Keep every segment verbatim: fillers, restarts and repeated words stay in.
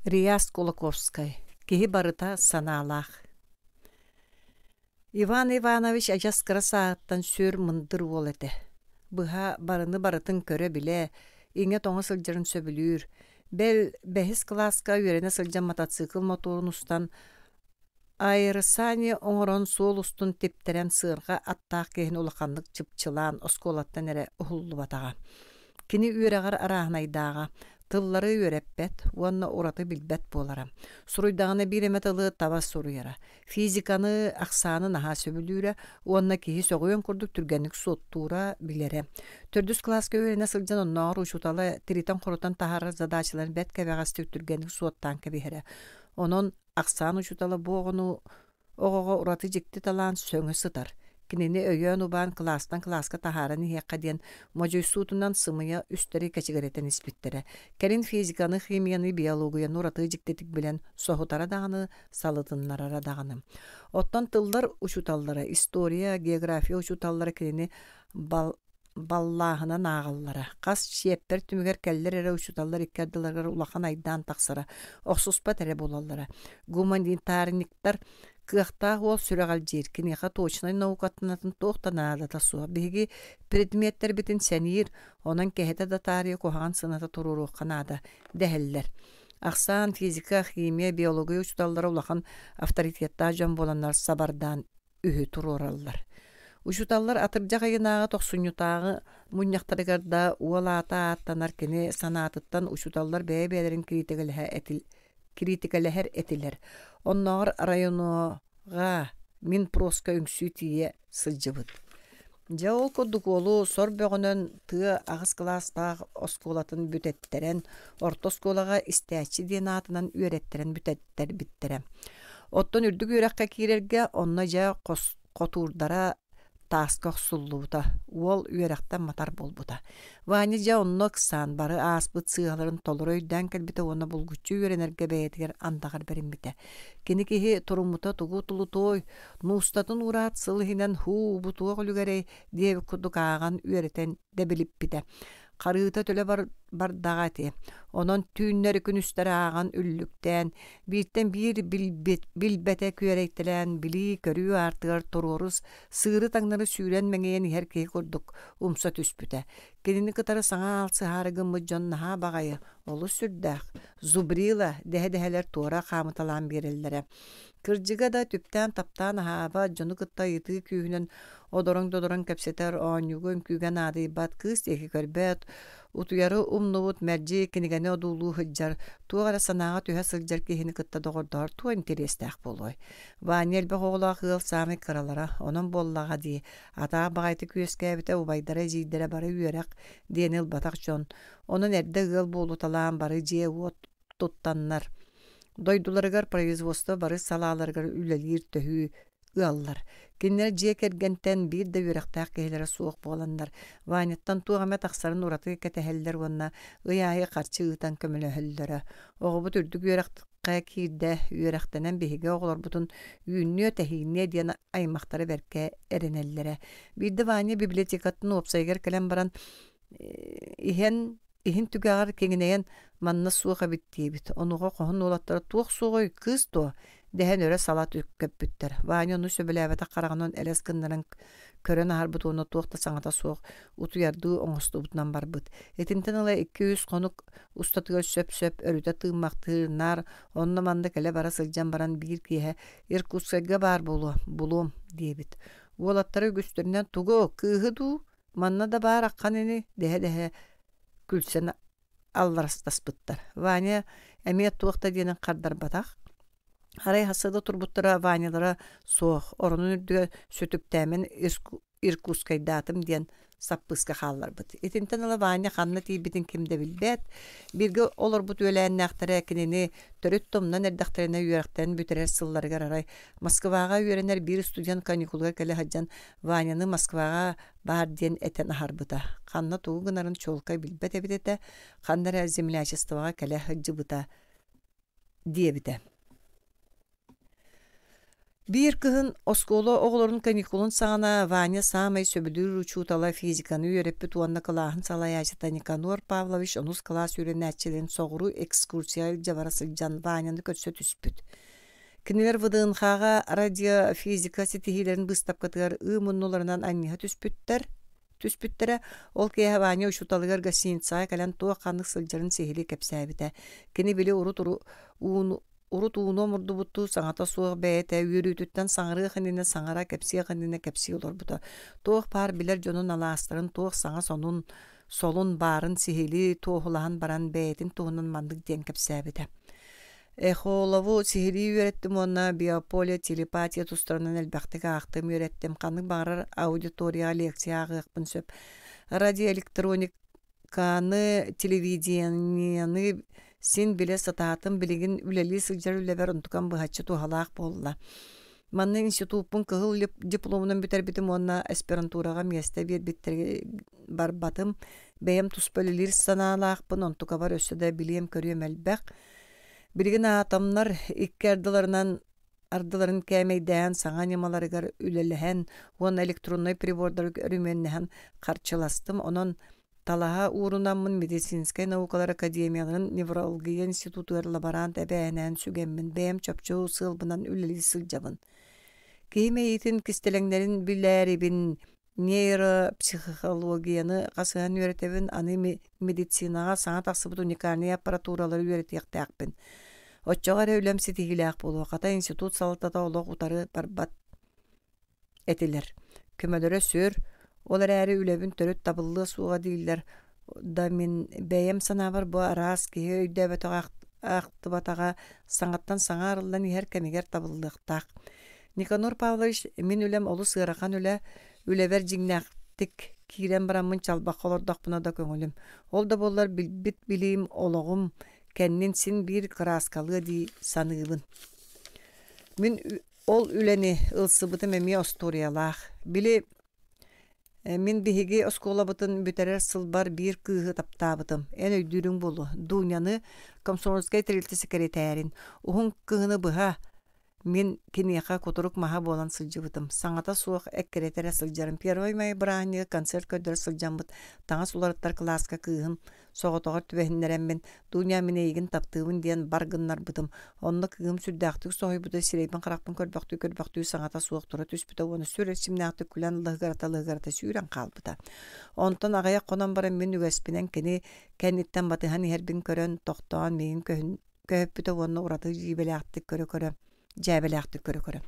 Реас Кулаковскай «Киһи барыта санаалаах» Иван Иванович адьас кыра сааһыттан сүр мындыр уол этэ. Быһа барыны барытын көрө-билэ, иҥэ-тоҥо сылдьарын сөбүлүүр. Бэл, бэһис кылааска үөрэнэ сылдьан мотоцикл мотуорун устан аэросани оҥорон суол устун типтэрэн сыарҕа аттаах киһини улаханнык чыпчылаан оскуолаттан эрэ уһуллубатаҕа. Кини үөрэҕэр арааһынайдааҕа, тыллары үөрэппэт уонна ураты билбэт буолара. Суруйдаҕына биир эмэ тылы таба суруйара. Физиканы, ахсааны наһаа сөбүлүүрэ уонна киһи сөҕүөн курдук түргэнник суоттуура, билэрэ. Төрдүс кылааска үөрэнэ сылдьан оннооҕор учуутала тиритэн-хорутан таһаарар задачаларын бэрт кэбэҕэстик түргэнник суоттаан кэбиһэрэ. Онон ахсаан учуутала бу оҕону оҕоҕо ураты дьикти талаан сөҥө сытар. Кинини өйөөн-убаан кылаастан кылааска таһааран иһиэххэ диэн модьуйсуутунан сымыйа үстэри кэчигирэтэн испиттэрэ. Кэлин физиканы, химияны, биологияны ураты дьиктитик билэн соһутара даҕаны, салытыннарара даҕаны. Оттон тыллар учууталлара, история, география учууталлара кинини бал баллааһынан ааҕаллара. Хас чиэппэр түмүгэр кэллэр эрэ учууталлар икки ардыларыгар улахан айдаан тахсара, охсуспат эрэ буолаллара. Гуманитарниктар кыахтаах уол сүрэҕэлдьиир, киниэхэ точнай наукатын туох да наадата суох. Биһиги предметтэрбитин сэниир, онон кэһэтэ да таарыйа куһаҕан сыаната туруоруохха наада дэһэллэр. Ахсаан, физика, химия, биология учууталлара улахан авторитеттаах дьон буоланнар сабардаан үһү туруораллар. Учууталлар атырдьах ыйынааҕы тохсунньутааҕы мунньахтарыгар да уол аата ааттанар кини санаатыттан учууталлар бэйэ-бэйэлэрин кириитикэлэһэ этил кириитикэлэһэр этилэр. Оннооҕор районоҕа Минпроска үҥсүү тиийэ сылдьыбыт. Дьэ ол курдук уолу сор бөҕөнөн тыа аҕыс кылаастаах оскуолатын бүтэттэрэн, орто оскуолаҕа истээччи диэн аатынан үөрэттэрэн бүтэттэрбиттэрэ. Оттон үрдүк үөрэххэ киирэргэ онно дьэ хос хотуурдара тааска охсуллубута, уол үөрэхтэн матар буолбута. Ваня дьэ онно ыксаан бары ааспыт сыыһаларын толору өйдөөн кэлбитэ уонна булгуччу үөрэнэргэ бэйэтигэр андаҕар бэриммитэ. Кини киһи туруммута тугу тулутуой, нуустатын уураат сыл иһинэн һуу бу туох үлүгэрэй диэбит курдук ааҕан үөрэтэн дэбилиппитэ. Харыыта төлө бар бардаҕа ити. Онон түүннэри күнүстэри ааҕан үллүктээн, бииртэн биир билбит, билбэтэ күөрэйтэлээн, билии-көрүү аартыгар туруорус, сыыры таҥнары сүүрэн мэҥийэн иһэр киһи курдук умса түспүтэ. Кинини кытары саҥа аалсыһаары гыммыт дьон наһаа баҕайы, олус сүрдээх, зубрила дэһэ-дэһэлэр туора хаамыталаан биэрэллэрэ. Кырдьыга да түптээн-таптаан аһаабат, дьону кытта ыйытыы күүһүнэн одороҥ-додороҥ кэпсэтэр, оонньууга үҥкүүгэ наадыйбат, кыыс диэки көрбөт, утуйары умнубут, мэлдьи кинигэни одуулуу сылдьар, туох эрэ санааҕа түһэ сылдьар киһини кытта доҕордоһор туох интэриэстээх буолуой. Ваня элбэх оҕолоох ыал саамай кыралара, онон буоллаҕа дии, атаах баҕайытык үөскээбитэ, убайдара, эдьиийдэрэ бары үөрэх диэни ылбатах дьон. Онон эрдэ ыал буолуталаан бары дьиэ-уот туттаннар, дойдуларыгар производство бары салааларыгар үлэлиир төһүү ыаллар. Кинилэр дьиэ кэргэнтэн биир да үөрэхтээх киһилэрэ суох буоланнар, Ваняттан туох эмэ тахсарын ураты кэтэһэллэр уонна ый аайы харчы ыытан көмөлөһөллөрө. Оҕобут үрдүк үөрэххэ киирдэ, үөрэхтэнэн биһиги оҕолорбутун үүннүө-тэһиинниэ диэн аймахтара бэркэ эрэнэллэрэ. Биирдэ Ваня библиотекатын уопсайыгар кэлэн баран иһэн иһин түгэҕэр киҥинэйэн манна суох эбит диэбит. Онуоха хоһун уолаттара туох суоҕуй, кыыс дуо? Дэһэн өрө сала көппүттэр. Ваня ону сөбүлээбэтэх хараҕынан элэс гыннаран көрөн аһарбыт уонна туох да саҥата суох утуйардыы оҥостубутунан барбыт. Итинтэн ыла икки-үс хонук устатыгар сөп-сөп өрүтэ тыыммахтыыр, наар онно-манна кэлэ-бара сылдьан баран биир киэһэ Иркутскайга баар буолуо, булуом диэбит. Уолаттара үгүстэринэн тугу, кыыһы дуу, манна да баар аххан ини дэһэ-дэһэ күлсэн алларастаспыттар. Ваня эмиэ туох да диэнин хардарбатах. Арай хасыда турбуттара Ванялара суох, оронун үрдүгэр сүтүктээмэн Иркутскайдаатым диэн саппыыска хаалларбыт. Итинтэн ыла Ваня ханна тиийбитин ким да билбэт. Бииргэ олорбут үөлээннээхтэрэ кинини төрүт тумнан эрдэхтэринэ үөрэхтэрин бүтэрэр сылларыгар арай Москваҕа үөрэнэр биир студент каникулга кэлэ сылдьан Ваняны Москваҕа баар диэн этэн аһарбыта. Ханна тугу гынарын чуолкай билбэт эбит этэ, ханна эрэ землячествоҕа кэлэ сылдьыбыта диэбитэ. Биир кыһын оскуола оҕолорун каникулун саҕана Ваня саамай сөбүлүүр учуутала физиканы үөрэппит уонна кылааһын салайааччыта Никанор Павлович онус кылаас үөрэнээччилэрин соҕуруу экскурсияҕа илдьэ бара сылдьан Ваняны көрсө түспүт. Кинилэр ВДНХ-ҕа радиофизика ситиһиилэрин быыстапкатыгар ыы муннуларынан анньыһа түспүттэр түспүттэрэ. Ол киэһэ Ваня учууталыгар гостиницаҕа кэлэн туох-ханнык сылдьарын сиһилии кэпсээбитэ. Кини били урут ууну урут ууну омурдубуттуу саҥата суох бэйэтэ үөрүүтүттэн саҥарыах иннинэ саҥара, кэпсиэх иннинэ кэпсии олорбута. Туох баар билэр дьонун алаастарын туох саҥа сонун солун баарын сиһилии туоһулаһан баран бэйэтин туһунан маннык диэн кэпсээбитэ. Эхолову сиһилии үөрэттим уонна биополе, телепатия тустарынан элбэхтик аахтым, үөрэттим. Ханнык баҕарар аудиторияҕа лекция ааҕыахпын сөп. Радиоэлектрониканы, телевидениены син билэ сатаатым, билигин үлэлии сылдьар үлэбэр онтукам быһаччы туһалаах буолла. Манна институппун кыһыл дипломунан бүтэрбитим уонна аспирантураҕа миэстэ биэрбиттэргэ барбатым. Бэйэм туспа үлэлиир санаалаахпын, онтукабар өссө да билиэм-көрүөм элбэх. Билигин атомнар икки ардыларынан ардыларын кээмэйдээн саҥа ньымаларыгар үлэлэһэн уонна электроннай прибордары өрөмүөннэһэн харчыластым. Онон талаһа уурунаммын медицинскэй наукалар академияларын неврология институтугар лаборант эбээнээн сүгэммин бэйэм чопчу сыалбынан үлэлии сылдьабын. Киһи мэйиитин кистэлэҥнэрин билээрибин нейропсихологияны хасыһан үөрэтэбин, аны медицинаҕа саҥа тахсыбыт уникальнай аппаратуралары үөрэтиэхтээхпин. Оччоҕо эрэ үлэм ситиһиилээх буолуо. Хата институт салалтата олох утары барбат этилэр. Көмөлөрө сүр, ол эрээри үлэбин төрүт табыллыа суоҕа дииллэр да мин бэйэм санаабар бу араас киһи өйдөөбөтөҕө ахтыбатаҕа саҥаттан саҥа арыллан иһэр кэмигэр табыллыахтаах. Никанор Павлович, мин үлэм олус ыарахан үлэ, үлэбэр дьиҥнээхтик киирэн бараммын чалбахха олордохпуна да көҥүлүм. Ол да буоллар билбит билиим олоҕум кэннин син биир кырааскалыа дии саныыбын. Мин ол үлэни ылсыбытым эмиэ остуоруйалаах. Били мин биһиги оскуолабытын бүтэрэр сылбар биир кыыһы таптаабытым. Эн өйдүүрүҥ буолуо. Дуняны комсомольскай тэрилтэ сэкирэтээрин. Уһун кыһыны быһа мин киниэхэ кутурук маһа буолан сылдьыбытым. Саҥата суох эккирэтэ эрэ сылдьарым. Первый май бырааһынньыгы концерт көрдөрө сылдьаммыт таҥас уларыттар кылааска кыыһым соҕотоҕор түбэһиннэрэммин Дуня мин эйигин таптыыбын диэн бар гыннарбытым. Онно кыыһым сүрдээхтик соһуйбута, сирэйбин-харахпын көрбөхтүү-көрбөхтүү саҥата суох тура түспүтэ уонна сүр эрчимнээхтик күлэн лыһыгырата-лыһыгырата сүүрэн хаалбыта. Онтон аҕыйах хонон баран мин үгэспинэн кини кэнниттэн батыһан иһэрбин көрөн, тохтоон миигин көһүппүтэ уонна ураты дьиибэлээхтик көрө-көрө дьээбэлээхтик көрө-көрө.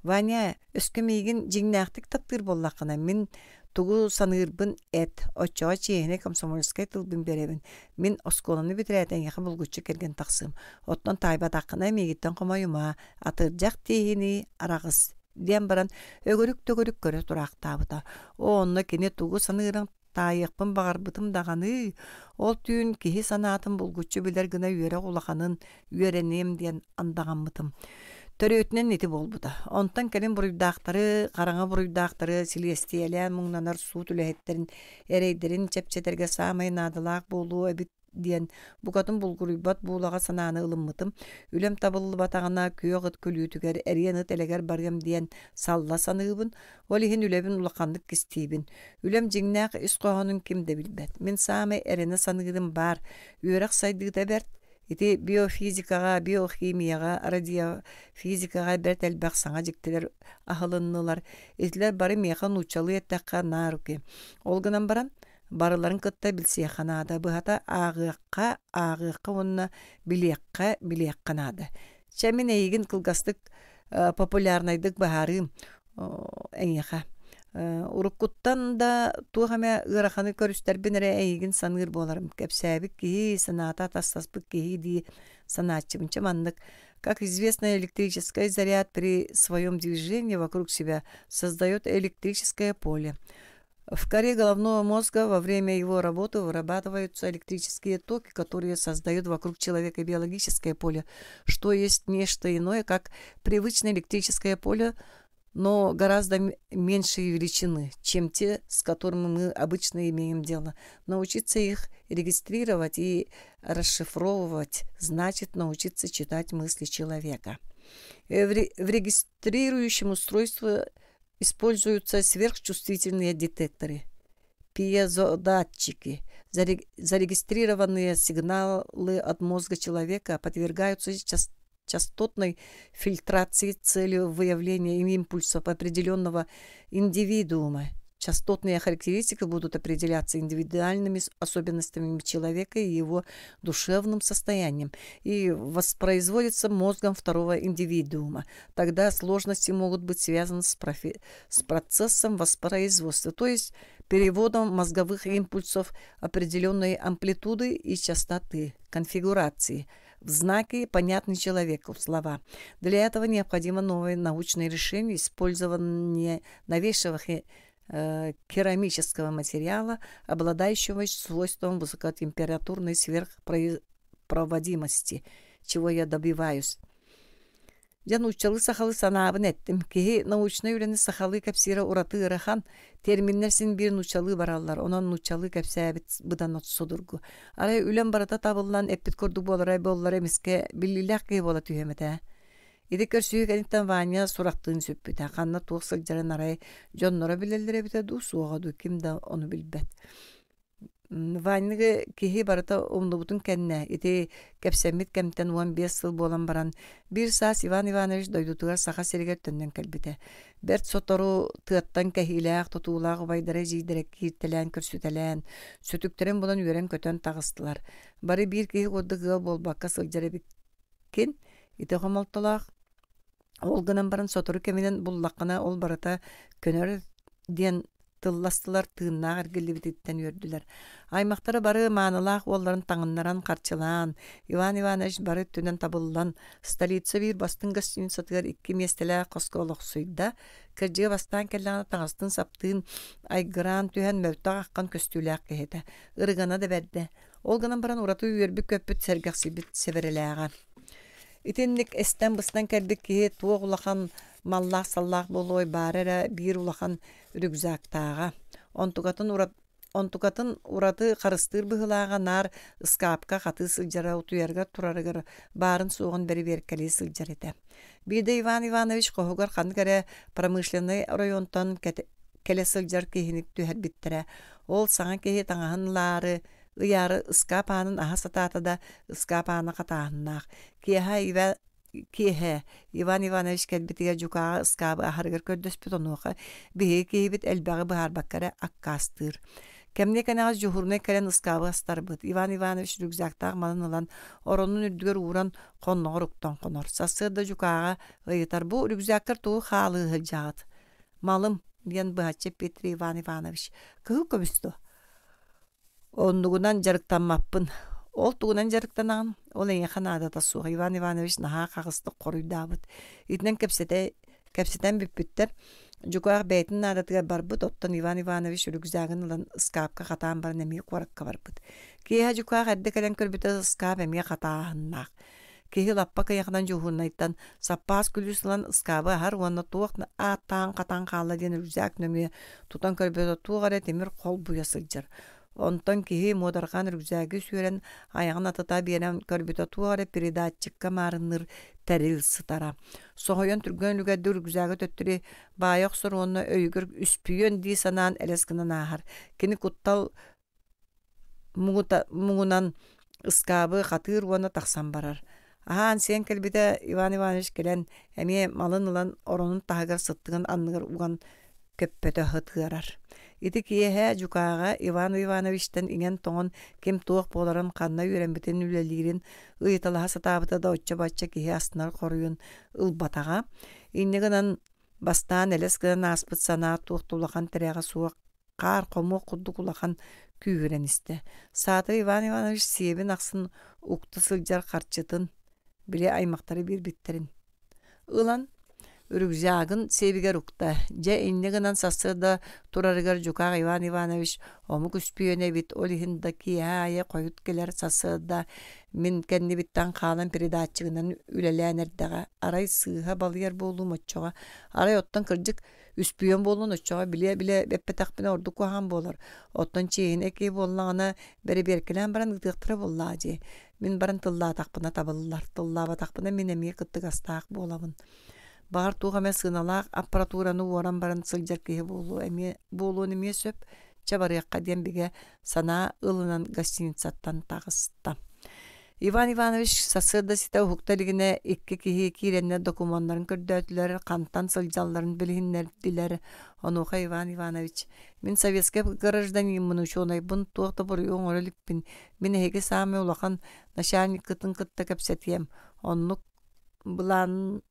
Ваня, өскө миигин дьиҥнээхтик таптыыр буоллаххына, мин тугу саныырбын эт, оччоҕо чиэһинэй комсомольскай тылбын биэрэбин. Мин оскуоланы бүтэрээт эйиэхэ булгуччу кэргэн тахсыам. Оттон таайбатаххына миигиттэн хомойума, атырдьах тииһинии араҕыс диэн баран өгөрүк-төгөрүк көрө тураахтаабыта. Оо, онно кини тугу саныырын таайыахпын баҕарбытым даҕаны, ол түүн киһи санаатын булгуччу билэр гына үөрэх улаханын үөрэниэм диэн андаҕаммытым. Төрүөтүнэн ити буолбута. Онтон кэлин буруйдаахтары, хараҥа буруйдаахтары силиэстийэлээн муҥнанар суут үлэһиттэрин эрэйдэрин чэпчэтэргэ саамай наадалаах буолуо эбит диэн букатын булгуруйбат буулаҕа санааны ылыммытым. Үлэм табыллыбатаҕына күөх ыт күлүүтүгэр, эриэн ыт элэгэр барыам диэн салла саныыбын. Ол иһин үлэбин улаханнык кистиибин. Үлэм дьиҥнээх ис хоһоонун ким да билбэт. Мин саамай эрэнэ саныырым баар. Үөрэх сайдыыта бэрт. Ити биофизикаҕа, биохимияҕа, радиофизикаҕа бэрт элбэх саҥа дьиктилэр аһылыннылар. Итилэр бары миэхэ нууччалыы эттэххэ на руки. Ол гынан баран, барыларын кытта билсиэххэ наада. Быһата ааҕыахха, ааҕыахха уонна билиэххэ, билиэххэ наада. Чэ, мин эйигин кылгастык популярнайдык быһаарыым эйиэхэ. Уруккуттан да туох эмэ ыараханы көрүстэрбин эрэ эйигин саныыр буоларым. Кэпсээбит киһи, санаата атастаспыт киһи дии санааччыбын. Чэ маннык. Как известно, электрический заряд при своем движении вокруг себя создает электрическое поле. В коре головного мозга во время его работы вырабатываются электрические токи, которые создают вокруг человека биологическое поле, что есть нечто иное, как привычное электрическое поле, но гораздо меньшей величины, чем те, с которыми мы обычно имеем дело. Научиться их регистрировать и расшифровывать значит научиться читать мысли человека. В регистрирующем устройстве используются сверхчувствительные детекторы, пьезодатчики. Зарегистрированные сигналы от мозга человека подвергаются частотной фильтрации с целью выявления импульсов определенного индивидуума. Частотные характеристики будут определяться индивидуальными особенностями человека и его душевным состоянием и воспроизводятся мозгом второго индивидуума. Тогда сложности могут быть связаны с, профи- с процессом воспроизводства, то есть переводом мозговых импульсов определенной амплитуды и частоты, конфигурации – в знаки, понятные человеку, слова. Для этого необходимо новое научное решение, использование новейшего керамического материала, обладающего свойством высокотемпературной сверхпроводимости, чего я добиваюсь. Дьэ нууччалыы сахалыы санаабын эттим. Киһи научнай үлэни сахалыы кэпсиирэ ураты ыарахан, терминнэр син биир нууччалыы бараллар, онон нууччалыы кэпсээбит быдан судургу. Арай үлэм барыта табыллан эппит курдук буолара буоллар эмискэ биллиилээх киһи буола түһүөм этэ. Ити көрсүһүү кэнниттэн Ваня сурахтыын сүппүтэ. Ханна туох сылдьарын арай дьонноро билэллэр эбитэ дуу, суоҕа дуу, ким да ону билбэт. Ваняны киһи барыта умнубутун кэннэ, ити кэпсэммит кэмтэн уон биэс сыл буолан баран, биир саас Иван Иванович дойдутугар Саха сиригэр төннөн кэлбитэ. Бэрт сотору тыаттан кэһиилээх, тутуулаах убайдара эдьиийдэрэ кииртэлээн көрсүтэлээн, сүтүктэрин булан үөрэн-көтөн таҕыстылар. Бары биир киһи курдук ыал буолбакка сылдьар эбиккин, ити хомолтолоох. Ол гынан баран сотору кэминэн буллаххына ол барыта көнөр диэн тылластылар, тыыннаах эргиллибититтэн үөрдүлэр. Аймахтара бары маанылаах уолларын таҥыннаран харчылаан, Иван Иванович бары өттүнэн табыллан, столица биир бастыҥ гостиницатыгар икки миэстэлээх хоско олохсуйда. Кырдьыга бастаан кэллэҕинэ таҥастыын-саптыын айгыраан түһэн мөлтөх аххан көстүүлээх киһи этэ. Ырыгана да бэрдэ. Ол гынан баран ураты үөрбүт-көппүт, сэргэхсийбит сэбэрэлээҕэ. Итинник эстэн-быстан кэлбит киһи туох улахан маллаах-саллаах буолуой, баара эрэ биир улахан рюкзактааҕа. Онтукатын, ура... Онтукатын ураты харыстыыр быһыылааҕа наар ыскаапка хатыы сылдьара, утуйарыгар турарыгар баарын-суоҕун бэрэбиэркэлии сылдьар этэ. Биирдэ Иван Иванович хоһугар ханнык эрэ промышленнай оройуонтан кэлэ сылдьар киһини түһэрбиттэрэ. Ол саҥа киһи таҥаһын ылаары, ыйаары ыскаап аанын аһа сатаата да, ыскаап аана хатааһыннаах. Киэһэ Ива киэһэ Иван Иванович кэлбитигэр дьукааҕы ыскаабы аһарыгар көрдөспүт, онуоха биһиги киһибит элбэҕи быһаарбакка эрэ аккаастыыр. Кэмниэ кэнэҕэс дьуһуурунай кэлэн ыскаабы астарбыт. Иван Иванович рюкзактаах малын ылан, оронун үрдүгэр ууран, хонноҕор уктан хонор. Сарсыарда дьукааҕа ыйытар: «Бу рюкзаккар тугу хаалыы сылдьаҕыт?» «Малым», диэн быһаччы эппиэттиир Иван Иванович. «Кыһыл көмүс дуо?» «Оннугунан дьарыктаммаппын». «Ол тугунан дьарыктанаҕын?» «Ол эйиэхэ наадата суох», Иван Иванович наһаа хаҕыстык хоруйдаабыт. Итинэн кэпсэтэ, кэпсэтэн бүппүттэр. Дьукаах бэйэтин наадатыгар барбыт, оттон Иван Иванович рюкзагын ылан ыскаапка хатаан баран эмиэ куоракка барбыт. Киэһэ дьукаах эрдэ кэлэн көрбүтэ ыскаап эмиэ хатааһыннаах. Киһи лаппа кыйаханан дьуһуурунайтан саппаас күлүүс ылан ыскаабы аһар уонна туох ааттаан хатаан хаалла диэн рюкзак нөҥүө тутан көрбүтэ туох эрэ тимир холбуйа сылдьар. Онтон киһи муодарҕаан рюкзагы сүөрэн айаҕын атыта биэрэн көрбүтэ туох эрэ передатчикка маарынныыр тэрил сытара. Соһуйан түргэн үлүгэрдик рюкзагы төттөрү баайа охсор уонна өйүгэр үспүйүөн дии санаан элэс гынан ааһар. Кини куттал муҥунан ыскаабы хатыыр уонна тахсан барар. Аһаан сиэн кэлбитэ Иван Иванович кэлэн эмиэ малын ылан оронун таһыгар сыттыгын анныгар уган көппөтө ытыарар. Ити киэһэ дьукааҕа Иван Ивановичтан иҥэн-тоҥон ким туох буоларын, ханна үөрэммитин, үлэлиирин ыйыталаһа сатаабыта да оччо-бачча киһи астынар хоруйун ылбатаҕа. Инньэ гынан бастаан элэс гынан ааспыт санаа туох да улахан тирэҕэ суох хаар хомуох курдук улахан күүһүрэн истэ. Саатар Иван Иванович сиэбин ахсын укта сылдьар харчытын, били аймахтары биэрбиттэрин ылан рюкзагын сиэбигэр укта. Дьэ инньэ гынан сарсыарда турарыгар дьукаах Иван Иванович омук үспүйүөнэ эбит, ол иһин да киэһэ аайы хойут кэлэр сарсыарда мин кэннибиттэн хаалан передатчигынан үлэлээн эрдэҕэ. Арай сыыһа балыйар буолуум оччоҕо. Арай оттон кырдьык үспүйүөн буоллун оччоҕо билэ-билэ эппэтэхпинэ ордук куһаҕан буолар. Оттон чиэһинэй киһи буоллаҕына бэрэбиэркэлээн баран ыытыахтара буоллаҕа дии. Мин баран тыллаатахпына табыллар, тыллаабатахпына мин эмиэ кыттыгастаах буолабын. Баҕар туох эмэ сыаналаах аппаратураны уоран баран сылдьар киһи буолуо эмиэ буолуон эмиэ сөп. Чэ барыахха диэн бигэ санаа ылынан гостиницаттан таҕыста. Иван Иванович сарсыарда ситэ уһукта илигинэ икки киһи киирэннэр докумуоннарын көрдөөтүлэр, хантан сылдьалларын билиһиннэрдилэр. Онуоха Иван Иванович: «Мин советскай гражданиммын, учуонайбын, туох да буруйу оҥоро иликпин. Мин эһиги саамай улахан начальниккытын кытта кэпсэтиэм. Оннук былаан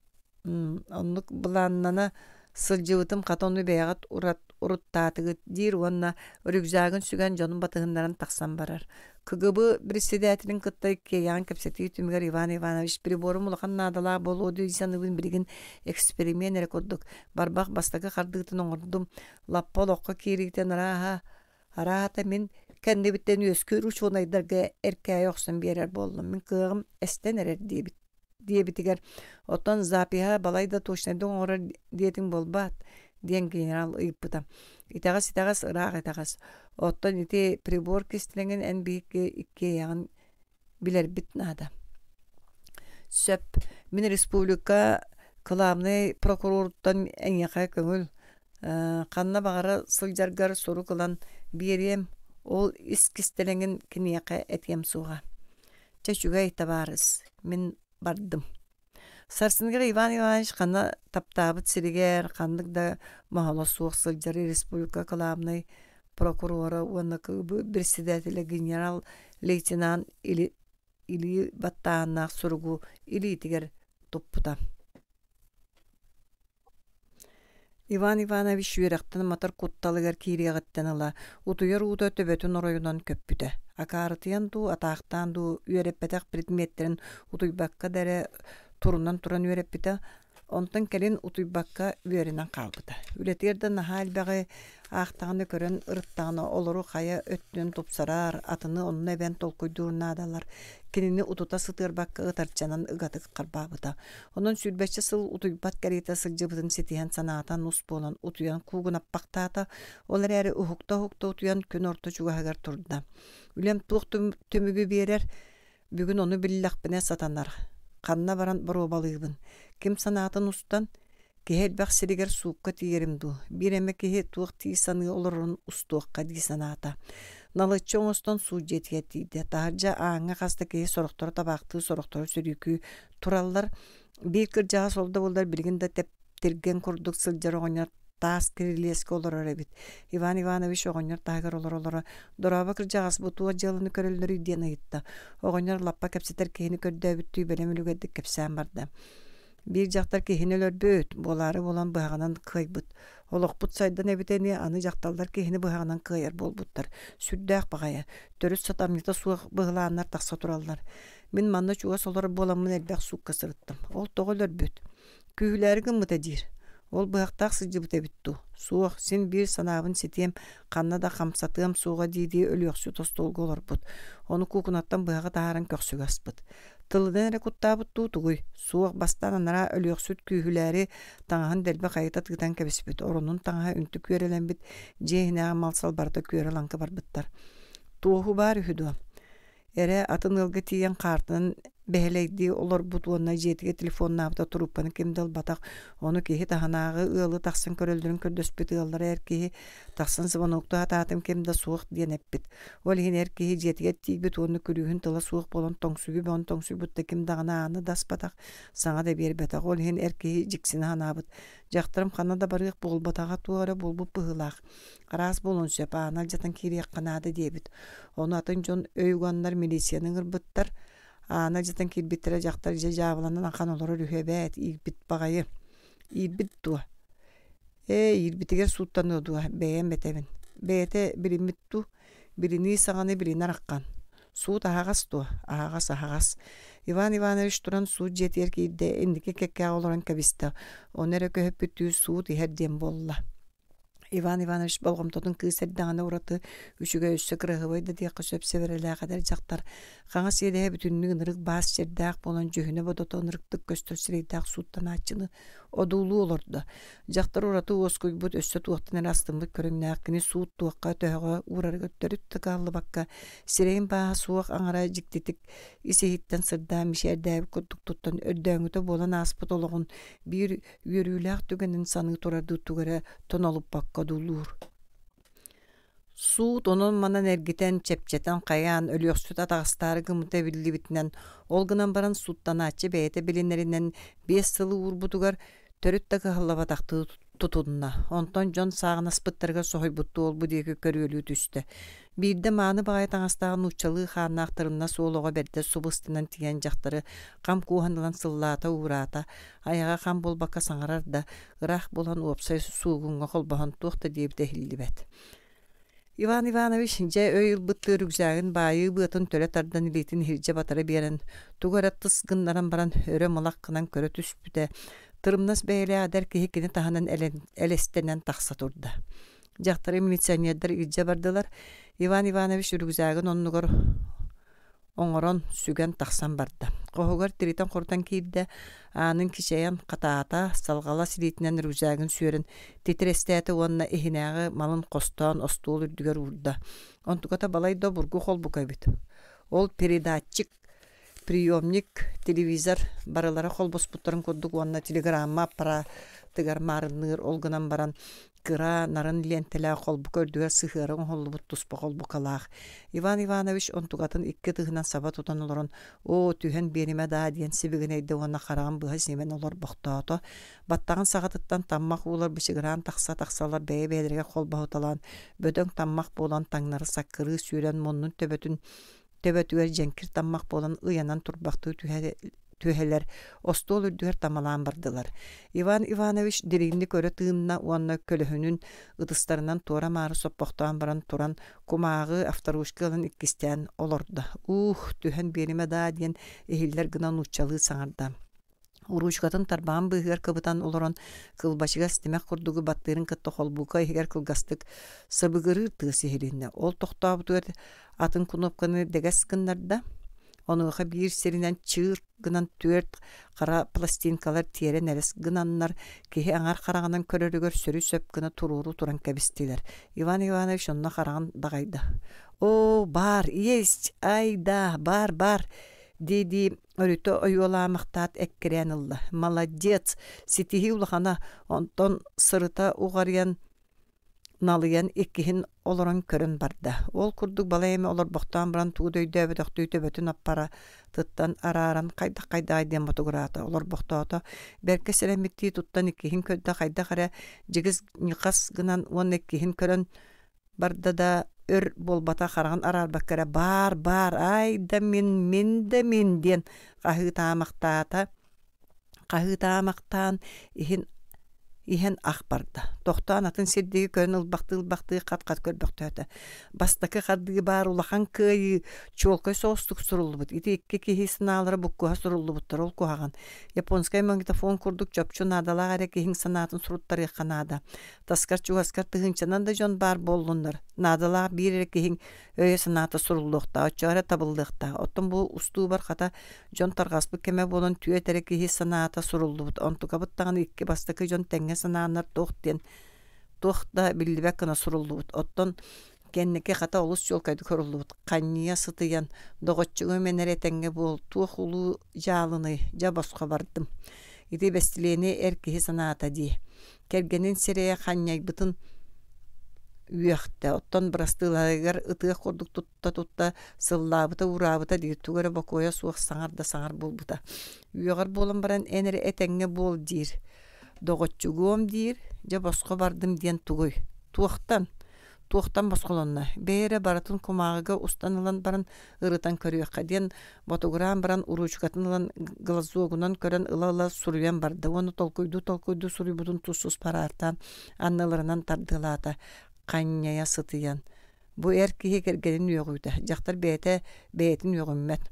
оннук былааннана сылдьыбытым хата ону бэйэҕит урат уруттаатыгыт» диир уонна рюкзагын сүгэн дьонун батыһыннаран тахсан барар. КГБ председателин кытта иккиэйэҕин кэпсэтии түмүгэр Иван Иванович приборум улахан наадалаах буолуо дии саныыбын билигин эксперимент эрэ курдук барбах бастакы хардыытын оҥордум лаппа олоххо киириитин арааһа араата мин кэннибиттэн үөскүүр учуонайдарга эркээйи охсон биэрэр буоллум мин кыаҕым эстэн эрэр диэбит диэбитигэр оттон запиһа балай да точнайдык оҥорор диэтиҥ буолбаат диэн генерал ыйыппыта итэҕэс итэҕэс ыраах итэҕэс оттон ити прибор кистэлэҥин эн биһикки иккиэйэҕин билэрбит наада сөп мин республика кылаабынай прокуроруттан эйиэхэ көҥүл ханна баҕара сылдьаргар сурук ылан биэриэм ол ис кистэлэҥин киниэхэ этиэм суоҕа чэ үчүгэй табаарыс мин бардым Сарсыныгар Иван Иванович ханна таптаабыт сиригэр ханнык да моһоло суох сылдьар республика кылаабынай прокурора уонна КГБ председателэ генерал-лейтенант или илии баттааһыннаах суругу илиитигэр туппута. Иван Иванович үөрэхтэн матар кутталыгар киириэҕиттэн ыла утуйар уута төбөтүн оройунан көппүтэ. Акаарытыйан дуу, атаахтаан дуу үөрэппэтэх предметтэрин утуйбакка да эрэ турунан туран үөрэппитэ. Онтон кэлин утуйбакка үөрэнэн хаалбыта. Үлэтигэр да наһаа элбэҕи аахтаҕына көрөн ырыттаҕына олору хайа өттүнэн тупсарар, атыны онно эбэн толкуйдуур наадалар. Кинини утута сытыарбакка ытарчанан ыгатык харбаабыта. Онон сүүрбэччэ сыл утуйбат кэриэтэ сылдьыбытын ситиһэн санаата нус буолан утуйан куугунаппахтаата. Ол эрээри уһукта-уһукта утуйан күн орто чугаһыгар турда. Үлэм туох түмүгү биэрэр, бүгүн ону биллэхпинэ сатанар. Ханна баран боруобалыыбын. Ким санаатын устан, киһи элбэх сиригэр суукка тиийэрим дуу, биир эмэ киһи туох тии саныы олорорун устуохха дии санаата. Налыччы оҥостон суут дьиэтигэр тиийдэ. Таһырдьа ааҥҥа хас да киһи сорохторо табаахтыы, сорохторо сөрүүкүү тураллар. Биир кырдьаҕас ол да буоллар билигин да тэптиргэн курдук сылдьар оҕонньор таас кирилиэскэ олорор эбит. Иван Иванович оҕонньор таһыгар олоро-олоро «Дорообо кырдьаҕас, бу туох дьыаланы көрөллөрүй?» диэн ыйытта. Оҕонньор лаппа кэпсэтэр киһини көрдөөбүттүү бэлэм үлүгэрдик кэпсээн барда. Биир дьахтар киһини өлөрбүт, буолаары буолан быһаҕынан кыайбыт. Олохпут сайдан эбитэ ини, аны дьахталлар киһини быһаҕынан кыайар буолбуттар. Сүрдээх баҕайы, төрүт сатамньыта суох быһылааннар тахса тураллар. Мин манна чугас олорор буоламмын элбэх суукка сырыттым. Ол тоҕо өлөрбүт? Күүһүлээри гыммыта диир. Ол быһахтаах сылдьыбыт эбит дуу? Суох, син биир санаабын ситиэм, ханна да хамсатыам суоҕа дии-дии өлүөхсүт остуолга олорбут. Ону куукунаттан быһаҕы таһааран көхсүгэ аспыт. Тылынан эрэ куттаабыт дуу тугуй? Суох, бастаан анараа өлүөхсүт күүһүлээри таҥаһын дэлби хайыта тыытан кэбиспит. Оронун таҥаһа үнтү күөрэлэммит, дьиэ иһинээҕи мал-сал барыта күөрэ-лаҥкы барбыттар. Туоһу баар үһү дуо? Эрэ атын ыалга тиийэн хаартынан бэһэлэйдии олорбут уонна дьиэтигэр телефоннаабыта трубканы ким да ылбатах. Ону киһи таһынааҕы ыалы тахсан көрөллөрүн көрдөспүт ыаллара эр киһи тахсан звоноктуу сатаатым ким да суох диэн эппит. Ол иһин эр киһи дьиэтигэр тиийбит уонна күлүүһүн тыла суох буолан тоҥсуйуу бөҕөнү тоҥсуйбут да ким даҕаны ааны да аспатах, саҥа да биэрбэтэх. Ол иһин эр киһи дьиксинэ санаабыт. Дьахтарым ханна да барыах буолбатаҕа туох эрэ буолбут быһыылаах. Араас буолуон сөп, ааны алдьатан киириэххэ наада диэбит. Ону атын дьон өй уганнар милицияны ыҥырбыттар. Ааны алдьатан киирбиттэрэ дьахтар дьэ дьаабыланан ахан олорор үһү эбээт, иирбит баҕайы. Иирбит дуо? Ээ, иирбитигэр сууттаныа дуо, бэйэм этэбин. Бэйэтэ билиммит дуу? Билинии саҕаны билинэр аххан. Суут аһаҕас дуо? Аһаҕас, аһаҕас. Иван Иванович туран суут дьиэтигэр киирдэ, инники кэккэҕэ олорон кэбистэ. Ону эрэ көһүппүттүү суут иһэр диэн буолла. Иван Иванович болҕомтотун кыыс эрдэҕинэ ураты үчүгэй өссө кыраһыабай да диэххэ сөп сэбэрэлээх эдэр дьахтар хаҥас иэдэһэ бүтүннүү ынырык баас сирдээх буолан дьүһүнэ-бодото ынырыктык көстөр сирэйдээх сууттанааччыны одуулуу олордо. Дьахтар ураты уоскуйбут, өссө туохтан эрэ астыммыт көрүҥнээх кини суут туохха төһөҕө уурарыгар төрүт да кыһаллыбакка сирэйин бааһа суох аҥара дьиктитик ис-иһиттэн сырдаан мичээрдээбит курдук туттан өрдөөҥүтэ буолан ааспыт олоҕун биир үөрүүлээх түгэнин саныы турардыы тугу эрэ тонолуппакка одуулуур. Суут онон-манан эргитэн, чэпчэтэн хайаан, өлүөхсүт атаҕастаары гыммыта биллибитинэн, ол гынан баран сууттанааччы бэйэтэ билинэринэн биэс сылы уурбутугар төрүт да кыһаллыбатахтыы тутунна. Онтон дьон сааҕынаспыттарыгар соһуйбуттуу ол-бу диэки көрүөлүү түстэ. Биирдэ мааны баҕайы таҥастаах нууччалыы хааннаах тырымнас уол оҕо бэрдэ субу ыстынан тиийэн дьахтары хам кууһан ылан сыллаата-уураата, айаҕа хам буолбакка саҥарар да, ыраах буолан уопсай суугуҥҥа холбоһон туох да диэбитэ иһиллибэт. Иван Иванович дьэ өй ылбыттыы рюкзагын баайыы быатын төлө тардан илиитин иһирдьэ батара биэрэн, тугу эрэ тыс гыннаран баран өрө мылах гынан көрө түспүтэ, тырымнас бэйэлээх эдэр киһи кини таһынан элэстэнэн тахса турда. Дьахтары милиционердар илдьэ бардылар. Иван Иванович рюкзагын оннугар оҥорон, сүгэн тахсан барда. Хоһугар тиритэн-хорутан киирдэ, аанын кичэйэн хатаата, салҕалас илиитинэн рюкзагын сүөрэн титирэстээтэ уонна иһинээҕи малын хостоон остуол үрдүгэр уурда. Онтуката балай да обургу холбука эбит. Ол передатчик, приемник, телевизор барылара холбоспуттарын курдук уонна телеграмма аппаратыгар маарынныыр ол гынан баран кыра нарын лиэнтэлээх холбука үрдүгэр сыһыара оҥоһуллубут туспа холбукалаах. Иван Иванович онтукатын икки ытыһынан саба тутан олорон «Оо, түһэн биэримэ даа» диэн сибигинэйдэ уонна хараҕын быһа симэн олорбохтоото. Баттаҕын саҕатыттан таммах уулар бычыгыраан тахса-тахсалар бэйэ-бэйэлэригэр холбоһуталаан бөдөҥ таммах буолан таҥнары саккырыы сүүрэн муннун төбөтүн төбөтүгэр дьэҥкир таммах буолан ыйанан турбахтыы түһэ түһэлэр остуол үрдүгэр тамалаан бардылар. Иван Иванович дириҥник өрө тыынна уонна көлөһүнүн ытыстарынан туора-маары соппохтоон баран туран кумааҕы авторучка ылан иккистээн олордо. «Уух, түһэн биэримэ даа» диэн иһиллэр гына нууччалыы саҥарда. Уруучукатын тарбаҕын быыһыгар кыбытан олорон кылбачыгас тимэх курдугу баттыырын кытта холбука иһигэр кылгастык сыбыгырыыр тыас иһилиннэ. Ол тохтообутугар атын кунуопканы дэгэс гыннарда. Онуоха биир сиринэн чыыр гынан түөрт хара пластинкалар тиэрэ нэлэс гынаннар киһи аҥар хараҕынан көрөрүгэр сөрү-сөп гына туруору туран кэбистилэр. Иван Иванович онно хараҕын даҕайда. «Оо, баар, есть, ай да, баар, баар!» дии-дии өрүтэ ойуолаамахтаат эккирээн ылла. «Молодец! Ситиһии улахана, онтон сырыта уҕарыйан налыйан иккиһин олорон көрөн барда. Ол курдук балай эмэ олорбохтоон баран тугу да өйдөөбөтөхтүү төбөтүн аппаратыттан арааран хайдах-хайдаҕай диэн ботугураата олорбохтоото. Бэркэ сэрэммиттии туттан иккиһин көрдө хайдах эрэ дьигис ньыхас гынан уонна иккиһин көрөн барда да өр буолбата хараҕын араарбакка эрэ баар баар ай да мин мин да мин диэн хаһыытаамахтаата хаһыытаамахтаан иһин иһэн ах барда. Тохтоон атын сир диэки көрөн ылбахтыы-ылбахтыы хат-хат көрбөхтөөтө. Бастакы хардыы баар улахан кыайыы чуолкай соҕустук суруллубут. Ити икки киһи санаалара буккуһа суруллубуттар ол куһаҕан. Японскай магнитофон курдук чопчу наадалаах эрэ киһиҥ санаатын суруттарыахха наада. Таскар чугаскар тыһыынчанан да дьон баар буоллуннар. Наадалаах биир эрэ киһиҥ өйө-санаата суруллуохтаах, оччоҕо эрэ табыллыахтаах. Оттон бу устуубар хата дьон тарҕаспыт кэмэ буолан түөрт эрэ киһи санаата суруллубут. Онтукабыт даҕаны икки бастакы дьон тэҥҥэ санааннар туох диэн туох да биллибэт гына суруллубут. Оттон кэнники хата олус чуолкайдык суруллубут. Ханньыйа сытыйан, доҕоччугум эн эрэ этэҥҥэ буол, туох улуу дьаалыный, дьэ босхо бардым. Ити бэстилиэни эр киһи санаата дии. Кэргэнин сирэйэ ханньайбытын үөхтэ, оттон бырастыыларыгар ытыах курдук тутта-тутта сыллаабыта-уураабыта диир, тугу эрэ бокуойа суох саҥар да саҥар буолбута. Үөҕэр буолан баран эн эрэ этэҥҥэ буол диир. Доҕоччугуом диир, дьэ босхо бардым диэн тугуй? Туохтан? Туохтан босхолонно? Бэйэ эрэ барытын кумааҕыга устан ылан баран ырытан көрүөххэ диэн ботугураан баран уруучукатын ылан глазогунан көрөн ыла-ыла суруйан барда уонна толкуйдуу-толкуйдуу суруйбутун тус-туспа араартаан анныларынан тардыалаата ханньайа сытыйан. Бу эр киһи кэргэнин үөҕүүтэ, дьахтар бэйэтэ бэйэтин үөҕүммэт.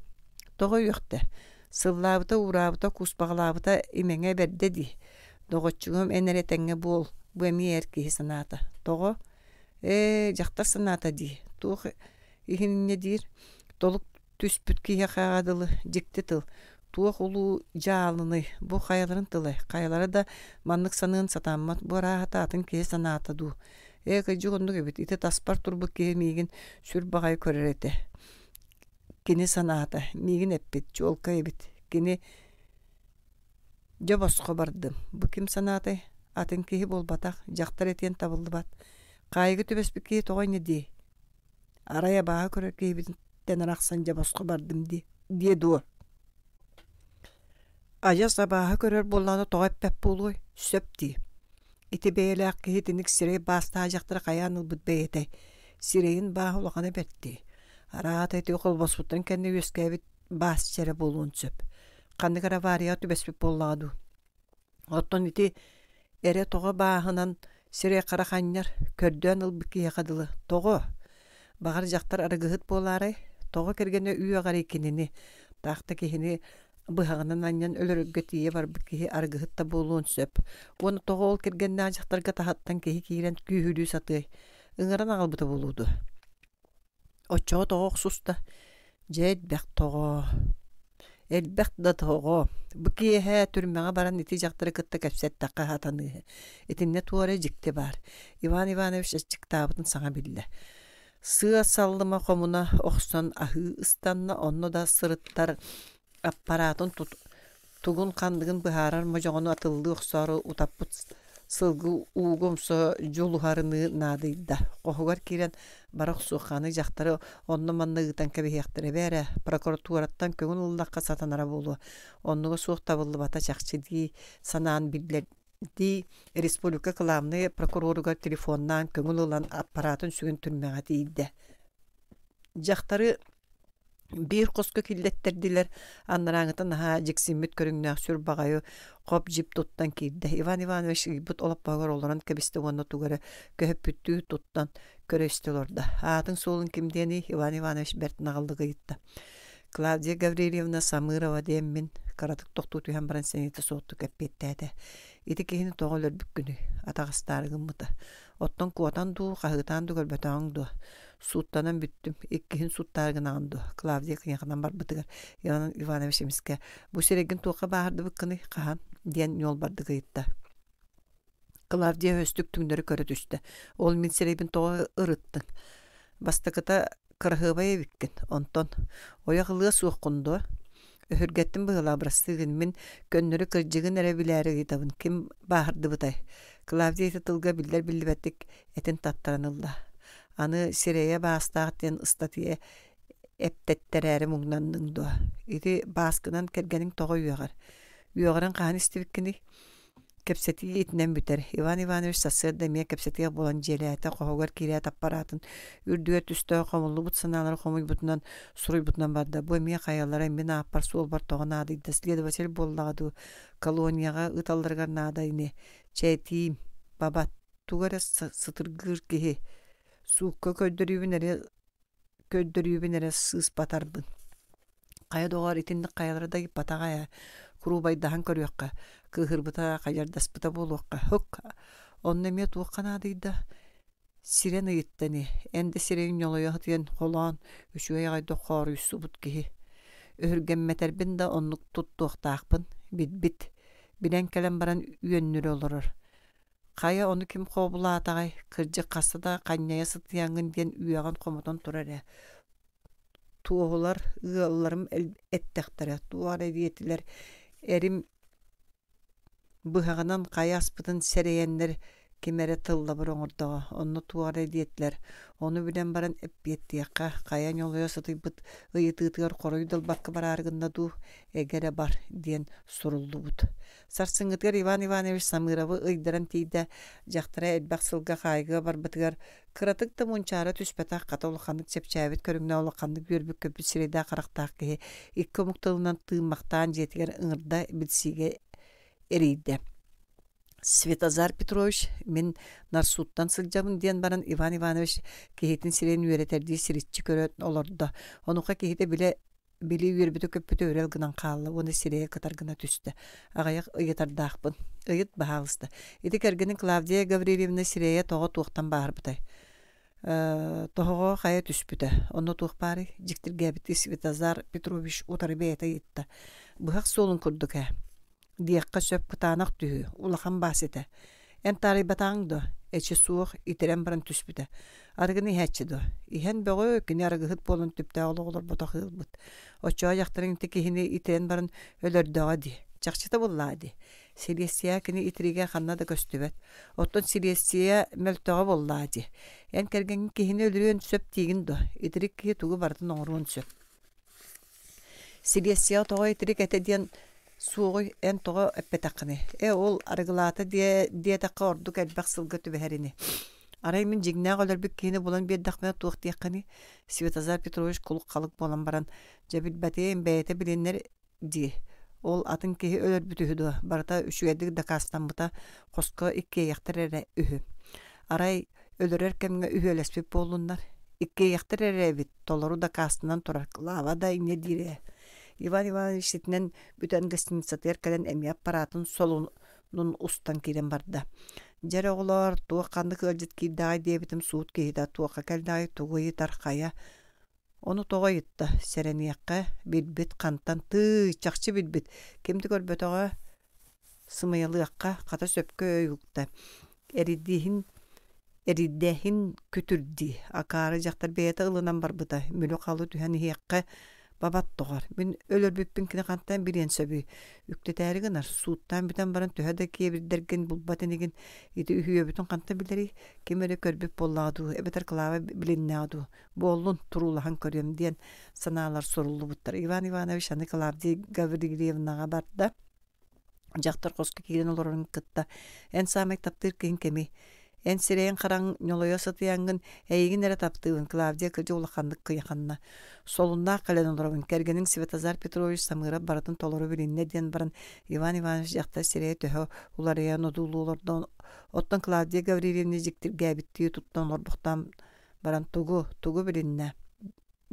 Тоҕо үөхтэ? Сыллаабыта, уураабыта, кууспаҕалаабыта имэҥэ бэрдэ дии. Доҕоччугум эн эрэ этэҥҥэ буол, бу эмиэ эр киһи санаата. Тоҕо? Ээ, дьахтар санаата дии. Туох иһин инньэ диир? Толук түспүт киһиэхэ дылы дьикти тыл. Туох улуу дьаалыный, бу хайаларын тылай? Хайалара да маннык саныан сатаммат, бу арааһата атын киһи санаата дуу. Ээ, кырдьык оннук эбит, ити таспар турбут киһи миигин сүр баҕайы көрөр этэ. Кини санаата, миигин эппит, чуолкай эбит. Кини дьэ босхо бардым. Бу ким санаатай? Атын киһи буолбатах, дьахтар этиэн табыллыбат. Хаайыга түбэспит киһи тоҕо инньэ диэй? Арай абааһы көрөр киһибититтэн арахсан дьэ босхо бардым дии диэ дуо? Адьас абааһы көрөр буоллаҕына тоҕо эппэт буолуой? Сөп дии. Ити бэйэлээх киһи итинник сирэй баастаах дьахтары хайаан ылбыт бэйэтэй? Сирэйин бааһа улахана бэрт дии. Араата ити холбоспуттарын кэннэ үөскээбит баас чэрэ буолуон сөп. Ханнык эрэ аварияҕа түбэспит буоллаҕа дуу? Оттон ити эрэ тоҕо бааһынан сирэй-харах анньар, көрдөөн ылбыт киһиэхэ дылы. Тоҕо? Баҕар дьахтар арыгыһыт буолаарай? Тоҕо кэргэнэ үөҕэрий кинини? Таах да киһини быһаҕынан анньан өлөрөргө тиийэ барбыт киһи арыгыһыт да буолуон сөп. Уонна тоҕо ол кэргэннээх дьахтарга таһыттан киһи киирэн күүһүлүү сатыай? Ыҥыран аҕалбыта буолуо дуо? Оччоҕо тоҕо охсуста? Дьэ элбэх тоҕо. Элбэх да тоҕо. Бу киэһэ түрмэҕэ баран ити дьахтары кытта кэпсэттэххэ сатаныыһы. Итиннэ туох эрэ дьикти баар. Иван Иванович аччыктаабытын саҥа биллэ. Сыа саллыма хомуна охсон аһыы ыстанна, онно да сырыттар аппараатын тут тугун-ханныгын быһаарар модьоҕону атыллыы охсоору утаппыт сылгы ууга умса дьулуһарыныы наадыйда. Хоһугар киирэн бара охсуохханы дьахтары онно-манна ыытан кэбиһиэхтэрэ бээрэ, прокуратураттан көҥүл ыллахха сатанара буолуо. Оннуга суох табыллыбата чахчы дии санаан биллэрдии республика кылаабынай прокуроругар телефоннаан көҥүл ылан аппараатын сүгэн түрмэҕэ тиийдэ. Дьахтары биир хоско киллэттэрдилэр, анарааҥыта наһаа дьиксиммит көрүҥнээх сүр баҕайы хоп-дьип туттан киирдэ. Иван Иванович ыйбыт олоппоһугар олорон кэбистэ уонна тугу эрэ көһөппүттүү туттан көрө-истэ олордо. Аатын-суолун ким диэний? Иван Иванович бэрт наҕыллык ыйытта. Клавдия Гаврильевна Самырова диэммин кыратык тохтуу түһэн баран сэниэтэ суохтук эппиэттээтэ. Ити киһини тоҕо өлөрбүккүнүй? Атаҕастаары гыммыта. Оттон куотан дуу, хаһыытаан дуу көрбөтөҕүҥ дуо? Сууттанан бүттүм, иккиһин сууттаары гынаҕын дуо? Клавдия кыйаханан барбытыгар Иван Иванович эмискэ «Бу сирэйгин туохха бааһырдыбыккыный, хаһан?» диэн ньуолбардык ыйытта. Клавдия өстүк түҥнэри көрө түстэ. Ол мин сирэйбин тоҕо ырыттыҥ? Бастакыта кыраһыабай эбиккин, онтон ойох ылыа суоххун дуо? Өһүргэттим быһыылаах бырастыы гын, мин көннөрү кырдьыгын эрэ билээри ыйытабын, ким бааһырдыбытай? Клавдия ити тылга биллэр-биллибэттик этин таттаран ылла. Аны сирэйэ баастаах диэн ыстатыйа эптэттэрээри муҥнанныҥ дуо? Ити бааскынан кэргэниҥ тоҕо үөҕэр? Үөҕэрин хаһан истибиккиний? Кэпсэтии итинэн бүтэр. Иван Иванович сарсыарда эмиэ кэпсэтиэх буолан дьиэлээтэ, хоһугар киирээт аппараатын үрдүгэр түстэ, хомуллубут санаалары хомуйбутунан, суруйбутунан барда. Бу эмиэ хайалара мин ааппар суолбар тоҕо наадыйда, следователь буоллаҕа дуу, колонияҕа ыыталларыгар наада ини. Чэ этиим, бабат, тугу эрэ сытыргыыр киһи. Суукка көрдөрүүбүн эрэ көрдөрүүбүн эрэ сыыспатарбын. Хайа доҕоор, итинник хайалара да ыйыппатаҕа ээ, куруубайдаһан көрүөххэ, кыыһырбыта, хайардаспыта буолуохха. Һук, онно эмиэ туохха наадыйда? Сирэн ыйытта ини, эн да сирэйиҥ ньолойо сытыйан холоон, үчүгэй аҕайдык хооруйсубут киһи. Өһүргэммэтэрбин да оннук туттуохтаахпын, билбит. Билэн кэлэн баран үөннүрэ олорор. Хайа ону ким хообулаатаҕай, кырдьык хаста да ханньайа сытыйаҥҥын диэн үөҕэн хомотон турар ээ. Туоһулар ыалларым эттэхтэрэ, туох эрэ диэтилэр, эрим быһаҕынан хайа аспытын сэрэйэннэр ким эрэ тыллабыр оҥордоҕо, онно туох эрэ диэтилэр, ону билэн баран эппиэттиэххэ, хайа ньолойо сытыйбыт ыйытыытыгар хоруй да ылбакка бараары гынна дуу, эгэ эрэ бар диэн суруллубут. Сарсыҥҥытыгар Иван Иванович Самыровы ыйдаран тиийдэ, дьахтара элбэх сылга хаайыыга барбытыгар кыратык да мунчаара түспэтэх, хата улаханнык чэпчээбит көрүҥнээх улаханнык үөрбүт-көппүт сирэйдээх-харахтаах киһи икки омук тылынан тыыммахтаан дьиэтигэр ыҥырда, билсиигэ эрийдэ. Светозар Петрович, мин Нарсууттан сылдьабын диэн баран Иван Иванович киһитин сирэйин үөрэтэрдии сириччи көрөн олордо. Онуоха киһитэ билэ Били үөрбүтэ-көппүтэ үрэл гынан хаалла уонна сирэйэ кытар гына түстэ. Аҕыйах ыйытардаахпын. Ыйыт, баһаалыста. Ити кэргэниҥ Клавдия Гаврильевна сирэйэ тоҕо туохтан бааһырбытай? Э, тоһоҕо хайа түспүтэ. Онно туох баарый? Дьиктиргээбиттии Светозар Петрович утары бэйэтэ ыйытта. Быһах суолун курдук ээ. Диэххэ сөп кытаанах түһүү, улахан баас этэ. Эн таарыйбатаҕыҥ дуо? Эчи суох, итирэн баран түспүтэ. Арыгыны иһээччи дуо? Иһэн бөҕө, кини арыгыһыт буолан түптээх олох олорботох ыалбыт. Оччоҕо дьахтарыҥ ити киһини итирэн баран өлөрдөҕө дии. Чахчыта буоллаҕа дии. Силиэстийэ кини итиригэ ханна да көстүбэт. Оттон силиэстийэ мөлтөҕө буоллаҕа дии. Эн кэргэҥҥин киһини өлөрүөн сөп диигин дуо? Итирик киһи тугу барытын оҥоруон сөп. Силиэстийэҕэ тоҕо итирик этэ диэн суоҕуй эн тоҕо эппэтэххиний? Ээ ол арыгылаата диэ диэтэххэ ордук элбэх сылга түбэһэр ини. Арай мин дьиҥнээх өлөрбүт киһини булан биэрдэхпинэ туох диэххиний? Светозар Петрович кулук-халык буолан баран, дьэ билбэтим, бэйэтэ билинэр дии. Ол атын киһи өлөрбүт үһү дуо? Барыта үчүгэйдик дакаастаммыта, хоско иккиэйэхтэр эрэ үһү. Арай өлөрөр кэмҥэ үһүөлэспит буоллуннар? Иккиэйэхтэр эрэ эбит, толору дакаастанан турар, Клава да инньэ диир ээ. Иван Иванович итинэн бүтэн гостиницатыгар кэлэн эмиэ аппараатын солунун устан киирэн барда. Дьэ эрэ оҕолоор, туох ханнык ыалдьыт киирдэҕэй диэбитим суут киһитэ туохха кэллэҕэй, тугу ыйытар, хайа. Ону тоҕо ыйытта, сэрэниэххэ, билбит хантан, тыый, чахчы билбит, ким да көрбөтөҕө, сымыйалыахха, хата сөпкө өй укта. Эридииһин Эрийдээһин күтүрдии, акаары дьахтар бэйэтэ ылынан барбыта, мүлү-халы түһэн иһиэххэ бабат доҕор. Мин өлөрбүппүн кини хантан билиэн сөбүй? Үктэтээри гынар, сууттаан бүтэн баран төһө да киэбирдэргин булбат инигин, ити үһүөбүтүн хантан билэрий? Ким эрэ көрбүт буоллаҕа дуу, эбэтэр Клава билиннэҕэ дуу? Буоллун, туруулаһан көрүөм диэн санаалар суруллубуттар. Иван Иванович аны Клавдия Гаврильевнаҕа барда. Дьахтар хоско киирэн олорорун кытта эн саамай таптыыр киһиҥ кимий? Эн сирэйиҥ-хараҥ ньолойо сытыйаҥҥын эйигин эрэ таптыыбын, Клавдия кырдьык улаханнык кыйаханна. Солуннаах кэлэн олоробун, кэргэниҥ Светозар Петрович Самыров барытын толору билиннэ диэн баран Иван Иванович дьахтар сирэйэ төһө уларыйан одуулуу олордо. Оттон Клавдия Гаврильевна дьиктиргээбиттии туттан олорбохтоон баран тугу, тугу билиннэ?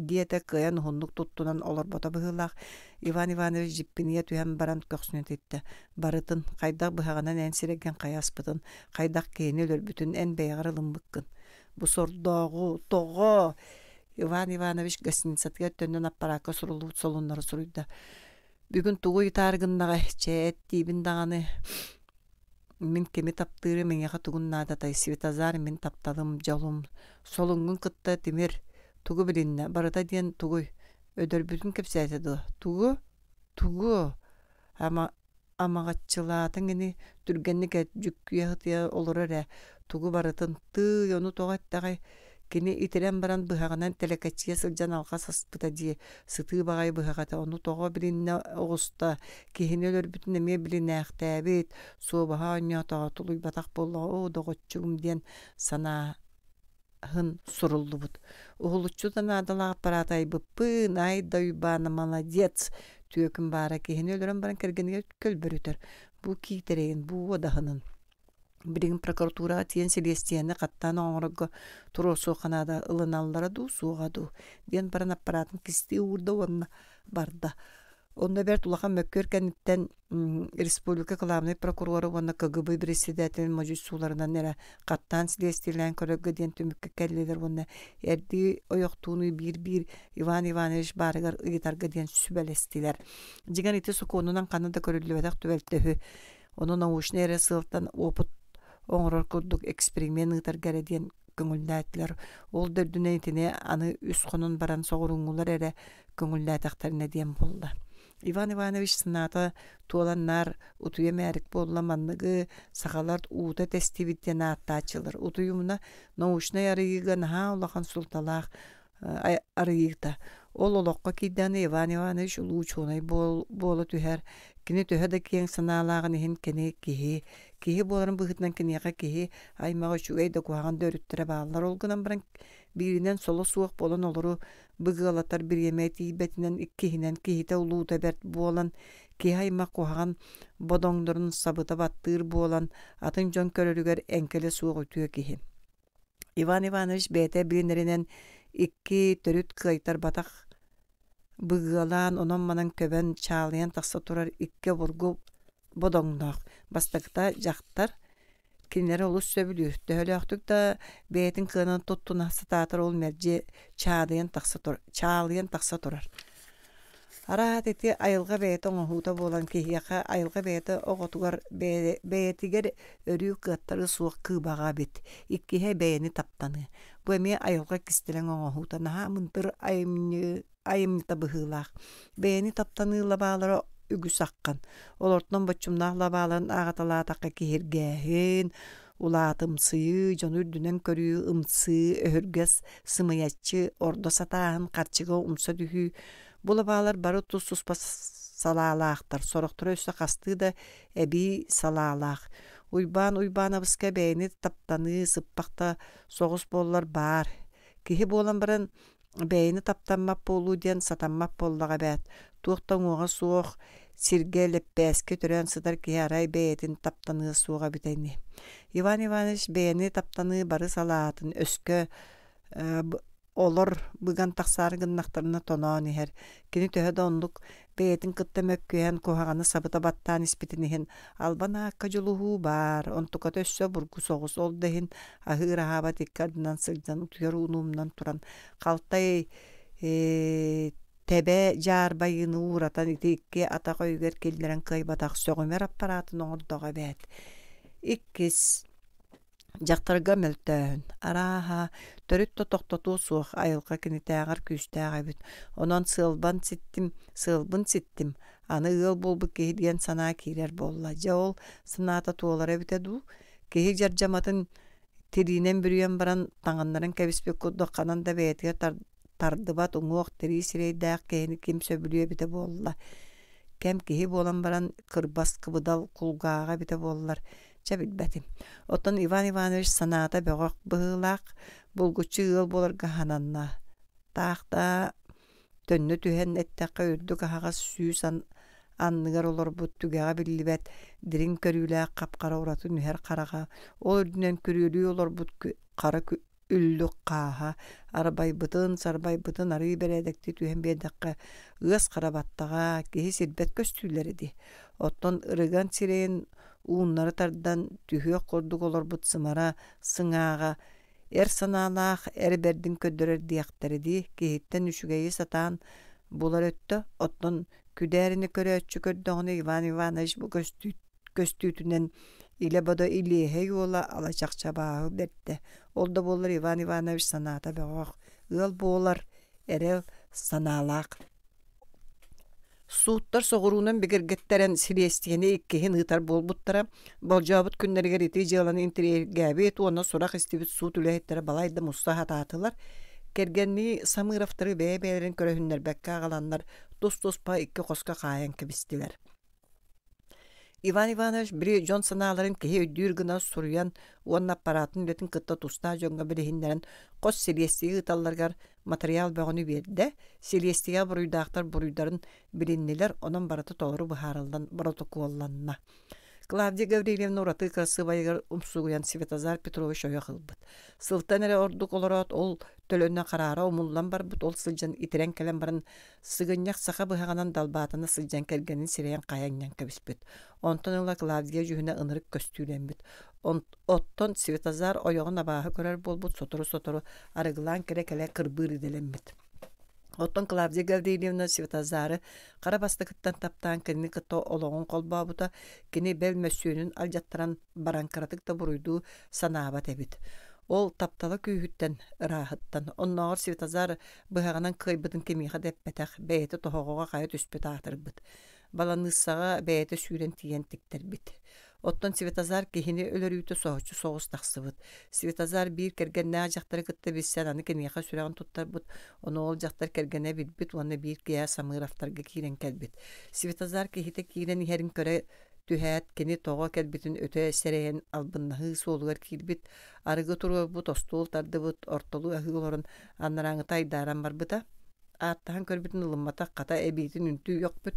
диэтэ кыайан уһуннук туттунан олорбото быһыылаах. Иван Иванович дьиппинийэ түһэн баран көхсүнэ титтэ. Барытын, хайдах быһаҕынан эн сирэйгин хайа аспытын, хайдах киһини өлөрбүтүн эн бэйэҕэр ылыммыккын. Бу сордооҕу, тоҕо? Иван Иванович гостиницатыгар төннөн аппараакка суруллубут солуннары суруйда. Бүгүн тугу ыйытаары гыннаҕай? Чэ, эт диибин даҕаны. Мин кими таптыырым эйиэхэ тугун наадатай? Светозар мин тапталым, дьолум. Солуҥҥун кытта тимир. Тугу билиннэ? Барыта диэн тугуй? Өдөрбүтүн кэпсээтэ дуо? Тугу? Тугу? Ама амаҕаччылаатыҥ ини, түргэнник эт, дьүккүйэ сытыйа олорор ээ. Тугу барытын, тыый, ону тоҕо эттэҕэй? Кини итирэн баран быһаҕынан тэлэкэччийэ сылдьан алҕас аспыта дии, сытыы баҕайы быһах этэ, ону тоҕо билиннэ оҕуста, киһини өлөрбүтүн эмиэ билинээхтээбит, суобаһа оонньоотоҕо, тулуйбатах буоллаҕа, оо, доҕоччугум диэн санааһын суруллубут. Уһулуччу да наадалаах аппарааты айбыппын, ай да Уйбаана молодец, түөкүн баара киһини өлөрөн баран кэргэнигэр көлбөрүтэр, бу киитэрэйин, бу уодаһынын. Билигин прокуратураҕа тиийэн силиэстийэни хаттаан оҥорорго туруорсуохха наада ылыналлара дуу, суоҕа дуу диэн баран аппараатын кистии уурда уонна барда. Онно бэрт улахан мөккүөр кэнниттэн республика кылаабынай прокурора уонна КГБ председателин модьуйсууларынан эрэ хаттаан силиэстийэлээн көрөргө диэн түмүккэ кэллилэр уонна эрдии ойохтуунуй биир-биир Иван Иванович баарыгар ыйытарга диэн сүбэлэстилэр. Дьиҥэр ити сокуонунан ханна да көрүллүбэтэх түбэлтэ үһү. Ону научнай эрэ сыалтан опыт оҥорор курдук эксперимент ыытарга эрэ диэн көҥүллээтилэр. Ол да үрдүнэн итини аны үс хонон баран соҕурууҥҥулар эрэ көҥүллээтэхтэринэ диэн буолла. Иван Иванович санаата туолан наар утуйа мээрик буолла манныгы сахалар уута тэстибит диэн ааттааччылар. Утуйумуна научнай арыйыыга наһаа улахан суолталаах арыйыыта. Ол олоххо киирдэҕинэ Иван Иванович улуу учуонай буола түһэр. Кини төһө да киэҥ санаалааҕын иһин кини киһи, киһи буоларын быһыытынан киниэхэ киһи аймаҕа үчүгэй да куһаҕан да өрүттэрэ бааллар. Ол гынан баран бииринэн соло суох буолан олору быгыалатар бириэмэ тиийбэтинэн, иккиһинэн киһитэ улуута бэрт буолан, киһи аймах куһаҕан бодоҥнорун сабыта баттыыр буолан, атын дьон көрөрүгэр эҥкилэ суох үтүө киһи. Иван Иванович бэйэтэ билинэринэн икки төрүт кыайтарбатах Быгыалаан, онон-манан көбөн, чаалыйан тахса турар икки обургу бодоҥноох. Бастакыта дьахтар, кинилэри олус сөбүлүүр. Төһөлөөхтүк да бэйэтин кыанан туттуна сатаатар ол мэлдьи чаадыйан тахса тур, чаалыйан тахса турар. Араат ити айылҕа бэйэтэ оҥоһуута буолан киһиэхэ айылҕа бэйэтэ оҕотугар бэйэтигэр өрүү кыаттары суох кыыбаҕа эбит. Иккиһэ бэйэни таптаныы. Бу эмиэ айылҕа кистэлэҥ оҥоһуута наһаа мындыр айымньы айымньыта быһыылаах. Бэйэни таптаныы лабаалара үгүс аххан. Олортон боччумнаах лабааларын ааҕаталаатахха киһиргээһин, улаатымсыйыы, дьону үрдүнэн көрүү, ымсыы, өһүргэс, сымыйаччы, ордо сатааһын, харчыга умса түһүү. Бу лабаалар бары тус-туспа салаалаахтар, сорохторо өссө хастыы да эбии салаалаах. Уйбаан Уйбаанабыска бэйэни таптаныы сыппах да соҕус буоллар баар. Киһи буолан баран бэйэни таптаммат буолуу диэн сатаммат буоллаҕа эбээт. Туох да уҥуоҕа суох сиргэ лэппээскэ төрөөн сытар киһи арай бэйэтин таптаныа суоҕа эбитэ ини. Иван Иванович бэйэни таптаныы бары салаатын өскө олор быган тахсаары гыннахтарына тоноон иһэр. Кини төһө да оннук бэйэтин кытта мөккүһэн куһаҕаны сабыта баттаан испитин иһин албан аакка дьулуһуу баар, онтуката өссө бургу соҕус ол да иһин аһыыр аһаабат икки ардынан сылдьан утуйар ууну туран халтай э, тэбэ дьаарбайыыны ууратан ити икки атах өйүгэр киллэрэн кыайбатах сөҕүмэр аппараатын оҥордоҕо эбээт. Иккис Дьахтарга мөлтөөһүн. Арааһа, төрүт да тохтотуо суох айылҕа кинитээҕэр күүстээх эбит. Онон сыалбан ситтим, сыалбын ситтим, аны ыал буолбут киһи диэн санаа киирэр буолла. Дьэ ол санаата туолара эбитэ дуу? Киһи дьардьаматын тириинэн бүрүйэн баран таҥыннаран кэбиспит курдук ханан да бэйэтигэр тардыбат уҥуох тирии сирэйдээх киһини ким сөбүлүө эбитэ буолла. Кэм киһи буолан баран кырбас кыбыдал кулгааҕа эбитэ буоллар чэ билбэтим. Оттон Иван Иванович санаата бөҕөх быһыылаах, булгуччу ыал буоларга сананна. Таах да төннө түһэн эттэххэ үрдүк аһаҕас сүүс анныгар олорбут түгэҕэ биллибэт дириҥ көрүүлээх хап-хара ураты нүһэр хараҕа, ол үрдүнэн күрүөлүү олорбут хара үллүк хааһа арбайбытын, сарбайбытын арыы бэрээдэктии түһэн биэрдэххэ ыас хара баттаҕа, киһи сирбэт көстүүлэрэ дии. Оттон ырыган сирэйин ууннары тардан түһүөх курдук олорбут сымара сыҥааҕа эр санаалаах эр бэрдин көрдөрөр диэхтэрэ дии киһиттэн үчүгэйи сатаан булар өттө оттон күдээрини көрөөччү көрдөҕүнэ Иван Иванович бу көстүү көстүүтүнэн илэ-бодо илиэһэй уола ала чахчабааһы бэрдэ. Ол да буоллар Иван Иванович санаата бөҕөх, ыал буолар эрэл санаалаах. Сууттар соҕуруунан бигэргэттэрэн силиэстийэни иккиһин ыытар буолбуттара. Болдьообут күннэригэр ити дьыаланы интэриэһиргээбит уонна сурах истибит суут үлэһиттэрэ балайда муста сатаатылар. Кэргэннии Самыровтары бэйэ-бэйэлэрин көрөһүннэрбэккэ аҕаланнар тус-туспа икки хоско хаайан кэбистилэр. Иван Иванович били дьон санааларын киһи өйдүүр гына суруйан уонна аппараатын үлэтин кытта тустаах дьоҥҥо билиһиннэрэн хос силиэстийэ ыыталларыгар матырыйаал бөҕөнү биэрдэ. Силиэстийэ буруйдаахтар буруйдарын билиннилэр, онон барыта толору быһаарыллан боротокуолланна. Клавдия Гаврильевна ураты кырасыабайыгар умсугуйан Светозар Петрович ойох ылбыт. Сылтан эрэ ордук олороот ол төлөнө хараара умуллан барбыт, ол сылдьан итирэн кэлэн баран сыгынньах саха быһаҕынан далбаатана сылдьан кэргэнин сирэйин хайа анньан кэбиспит. Онтон ыла Клавдия дьүһүнэ ынырык көстүүлэммит. Оттон Светозар ойоҕун абааһы көрөр буолбут, сотору-сотору арыгылаан кэлэ-кэлэ кырбыыр идэлэммит. Оттон Клавдия Гаврильевна Светозары хара бастакыттан таптаан кинини кытта олоҕун холбообута, кини бэл мөссүөнүн алдьаттаран баран кыратык да буруйдуу санаабат эбит. Ол таптала күүһүттэн, ырааһыттан. Оннооҕор Светозар быһаҕынан кыайбытын кимиэхэ да эппэтэх, бэйэтэ тоһоҕоҕо хайа түспүт аатырбыт. Баланыыссаҕа бэйэтэ сүүрэн тиийэн тиктэрбит. Оттон Светозар киһини өлөрүүтэ соһуччу соҕус тахсыбыт. Светозар биир кэргэннээх дьахтары кытта билсэн аны киниэхэ сүрэҕин туттарбыт, ону ол дьахтар кэргэнэ билбит уонна биир киэһэ Самыровтарга киирэн кэлбит. Светозар киһитэ киирэн иһэрин көрө түһээт, кини тоҕо кэлбитин өтө сэрэйэн албыннаһыы суолугар киирбит, арыгы туруорбут, остуол тардыбыт, ортолуу аһыы олорон анарааҥыта айдааран барбыта. Ааттаһан көрбүтүн ылымматах, хата эбиитин үнтү үөхпүт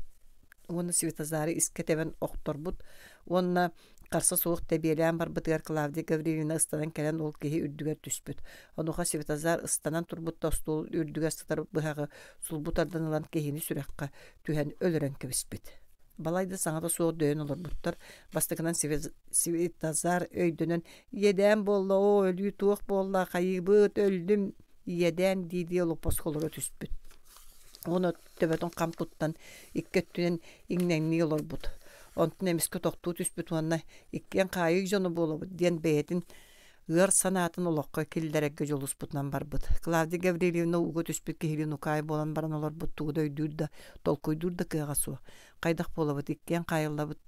уонна Светозары искэ тэбэн охторбут уонна Харса суох тэбиэлээн барбытыгар Клавдия Гаврильевна ыстанан кэлэн ол киһи үрдүгэр түспүт. Онуоха Светозар ыстанан турбут да остуол үрдүгэр сытар быһаҕы сулбу тардан ылан киһини сүрэххэ түһэн өлөрөн кэбиспит. Балайда саҥата суох дөйөн олорбуттар. Бастакынан Светозар өйдөнөн «Иэдээн буолла, оо, өлүү туох буолла, хайыыбыт, өллүм, иэдээн» дии-дии олоппоско олоро түспүт. Уонна төбөтүн хам туттан икки өттүнэн иҥнэҥнии олорбут. Онтун эмискэ тохтуу түспүт уонна иккиэн хаайыы дьоно буолабыт диэн бэйэтин ыар санаатын олоххо киллэрэргэ дьулуспутунан барбыт. Клавдия Гаврильевна ууга түспүт киһилиин укаай буолан баран олорбут тугу да өйдүүр да, толкуйдуур да кыаҕа суох. Хайдах буолабыт, иккиэн хаайыллабыт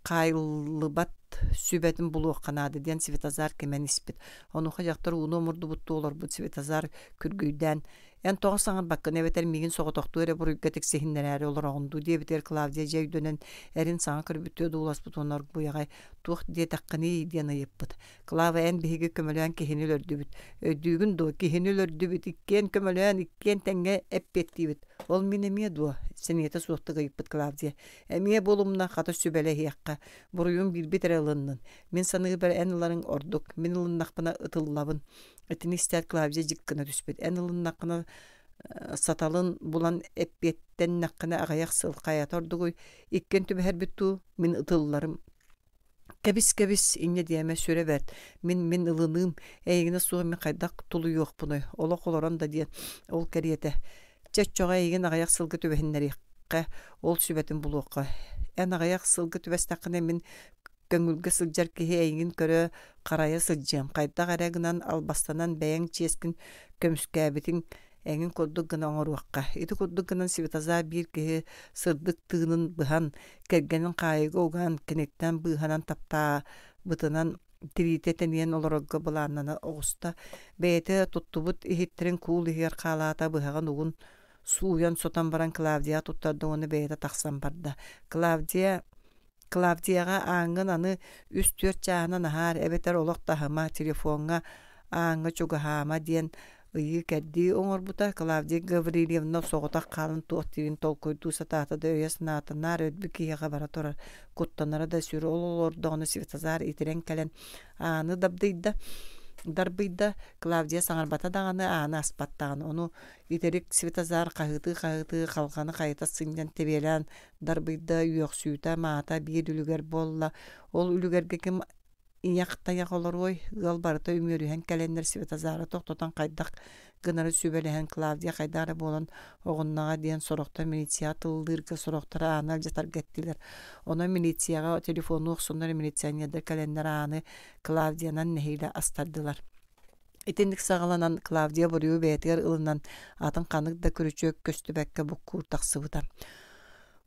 хаайыллыбат сүбэтин булуохха наада диэн Светозар кимэн испит. Онуоха дьахтар ууну омурдубуттуу олорбут Светозар күргүйдээн «Эн тоҕо саҥарбаккын эбэтэр миигин соҕотохтуу эрэ буруйга тиксиһиннэрээри олороҕун дуу?» диэбитигэр Клавдия дьэ өйдөнөн эрин саҥа көрбүттүү одууласпыт уонна оргууй аҕай «Туох диэтэххиний?» диэн ыйыппыт. «Клава, эн биһиги көмөлөөн киһини өлөрдүбүт. Өйдүүгүн дуо, киһини өлөрдүбүт, иккиэн көмөлөөн, иккиэн тэҥҥэ эппиэттиибит. Ол мин эмиэ дуо?» сэниэтэ суохтук ыйыппыт Клавдия. «Эмиэ буолумна, хата сүбэлэһиэххэ. Буруйун биирбит эрэ ылыннын. Мин саныыбар эн ыларыҥ ордук. Мин ылыннахпына ытыллабын». Итини истээт Клавдия дьик гына түспүт. Эн ылыннаххына саталын булан эппиэттэннэххинэ аҕыйах сыл хайата ордугуй, иккиэн түбэһэрбит дуу, мин ытылларым. Кэбис-кэбис, инньэ диэмэ, сүрэ бэрт. Мин мин ылыныым, эйигинэ суох мин хайдах тулуйуохпунуй, олох олорон да диэн, ол кэриэтэ. Чэ, оччоҕо эйигин аҕыйах сылга түбэһиннэриэххэ, ол сүбэтин булуохха. Эн аҕыйах сылга түбэстэххинэ мин көҥүлгэ сылдьар киһи эйигин көрө, харайа сылдьыам. Хайдах эрэ гынан албастанан бэйэҥ чиэскин көмүскээбитиҥ эҥин курдук гына оҥоруохха. Ити курдук гынан Светозар биир киһи сырдык тыынын быһан, кэргэнин хаайыыга уган, киниттэн быыһанан таптаабытынан тириитэ тэнийэн олорорго былааннана оҕуста. Бэйэтэ туттубут иһиттэрин куул иһигэр хаалаата, быһаҕын угун сууйан сотон баран Клавдияҕа туттарда уонна бэйэтэ тахсан барда. Клавдия Клавдияҕа ааҥҥын аны үс-түөрт чааһынан аһаар эбэтэр олох таһыма, телефоҥҥа ааҥҥа чугаһаама диэн ыйыы-кэрдии оҥорбута. Клавдия Гаврильевна соҕотох хаалан туох диирин толкуйдуу сатаата да өйө-санаата наар өлбүт киһиэхэ бара турар, куттанара да сүр. Ол олордоҕуна Светозар итирэн кэлэн ааны дабдыйда, дарбыйда. Клавдия саҥарбата даҕаны, ааны аспат даҕаны. Ону итирик Светозар хаһыытыы-хаһыытыы халҕаны хайыта сынньан тэбиэлээн дарбыйда, үөхсүүтэ, маата биир үлүгэр буолла. Ол үлүгэргэ ким ийэх-тайах олоруой, ыал барыта үмүөрүһэн кэлэннэр Светозары тохтотон хайдах гынары сүбэлэһэн Клавдия хайдах эрэ буолан оҕуннаҕа диэн сорохтор милицияҕа тыллыырга, сорохтор ааны алдьатарга эттилэр. Онон милицияҕа телефоннуу охсоннор милиционердар кэлэннэр ааны Клавдиянан нэһиилэ астардылар. Итинник саҕаланан Клавдия буруйу бэйэтигэр ылынан атын ханнык да күрүчүөк көстүбэккэ буккуур тахсыбыта.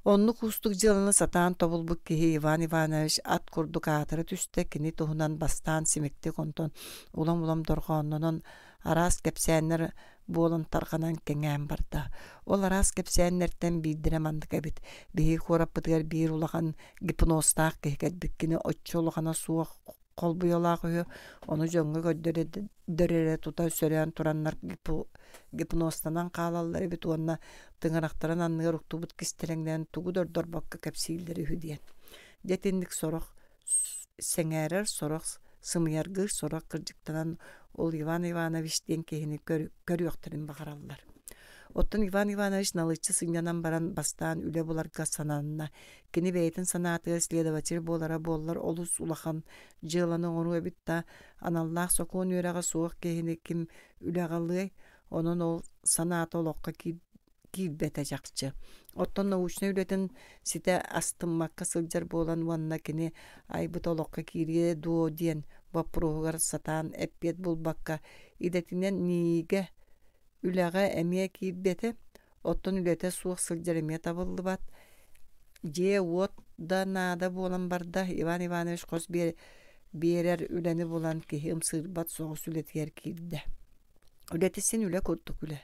Оннук уустук дьыаланы сатаан тобулбут киһи Иван Иванович ат курдук аатыра түстэ, кини туһунан бастаан симиктик, онтон улам-улам дорҕооннонон араас кэпсээннэр буолан тарҕанан кэҥээн барда. Ол араас кэпсээннэртэн биирдэрэ маннык эбит. Биһиги куораппытыгар биир улахан гипнозтаах киһи кэлбит. Кини оччо улахана суох холбуйалаах үһү, ону дьоҥҥо көрдөрөр эрэ тута сөрөөн тураннар гипнозтанан хаалаллар эбит уонна тыҥырахтарын анныгар уктубут кистэлэҥнэрин тугу да ордорбокко кэпсииллэр үһү диэн. Дьэ итинник сорох сэҥээрэр, сорох сымыйаргыыр, сорох кырдьыктанан ол Иван Иванович диэн киһини көрүөхтэрин баҕараллар. Оттон Иван Иванович налыччы сынньанан баран бастаан үлэ буларга сананна. Кини бэйэтин санаатыгар следователь буолара буоллар олус улахан дьыаланы оҥоруо эбит да, аналлаах сокуон үөрэҕэ суох киһини ким үлэҕэ ылыай, онон ол санаата олоххо киирбэтэ чахчы. Оттон научнай үлэтин ситэ астыммакка сылдьар буолан уонна кини айбыт олоххо киириэ дуо диэн боппуруоһугар сатаан эппиэт булбакка идэтинэн НИИгэ үлэҕэ эмиэ киирбэтэ, оттон үлэтэ суох сылдьар эмиэ табыллыбат. Дьиэ-уот да наада буолан барда. Иван Иванович хос биэрэр үлэни булан киһи ымсыырбат соҕус үлэтигэр киирдэ. Үлэтэ син үлэ курдук үлэ,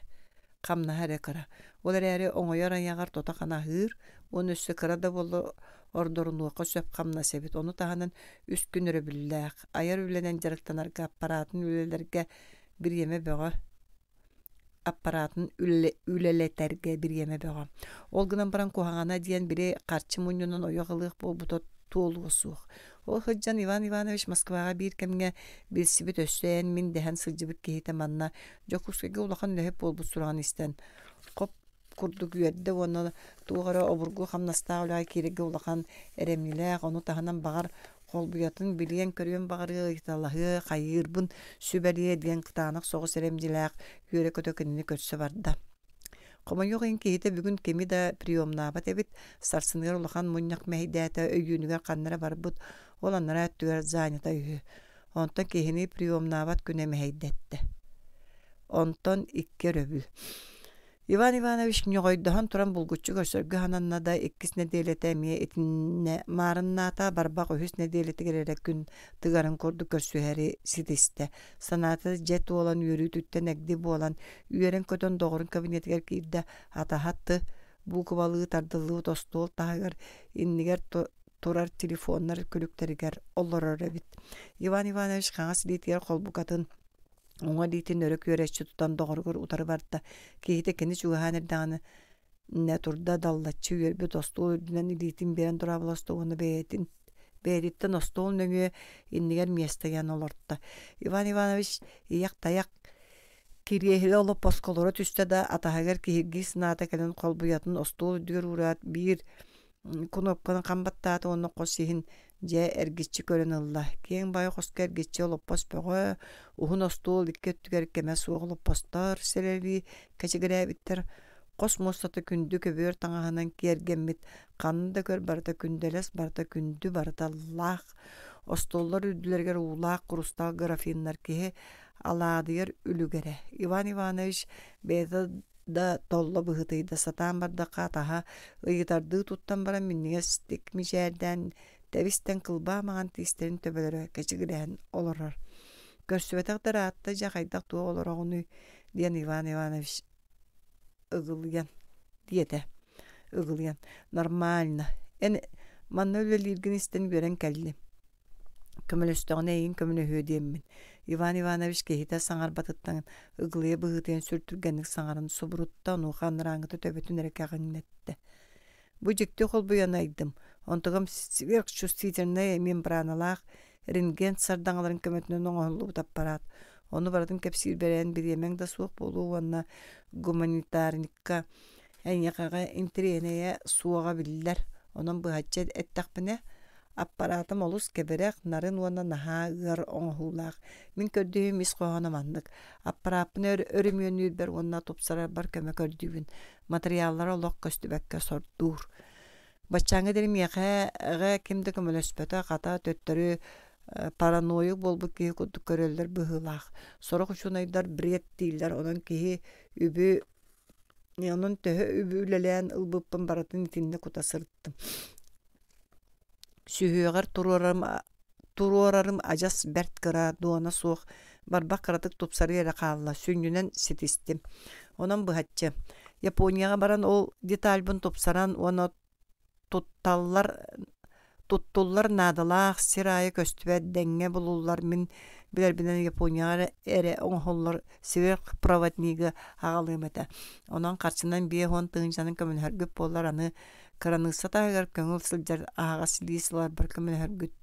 хамнаһа эрэ кыра. Ол эрээри оҥойор айаҕар тото-хана аһыыр уонна өссө кыра да буоллар ордорунуохха сөп хамнас эбит. Ону таһынан үс күн өрөбүллээх, айар үлэнэн дьарыктанарга аппараатын үлэлэргэ бириэмэ бөҕө аппараатын үлэлэтэргэ бириэмэ бөҕө. Ол гынан баран куһаҕана диэн били харчы мунньунан ойох ылыах буолбута туолуо суох. Ол сылдьан Иван Иванович Москваҕа биир кэмҥэ билсибит өссө эн мин дэһэн сылдьыбыт киһитэ манна Дьокуускайга улахан үлэһит буолбут сураҕын истэн хоп курдук үөрдэ уонна туох эрэ обургу хамнастаах үлэҕэ киирэргэ улахан эрэмньилээх, ону таһынан баҕар холбуйатын билиэн-көрүөн баҕарыа, ыйыталаһыа, хайыырбын сүбэлиэ диэн кытаанах соҕус эрэмньилээх үөрэ-көтө кинини көрсө барда. Хомойуох иһин киһитэ бүгүн кими да приемнаабат эбит, сарсыныгар улахан мунньах мэһэйдээтэ, өйүүнүгэр ханна эрэ барбыт, ол анараа өттүгэр занята үһү. Онтон киһини приемнаабат күнэ мэһэйдэттэ. Онтон икки өрөбүл. Иван Иванович ньоҕойдоһон туран булгуччу көрсөргө сананна да иккис нэдиэлэтэ эмиэ итиннэ маарыннаата, барбах үһүс нэдиэлэтигэр эрэ күн тыгарын курдук көрсүһэри ситистэ. Санаата дьэ туолан үөрүүтүттэн эгди буолан, үөрэн-көтөн доҕорун кабинетыгар киирдэ, атаһа Т буукубалыы тардыллыбыт остуол таһыгар иннигэр турар телефоннар күлүктэригэр олорор эбит. Иван Иванович хаҥас илиитигэр холбукатын уҥа илиитин өрө күөрэччи тутан доҕоругар утары барда. Киһитэ кини чугаһаан эрдэҕинэ турда даллаччы үөрбүт остуол үрдүнэн илиитин биэрэн дорооболосто уонна бэйэтин бэйэтиттэн остуол нөҥүө иннигэр миэстэ олорто. Иван Иванович ийэх-тайах кириэһилэ олоппоско олоро түстэ да атаһыгар киһиргии санаата кэлэн холбуйатын остуол үрдүгэр уураат биир кунуопканы хам баттаата уонна хос иһин дьэ эргиччи көрөн ылла. Киэҥ баайы хоско эргиччи олоппос бөҕө, уһун остуол икки өттүгэр кэмэ суох олоппостор сэлэлии кэчигирээбиттэр. Хос муостата күндү көбүөр таҥаһынан киэргэммит, ханна да көр барыта күндэлэс, барыта күндү, барыта лаах. Остуоллар үрдүлэригэр уулаах курустаал графиннар киһи алаадыйар үлүгэрэ. Иван Иванович бэйэтэ да толло быһыытыйда сатаан бардахха атаһа ыйытардыы туттан баран минньигэстик мичээрдээн тэбистэн кылбаа маҥан тиистэрин төбөлөрө кэчигирээн олорор. Көрсүбэтэх да ыраатта дьэ хайдах туох олороҕунуй диэн Иван Иванович ыгылыйан диэтэ. Ыгылыйан нормально. Эн манна үлэлииргин истэн үөрэн кэллим. Көмөлөстөҕүнэ эйигин көмөлөһүө диэммин. Иван Иванович киһитэ саҥарбатыттан ыгылыйа быһыытыйан сүр түргэнник саҥаран субурутта, онуоха анарааҥҥыта төбөтүн эрэ кэҕиҥнэттэ. Бу дьикти холбуйан айдым. Онтугам сверхчувствительнай мембраналаах рентген сардаҥаларын көмөтүнэн оҥоһуллубут аппарат. Ону барытын кэпсиир бэрээн бириэмэҥ да суох буолуо уонна гуманитарникка эйиэхэҕэ интэриэһинэйэ суоҕа биллэр. Онон быһаччы эттэхпинэ, аппаратым олус кэбирэх, нарын уонна наһаа ыар оҥоһуулаах. Мин көрдүүм ис хоһооно маннык. Аппарааппын өрөмүөннүүрбэр уонна тупсарарбар көмө көрдүүбүн. Материаллара олох көстүбэккэ сордуур. Баччааҥҥа диэри миэхэ ким да көмөлөспөтө, хата төттөрү параноик буолбут киһи курдук көрөллөр быһыылаах. Сорох учуонайдар бред дииллэр, онон киһи үбү онон төһө үбү үлэлээн ылбыппын барытын итиннэ кута сырыттым. Сүһүөҕэр туруорарым, туруорарым адьас бэрт кыра, дуона суох, барбах кыратык тупсарыы эрэ хаалла, сүнньүнэн ситистим. Онон быһаччы. Японияҕа баран ол детальбын тупсаран уонна тутталлар туттуллар наадалаах сир аайы көстүбэт дэҥҥэ булуллар мин билэрбинэн Японияҕа эрэ оҥоһуллар сверхпроводнигы аҕалыам этэ. Онон харчынан биэс уон тыһыынчанан көмөлөһөргүт буоллар аны кыраныысса таһыгар көҥүл сылдьар аһаҕас лиис ыларбар көмөлөһөргүт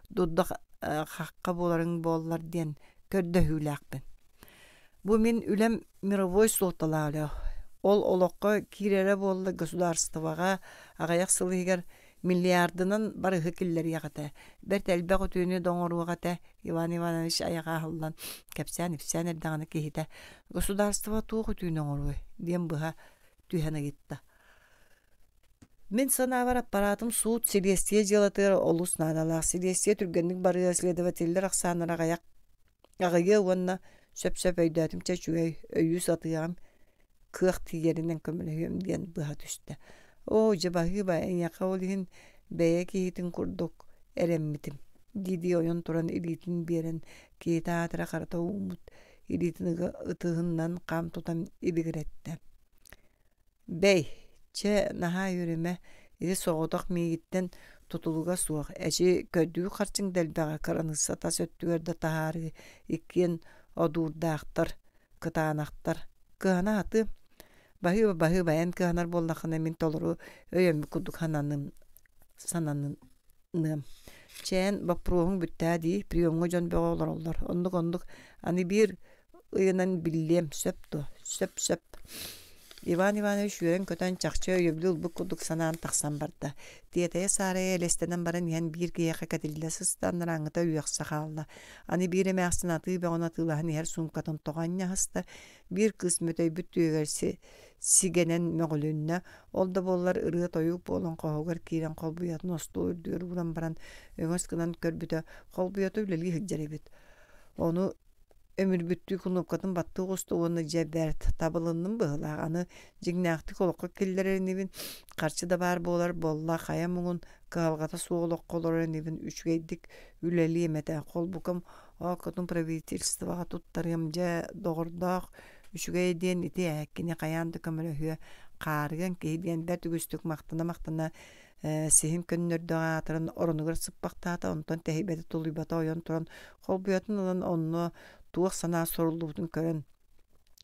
дурда хахха буоларыҥ буоллар диэн көрдөһүүлээхпин. Бу мин үлэм мировой суолталаах үлэ. Ол олоххо киирэрэ буолла государствоҕа аҕыйах сыл иһигэр миллиардынан барыһы киллэриэх этэ. Бэрт элбэх үтүөнү да оҥоруох этэ. Иван Иванович айаҕа аһыллан кэпсээн-ипсээн эрдэҕинэ киһитэ «Государство туох үтүөнү оҥоруой?» диэн быһа түһэн ыйытта. Мин санаабар аппаратым суут силиэстийэ дьыалатыгар олус наадалаах. Силиэстийэ түргэнник барыа, следователлэр ахсааннара аҕыйах аҕыйыа уонна сөп-сөп өйдөөтүм чэ үчүгэй өйүү сатыаҕым кыах тиийэринэн көмөлөһүөм диэн быһа түстэ. Оо, дьэ баһыыба, эйиэхэ ол иһин бэйэ киһитин курдук эрэммитим дии-дии ойон туран илиитин биэрэн киһитэ аатыра харата ууммут илиитин ытыһынан хам тутан ибигирэттэ. Бэй, чэ, наһаа үөрүмэ, ити соҕотох миигиттэн тутулуга суох, эчи көрдүү харчыҥ да элбэҕэ, кыраныысса тас өттүгэр да таһаарыы иккиэн одуурдаахтар, кытаанахтар. Кыһана аты баһыыба баһыыба эн кыһанар буоллаххына мин толору өйөммүт курдук сананым сананын Чээн, боппуруоһуҥ бүттээ дии, приемҥа дьон бөҕө олороллор. Оннук-оннук, аны биир ыйынан биллиэм, сөп дуо? Сөп-сөп. Иван Иванович үөрэн-көтөн чахчы өйөбүлү ылбыт курдук санаан тахсан барда. Тиэтэйэ-саарайа элэстэнэн баран иһэн биир киһиэхэ кэтиллэ сыста, анарааҥҥыта үөхсэ хаалла. Аны биир эмээхсин атыы бөҕөнү атыылаһан иһэр суумкатын тоҕо анньаһыста, биир кыыс мөтөйбүт түөһүгэр сигэнэн мөҕүлүннэ, ол да буоллар ырыа-тойук буолан хоһугар киирэн холбуйатын остуол үрдүгэр ууран баран өҥөс гынан көрбүтэ, холбуйата үлэлии сылдьар эбит. Ону өмүрбүттүү кунуопкатын баттыы оҕуста уонна дьэ бэрт, табылынным быһыылаах, аны дьиҥнээхтик олоххо киллэрэр инибин, харчы да баар буолар буолла, хайа муҥун кыһалҕата суох олоххо олорор инибин, үчүгэйдик үлэлиэм этэ, холбукам ооккотун правительствоҕа туттарыам, дьэ доҕордоох үчүгэй диэн ити ээ, кини хайаан да көмөлөһүө, хаарыан киһи диэн бэрт үгүстүк махтана-махтана сиһин көннөрдөөх аатыран оронугар сыппахтаата, онтон тэһийбэтэ тулуйбата ойон туран холбуйатын ылан онно туох санаа суруллубутун көрөн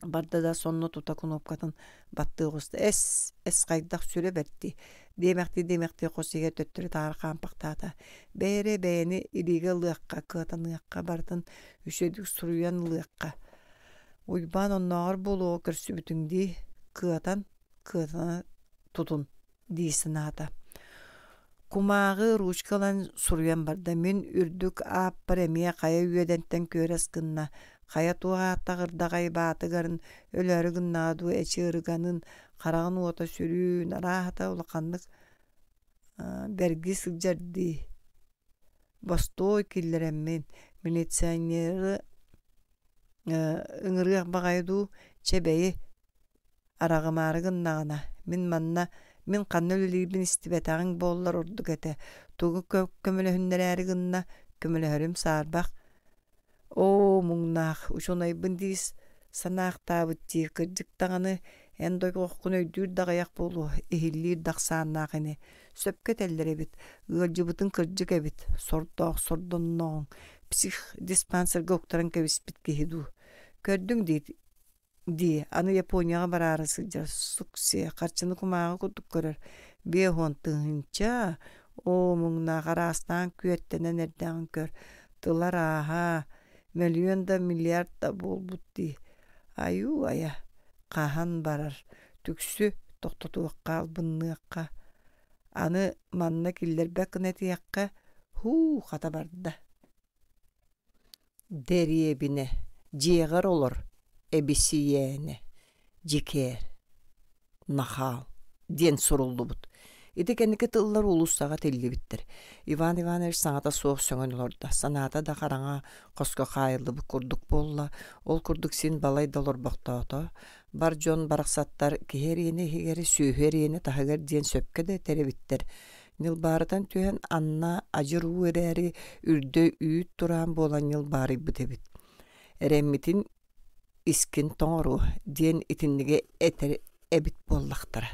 барда да сонно тута кунуопкатын баттыы оҕуста. Эс, эс хайдах сүрэ бэрти диэмэхтии диэмэхтии хос иһигэр төттөрү таары хаампахтаата. Бэйэрэ бэйэни илиигэ ылыахха, кыатаныахха, барытын үчүгэйдик суруйан ылыахха. Уйбаан оннооҕор буолуоҕу көрсүбүтүҥ дии, кыатан, кыатана тутун дии санаата. Кумааҕы, ручка ылан суруйан барда. Мин үрдүк ааппар эмиэ хайа үөдэнтэн күөрэс гынна, хайа туох ааттаах баатыгарын өлөөрү гыннаҕа дуу, эчи ырыганын, хараҕын уота сүрүүн, арааһата улаханнык бэрги сылдьар дии. Бостуой киллэрэммин, милиционеры ыҥырыах баҕайы дуу, чэ бэйи, араҕымаары гыннаҕына, мин манна мин ханна үлэлиирбин истибэтэҕиҥ буоллар ордук этэ, тугу көмөлөһүннэрээри гынна, көмөлөһөрүм саарбах. Оо, муҥнаах, учуонайбын дии санаахтаабыт дии, кырдьык даҕаны, эн дойҕоххун өйдүүр да аҕыйах буолуо, иһиллиир да ахсааннаах ини. Сөпкө этэллэр эбит, ыалдьыбытыҥ кырдьык эбит, сордоох сордонноҕуҥ, психдиспансерга уктаран кэбиспит киһи дуу. Көрдүҥ дии дии, аны Японияҕа бараары сылдьар, суксия, харчыны кумааҕы курдук көрөр, биэс уон тыһыынча, оо, муҥнаах араастаан күөттэнэн эрдэҕин көр, тыла арааһа, мөлүйүөн да миллиард да буолбут дии, айуу-айа, хаһан барар, түксү, тохтотуохха, албынныахха, аны манна киллэрбэт гына этиэххэ, һуу, хата барда. Дэриэбинэ, дьиэҕэр олор, эбисийээнэ, дьикээр, нахаал диэн суруллубут. Ити кэнники тыллар уулуссаҕа тиллибиттэр. Иван Иванович саҥата суох сөҥөн олордо. Санаата да хараҥа хоско хаайыллыбыт курдук буолла. Ол курдук син балай да олорбохтоото. Бар дьон барахсаттар киһи эриэнэ иһигэр, сүөһү эриэнэ таһыгар диэн сөпкө да этэр эбиттэр. Ньылбаарытан түһэн анна адьыр уу эрээри үрдэ үүт тураан буолан ньылбаарыйбыт эбит. Эрэммитин искин тоҥоруо диэн итинниги этэр эбит буоллахтара.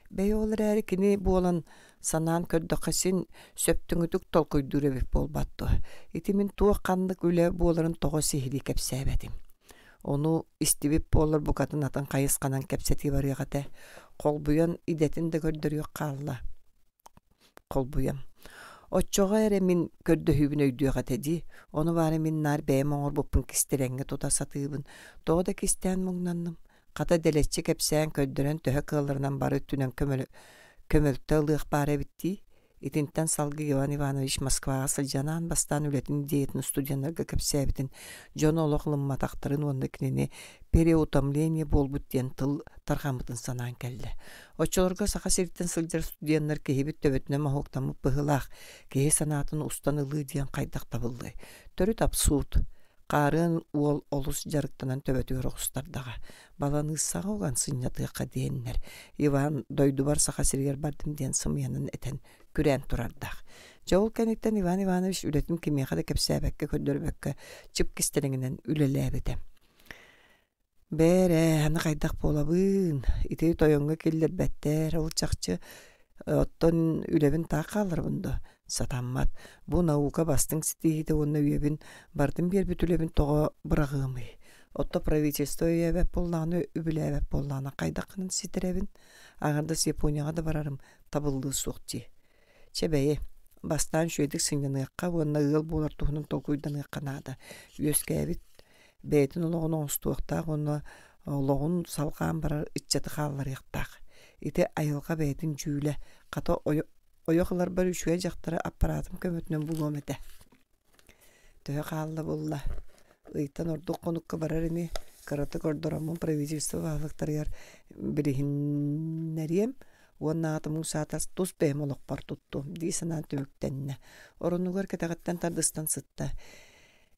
Бэйэ ол эрээри кини буолан санаан көрдөххө син сөптөҥүтүк толкуйдуур эбит буолбат дуо. Ити мин туох ханнык үлэ буоларын тоҕо сиһилии кэпсээбэтим. Ону истибит буоллар букатын атын хайысханан кэпсэтии барыах этэ. Холбуйан идэтин да көрдөрүөх хаалла. Холбуйан. Оччоҕо эрэ мин көрдөһүүбүн өйдүөх этэ дии. Ону баара мин наар бэйэм оҥорбуппун кистэлэҥҥэ тута сатыыбын. Тоҕо да кистээн муҥнанным. Хата дэлэччи кэпсээн көрдөрөн төһө кыалларынан бары өттүнэн көмөлө көмөлтө ылыах баар эбит дии. Итинтэн салгыы Иван Иванович Москваҕа сылдьан аан бастаан үлэтин идеятын студеннарга кэпсээбитин, дьон олох ылымматахтарын уонна кинини переутомление буолбут диэн тыл тарҕаммытын санаан кэллэ. Оччолорго Саха сириттэн сылдьар студеннар киһибит төбөтүнэн моһуоктаммыт быһыылаах, киһи санаатын устан ылыы диэн хайдах табыллыай. Төрүт абсурд. Хаарыан уол олус дьарыктанан төбөтүгэр оҕустардаҕа. Баланыыссаҕа уган сынньатыахха диэннэр. Иван дойдубар Саха сиригэр бардым диэн сымыйанан этэн күрээн турардаах. Дьэ ол кэнниттэн Иван Иванович үлэтин кимиэхэ да кэпсээбэккэ, көрдөрбөккө чып кистэлэҥинэн үлэлээбитэ. Бээрэ, аны хайдах буолабын? Ити тойоҥҥо киллэрбэттэр, ол чахчы оттон үлэбин таах хаалларабын дуо? Сатаммат. Бу наука бастыҥ ситиһиитэ уонна үйэбин барытын биэрбит үлэбин тоҕо быраҕыамый? Отто правительство өйөөбөт буоллаҕына, үбүлээбэт буоллаҕына хайдах гынан ситэрэбин? Аҥардас Японияҕа да барарым табыллыы суох дии. Чэ бэйи, Бастаан үчүгэйдик сынньаныахха уонна ыал буолар туһунан толкуйданыахха наада. Үөскээбит бэйэтин олоҕун оҥостуохтаах уонна олоҕун салҕаан барар ыччаты хаалларыахтаах. Ити айылҕа бэйэтин дьүүлэ. Хата ойох ыларбар үчүгэй дьахтары аппараатым көмөтүнэн булуом этэ. Төһө хаалла булла? Ыйтан ордук хонукка барар ини, кыратык ордороммун правительство баһылыктарыгар билиһиннэриэм уонна аатым саатар тус бэйэм олохпор туттуом дии санаан түмүктэннэ. Оронугар кэтэҕиттэн тардыстан сытта.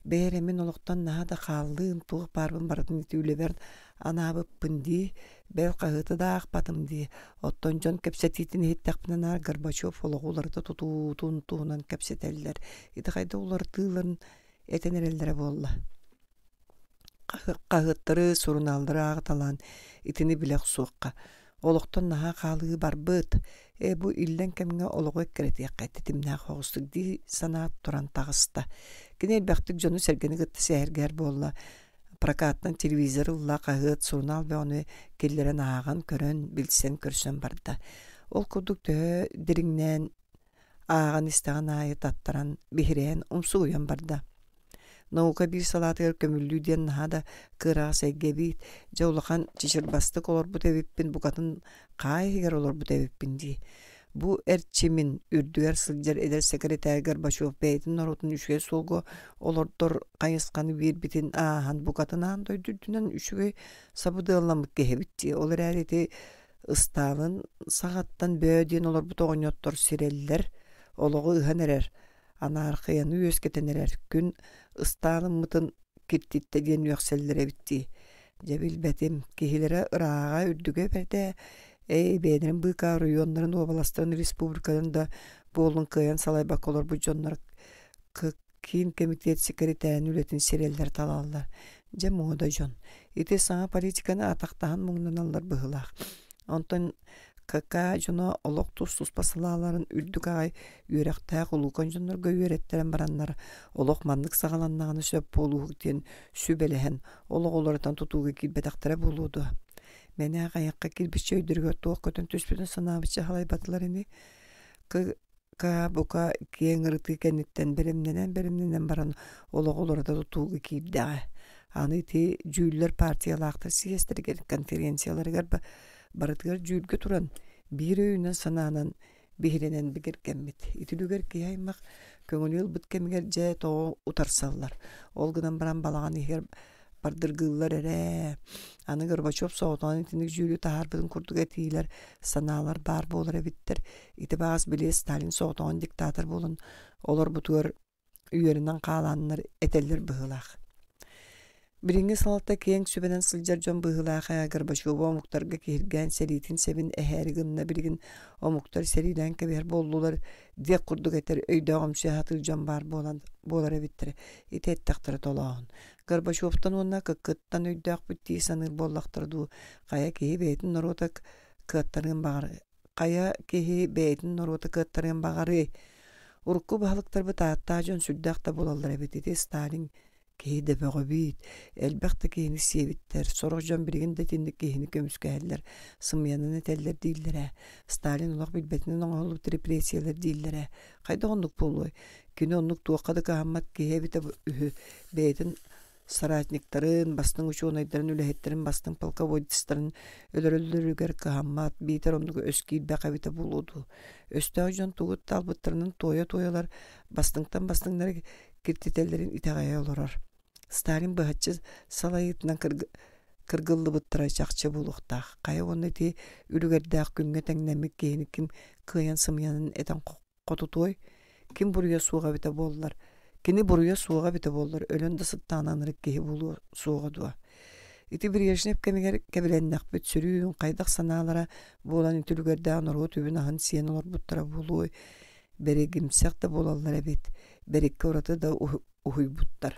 Бэйэ мин олохтон наһаа да хааллыым, туох баарбын барытын ити үлэбэр анаабыппын дии, бэл хаһыаты да аахпатым дии. Оттон дьон кэпсэтиитин иһиттэхпинэ наар Горбачев олоҕу уларыта тутуутун туһунан кэпсэтэллэр. Ити хайда уларытыыларын этэн эрэллэрэ буолла. Хаһыаттары, сурунааллары ааҕыталаан итини билэ охсуохха. Олохтон наһаа хаалыы барбыт. Ээ бу иллэҥ кэмҥэ олоҕу эккирэтиэххэ тэтимнээх оҕустук дии санаат туран таҕыста. Кини элбэхтик дьону-сэргэни кытта сэһэргэһэр буолла. Прокаттан телевизор ылла, хаһыат, сурунаал бөҕөнү киллэрэн ааҕан, көрөн, билсэн, көрсөн барда. Ол курдук төһө дириҥнээн ааҕан истэҕин аайы таттаран, биһирээн, умсугуйан барда. Наука биир салаатыгар көмүллүү диэн наһаа да кыараҕас эйгэ эбит. Дьэ улахан чычырбастык олорбут эбиппин, букатын хаа иһигэр олорбут эбиппин дии. Бу эрчимин үрдүгэр сылдьар эдэр сэкирэтээр Горбачев бэйэтин норуотун үчүгэй суолга олордор хайысханы биэрбитин ааһан букатын аан дойду үрдүнэн үчүгэй сабыдыалламмыт киһи эбит дии. Ол эрээри ити Ыстаалын саҕаттан бөө диэн олорбут оҕонньоттор сирэллэр, олоҕу ыһан эрэр, анаархыйаны үөскэтэн эрэр, күн Ыстаалыммытын киртиттэ диэн үөхсэллэр эбит дии. Дьэ билбэтим, киһилэрэ ырааҕа үрдүгэ бэрдэ, эй бэйэлэрин быыкаа оройуоннарын, уобаластарын, республикаларын да буолун кыайан салайбакка олорбут дьоннор Киин кэмитиэт сэкирэтээрин үлэтин сирэллэр талаллар. Дьэ муода дьон. Ити саҥа политиканы атахтаһан муҥнаналлар быһыылаах. Онтон ка ка дьоно олох тус-туспа салааларын үрдүк аҕай үөрэхтээх улуукан дьоннорго үөрэттэрэн бараннар олох маннык саҕаланнаҕына сөп буолууһук диэн сүбэлэһэн олох уларытан тутууга киирбэтэхтэрэ буолуо дуо? Мэнээх айахха киирбиччэ өйдөрүгэр туох көтөн түспүтүн санаабычча халайбатылар ини. К бука киэҥ ырытыы кэнниттэн бэлэмнэнэн-бэлэмнэнэн баран олоҕу уларыта тутууга киирдэҕэ. Аны ити дьүүллэр партиялаахтар съезтэригэр, конференцияларыгар барытыгар дьүүлгэ туран биир өйүнэн санаанан биһирэнэн бигэргэммит. Ити үлүгэр киһи аймах көҥүлү ылбыт кэмигэр дьэ тоҕо утарсаллар. Ол гынан баран балаҕан иһигэр бардыргыыллар эрэ. Аны Горбачев соҕотоҕун итинник дьүүлү таһаарбытын курдук этиилэр, санаалар баар буолар эбиттэр. Ити баҕас били Сталин соҕотоҕун диктатор буолан олорбутугар үөрэнэн хаалааннар этэллэр быһыылаах. Билиҥҥи салалта киэҥ сүбэнэн сылдьар дьон быһыылаах ээ Горбачеву омуктарга киһиргээн сэриитин сэбин эһээри гынна билигин омуктар сэриилээн кэбиһэр буоллулар диэх курдук этэр өйдөөҕүмсүйэ сатыыр дьон баар буолан буолар эбиттэрэ. Ити эттэхтэрэ толооһун. Горбачевтан уонна Кыккыттан өйдөөхпүт дии саныыр буоллахтара дуу, хайа киһи бэйэтин норуота кыаттарыан баҕар хайа киһи бэйэтин норуота кыаттарыан баҕарыай? Урукку баһылыктарбыт ааттаах дьон сүрдээх да буолаллар эбит. Ити Сталин киһи да бөҕө эбит. Элбэх да киһини сиэбиттэр. Сорох дьон билигин да итинник киһини көмүскэһэллэр, сымыйанан этэллэр дииллэрэ. Сталин олох билбэтинэн оҥоһуллубут репрессиялар дииллэрэ. Хайдах оннук буолуой? Кини оннук туохха да кыһаммат киһи эбитэ үһү. Бэйэтин соратниктарын, бастыҥ учуонайдарын, үлэһиттэрин, бастыҥ полководецтарын өлөрөллөрүгэр кыһаммат, биитэр оннук өс киирбэх эбитэ буолуо дуу. Өстөөх дьон тугу талбыттарынан туойа-туойалар бастыҥтан бастыҥнары киртитэллэрин итэҕэйэ олорор. Сталин быһаччы салайыытынан кыргыллыбыттара чахчы буолуохтаах. Хайа уонна ити үлүгэрдээх күҥҥэ тэҥнэммит киһини ким кыайан сымыйанан этэн хотутуой? Ким буруйа суоҕа эбитэ буоллар? Кини буруйа суоҕа эбитэ буоллар, өлөн да сыттаҕына ынырык киһи буолуо суоҕа дуо? Ити Брежнев кэмигэр кэбилэннэхпит сүрүн хайдах санаалара буолан ити үлүгэрдээх норуот үбүн-аһын сиэн олорбуттара буолуой? Бэригимсэх да буолаллар эбит, бэриккэ ураты да уһуйбуттар.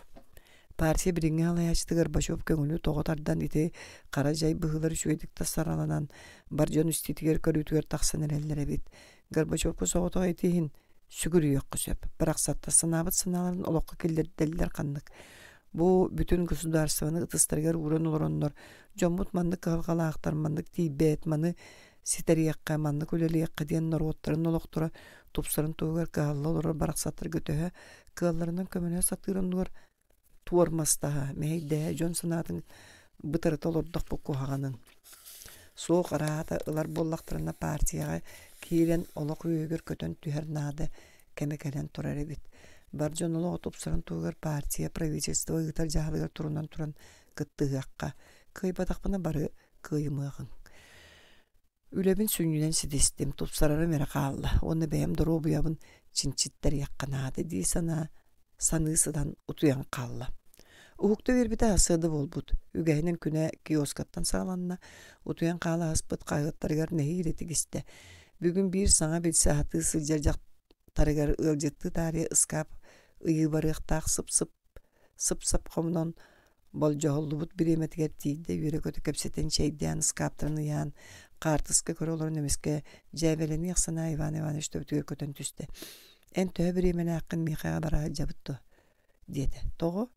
Партия билиҥҥи салайааччыта Горбачев көҥүлү тоҕо тардан ити хара дьай быһыылар үчүгэйдик да сараланан бар дьон истиитигэр көрүүтүгэр тахсан эрэллэр эбит. Горбачевка соҕотох ити иһин сүгүрүйүөххэ сөп. Барахсаттар санаабыт санааларын олоххо киллэрдэллэр ханнык. Бу бүтүн государствоны ытыстарыгар ууран олороннор дьоммут маннык кыһалҕалаахтар, маннык тиийбэт, маны ситэриэххэ, маннык үлэлиэххэ диэн норуоттарын олохторо тупсарын туһугар кыһалла олорор барахсаттарга төһө кыалларынан көмөлөһө сатыыр оннугар туормастаһа, мэһэйдэһэ, дьон санаатын бытарыта олордохпут куһаҕанын. Суох араата ылар буоллахтарына партияҕа киирэн олох үөһүгэр көтөн түһэр наада кэмэ кэлэн турар эбит. Бар дьон олоҕо тупсарын туһугар партия, правительство ыытар дьаһалыгар турунан туран кыттыһыахха. Кыайбатахпына бары кыайымыаҕыҥ. Үлэбин сүнньүнэн ситистим, тупсарарым эрэ хаалла уонна бэйэм доруобуйабын чинчиттэриэххэ наада дии санаа саныы сытан утуйан хаалла. Уһукта биэрбитэ сарсыарда буолбут. Үгэһинэн күнэ киоскаттан саҕаланна, утуйан хаала аспыт хаһыаттарыгар нэһиилэ тигистэ. Бүгүн биир саҥа билсэ сатыы сылдьар дьахтарыгар ыалдьыттыы таарыйа ыскаап ыйыы барыахтаах сып-сып сып-сап хомунан болдьоһуллубут бириэмэтигэр тиийдэ үөрэ-көтө кэпсэтэн чэйдээн ыскааптарын ыйаан хаартыска көрө олорон эмискэ дьээбэлэниэх санаа Иван Иванович төбөтүгэр көтөн түстэ. Эн төһө бириэмэлээххин миэхэ бара сылдьабыт дуо? диэтэ. Тоҕо?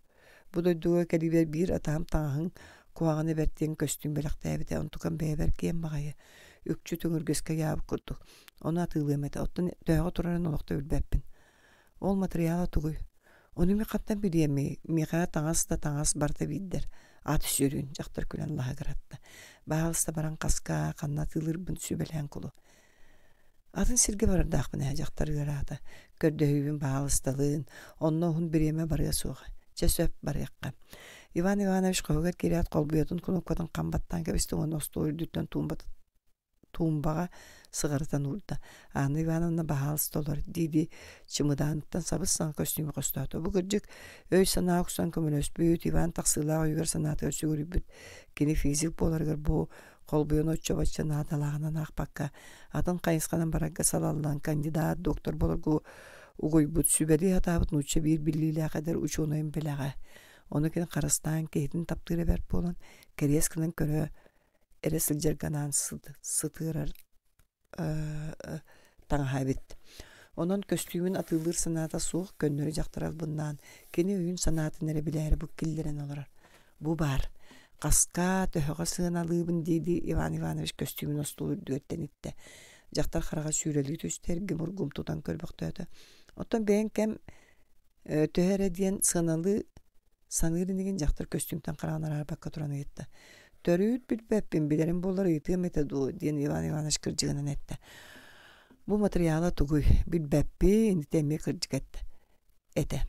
Бу дойдуга кэлиибэр биир атаһым таҥаһыҥ куһаҕаны бэрт диэн көстүүм бэлэхтээбитэ, онтукам бэйэбэр киэн баҕайы, үкчү төҥүргэскэ ыйаабыт курдук. Ону атыылыам этэ, оттон төһөҕө турарын олох да билбэппин. Ол матырыйаала тугуй? Ону мин хантан билиэмий, миэхэ таҥас да таҥас барыта биирдэр. Ат сүрүн, дьахтар күлэн лаһыгыратта. Баһаалыста баран хаска, ханна атыылыырбын сүбэлээн кулу. Атын сиргэ барардаахпын ээ, дьахтар ыараата. Көрдөһүүбүн баһаалысталыын, онно уһун бириэмэ барыа суоҕа. Чэ сөп, барыахха. Иван Иванович хоһугар киирээт холбуйатын кунуопкатын хам баттаан кэбистэ уонна остуол үрдүттэн туумбатын туумбаҕа сыҕарытан уурда. Анна Ивановна баһаалыста олор дии-дии чымыдааныттан сабыс-саҥа көстүүмү хостоото. Бу кырдьык өй-санаа охсон көмөлөспүт, Иван тахсыылаах өйүгэр-санаатыгар сүгүрүйбүт. Кини физик буоларыгар бу холбуйан оччо-бачча наадалааҕынан аахпакка, атын хайысханан барарга салаллан кандидат, доктор буоларга угуйбут, сүбэлии сатаабыт нуучча биир биллиилээх эдэр учуонайын бэлэҕэ. Ону кини харыстаан киһитин таптыыра бэрт буолан, кэриэс гынан көрө эрэ сылдьарга анаан сытыарар таҥаһа эбит. Онон көстүүмүн атыылыыр санаата суох, көннөрү дьахтар албыннаан, кини өйүн-санаатын эрэ билээри бу киллэрэн олорор. Бу баар. Хаска, төһөҕө сыаналыыбын дии-дии Иван Иванович көстүүмүн остуол үрдүгэр тэниттэ. Дьахтар хараҕа сүүрэлии түстэ, эргим-ургум тутан көрбөхтөөтө. Оттон бэйэҥ кэм төһө эрэ диэн сыаналыы саныыр инигин дьахтар көстүүмтэн хараҕын араарбакка туран ыйытта. Төрүүт билбэппин, билэрим буоллар ыйытыам этэ дуо, диэн Иван Иванович кырдьыгынан эттэ. Бу матырыйаала тугуй? Билбэппин, ити эмиэ кырдьык эттэ. Этэ.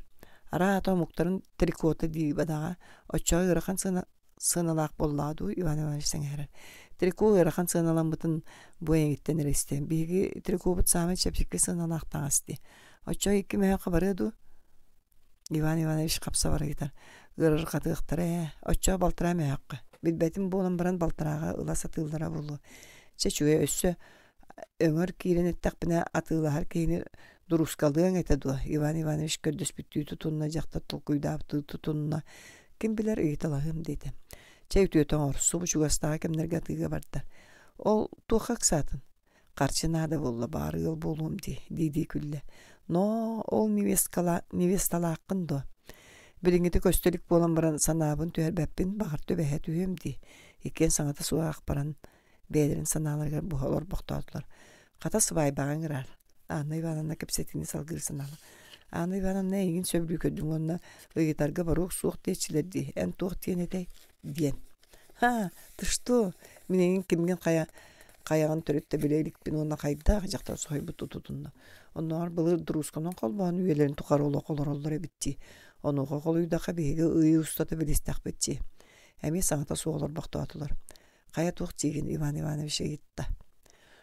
Араата омуктарын трикота дии бадаҕа, оччоҕо ыарахан сыана сыаналаах буоллаҕа дуу, Иван Иванович сэҥээрэр. Трико ыарахан сыаналаммытын бу эйигиттэн эрэ истэн. Биһиги трикобут саамай чэпчэки сыаналаах таҥас дии. Оччоҕо икки мөһөөххө барыа дуу? Иван Иванович хапсабар ыйытар. Ыарырҕатыахтара ээ, оччоҕо балтараа мөһөөххө. Билбэтим буолан баран балтарааҕа ыла сатыыллара буолуо. Чэ үчүгэй өссө өҥөр киирэн эттэхпинэ атыылаһар киһини дуруускалыаҥ этэ дуо? Иван Иванович көрдөспүттүү тутунна, дьахтар толкуйдаабыттыы тутунна. Ким билэр ыйыталаһыам диэтэ. Чэ үтүөтэ оҥор, субу чугастааҕы кэмнэргэ атыыга барда. Ол туохха ыксаатын? Харчы наада буолла, баҕар ыал буолуом дии, дии-дии күллэ. Но ол невесткала, невесталааххын дуо? Билиҥҥитэ көстө илик буолан баран санаабын түһэрбэппин, баҕар түбэһэ түһүөм дии. Иккиэн саҥата суох аах баран бэйэлэрин санааларыгар буһа олорбохтоотулар. Хата сыбаайбаҕа ыҥыраар. Анна Ивановна кэпсэтиини салгыыр санаала. Анна Ивановна эйигин сөбүлүү көрдүм уонна ыйытарга баруох суох диэччилэр дии. Эн туох диэн этэй? диэн. Ха, ты что? Мин эйигин кимҥин хайа хайаҕын төрүт да билэ иликпин уонна хайдах дьахтар соһуйбут тутунна. Оннооҕор былыр дуруусканан холбоон үйэлэрин тухары олох олороллор эбит дии. Онуоха холуйдахха биһиги ый устата билистэхпит дии. Эмиэ саҥата суох олорбохтоотулар. Хайа туох диигин Иван Иванович ыйытта.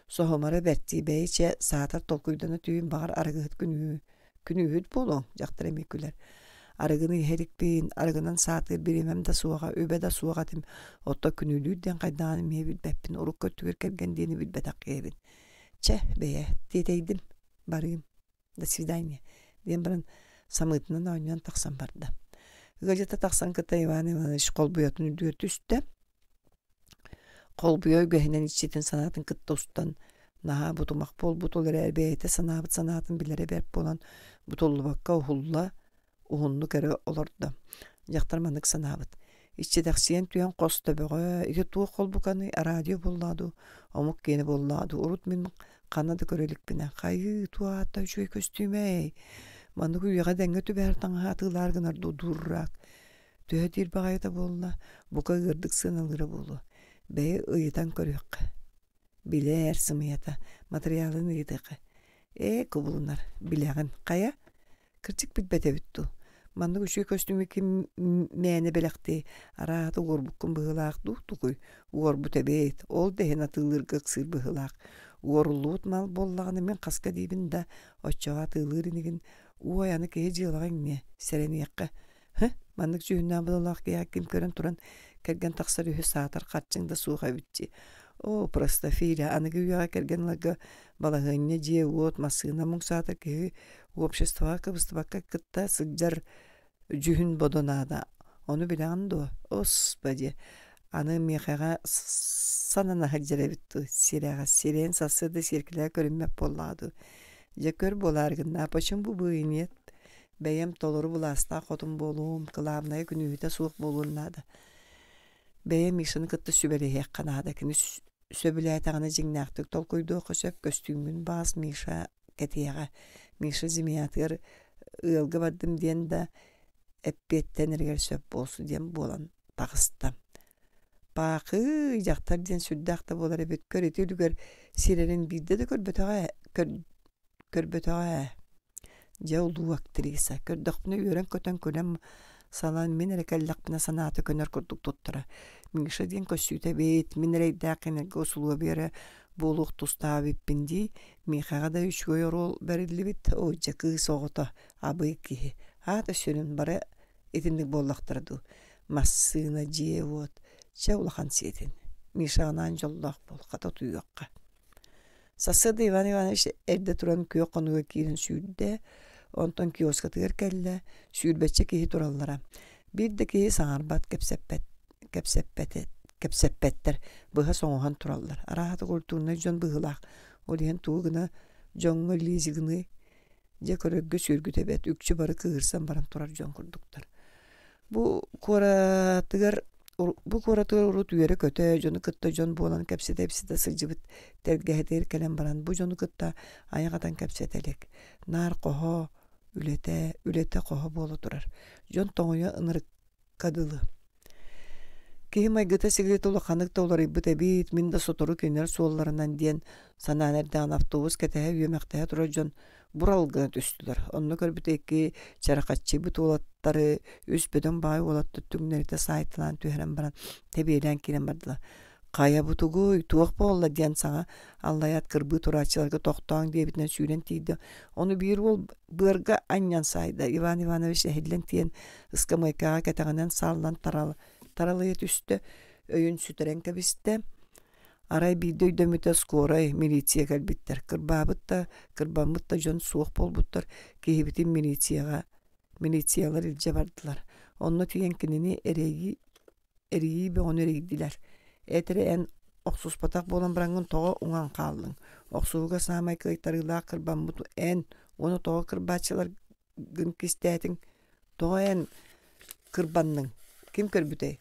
Соһумара бэрт дии бэйи чэ саатар толкуйдана түүн баҕар арыгыһыт күнүү күнүүһүт буолуоҥ дьахтар эмиэ күлэр. Арыгыны иһэ иликпин, арыгынан саатыыр бириэмэм да суоҕа, үбэ да суох этим. Оттон күнүүлүүр диэн хайдаҕын эмиэ билбэппин, урукку өттүгэр кэргэн диэни билбэтэх киһибин. Чэ, бэйэ, тиэтэйдим, барыым. До свидания, диэн баран самыытынан оонньоон тахсан барда. Ыалдьыта тахсан кытта Иван Иванович холбуйатын үрдүгэр түстэ. Холбуйа үгэһинэн иччитин санаатын кытта устан наһаа бутумах буолбут, ол эрээри бэйэтэ санаабыт санаатын билэрэ бэрт буолан бутуллубакка уһулла, уһуннук эрэ олордо. Дьахтар маннык санаабыт: иччитэхсийэн түһэн хос төбөҕө, ити туох холбуканый, радио буоллаа дуу, омук киэнэ буоллаа дуу, урут мин Ханна да көрө иликпинэ. Хайыы, туох аата үчүгэй көстүүмэй. Маннык үйэҕэ дэҥҥэ түбэһэр таҥаһы атыылаар гынар дуу дурак. Төһө диир баҕайыта буолла, бука ыардык сыаналыыра буолуо. Бэйи ыйытан көрүөххэ. Билээр сымыйата, матырыйаалын ыйытыахха. Ээ, кубулунар, билэҕин. Хайа? Кырдьык билбэт эбит дуу? Маннык үчүгэй көстүүмү ким мээнэ бэлэхтиэй, арааһата уорбуккун быһыылаах дуу, тугуй? Уорбут эбит, ол да иһин атыылыырга ыксыыр быһыылаах. Уоруллубут мал буоллаҕына мин хаска диибин да, оччоҕо атыылыыр инигин. Уой, аны киһи дьыалаҕа иҥниэ, сэрэниэххэ. Һы, маннык дьүһүннээх бодолоох киһиэхэ ким көрөн туран кэргэн тахсар үһү саатар харчыҥ да суох эбит дии. Оо, простофиля, аныгы үйэҕэ кэргэн ыларга балаһыанньа, дьиэ-уот, массыына муҥ саатар киһи обществоҕа кыбыстыбакка кытта сылдьар дьүһүн бодо наада. Ону билэҕин дуо? Осподи, аны миэхэҕэ санана сылдьар эбит дуу, сирэҕэ сирэйин сарсыарда сиэркилэҕэ көрүммэт буоллаҕа дуу. Дьэ көр буолаары гынна, почему бы и нет? Бэйэм толору былаастаах хотун буолуом, кылаабынайа күнүүһүтэ суох буолуон наада. Бэйэм Мишаны кытта сүбэлэһиэххэ наада. Кини сөбүлээтэҕинэ дьиҥнээхтик толкуйдуохха сөп. Көстүүммүн баҕас Миша кэтиэҕэ. Миша зимиятыгар ыалга бардым диэн да эппиэттэнэригэр сөп буолсу диэн буолан таҕыста. Паахыы, дьахтар диэн сүрдээх да буолар эбит. Көр ити үлүгэр сирэрин биирдэ да көрбөтөҕө көр, көрбөтөҕө ээ. Дьэ улуу актриса. Көрдөхпүнэ үөрэн-көтөн күлэн салан мин эрэ кэллэхпинэ санаата көнөр курдук туттара. Миша диэн көссүүтэ эбит, мин эрэйдээх кинилэргэ усулуобуйа эрэ буолуох тустаах эбиппин дии. Миэхэҕэ да үчүгэй оруол бэриллибит. Оо, дьэ кыыс оҕото, абый киһи. Аата сүрүн бары итинник буоллахтара дуу. Массыына, дьиэ-уот. Чэ улахан сиэтин. Мишаҕынаан дьоллоох буол, хата утуйуохха. Сарсыарда Иван Иванович эрдэ туран күөх хонууга киирэн сүүрдэ, онтон киоскатыгар кэллэ, сүүрбэччэ киһи тураллара. Биир да киһи саҥарбат, кэпсэппэт, кэпсэппэт, кэпсэппэттэр, быһа соҥоһон тураллар. Арааһата культурнай дьон быһыылаах. Ол иһин тугу гына дьоҥҥо лизигыный дьэ көрөргө сүөргүтэ эбээт, үкчү бары кыыһырсан баран турар дьон курдуктар. Бу куоратыгар бу куоратыгар урут үөрэ-көтө, дьону кытта дьон буолан кэпсэтэ-ипсэтэ сылдьыбыт тэлгэһэтигэр кэлэн баран бу дьону кытта айах атан кэпсэтэ илик. Наар хоһо, үлэтэ, үлэтэ хоһо буола турар. Дьон тоҥуйа ынырыкка дылы. Киһи майгыта-сигилитэ улаханнык да уларыйбыт эбит, мин да сотору кинилэр суолларынан диэн санаан эрдэҕинэ автобус кэтэһэ үөмэхтэһэ турар дьон бурал гына түстүлэр. Онно көрбүтэ икки чарахаччыйбыт уолаттары үс бөдөҥ баҕайы уолаттар түҥнэритэ саайталаан түһэрэн баран тэбиэлээн киирэн бардылар. Хайа бу тугуй, туох буолла диэн саҥа аллайаат кырбыы турааччыларга тохтооҥ диэбитинэн сүүрэн тиийдэ. Ону биир уол быарга анньан саайда. Иван Иванович эһиллэн тиийэн ыскамыайкаҕа кэтэҕинэн сааллан тарал, таралыйа түстэ, өйүн сүтэрэн кэбистэ. Арай биирдэ өйдөммүтэ скорай, милиция кэлбиттэр. Кырбаабыт да, кырбаммыт да дьон суох буолбуттар. Киһибитин милицияҕа милициялар илдьэ бардылар. Онно тиийэн кинини эрэйии эрийии бөҕөнү эрийдилэр. Эт эрэ эн охсуспатах буолан бараҥҥын тоҕо уҥан хааллыҥ? Охсуһууга саамай кыайтарыылаах кырбаммыт эн уонна тоҕо кырбааччыларгын кистээтиҥ? Тоҕо эн кырбанныҥ? Ким көрбүтэй?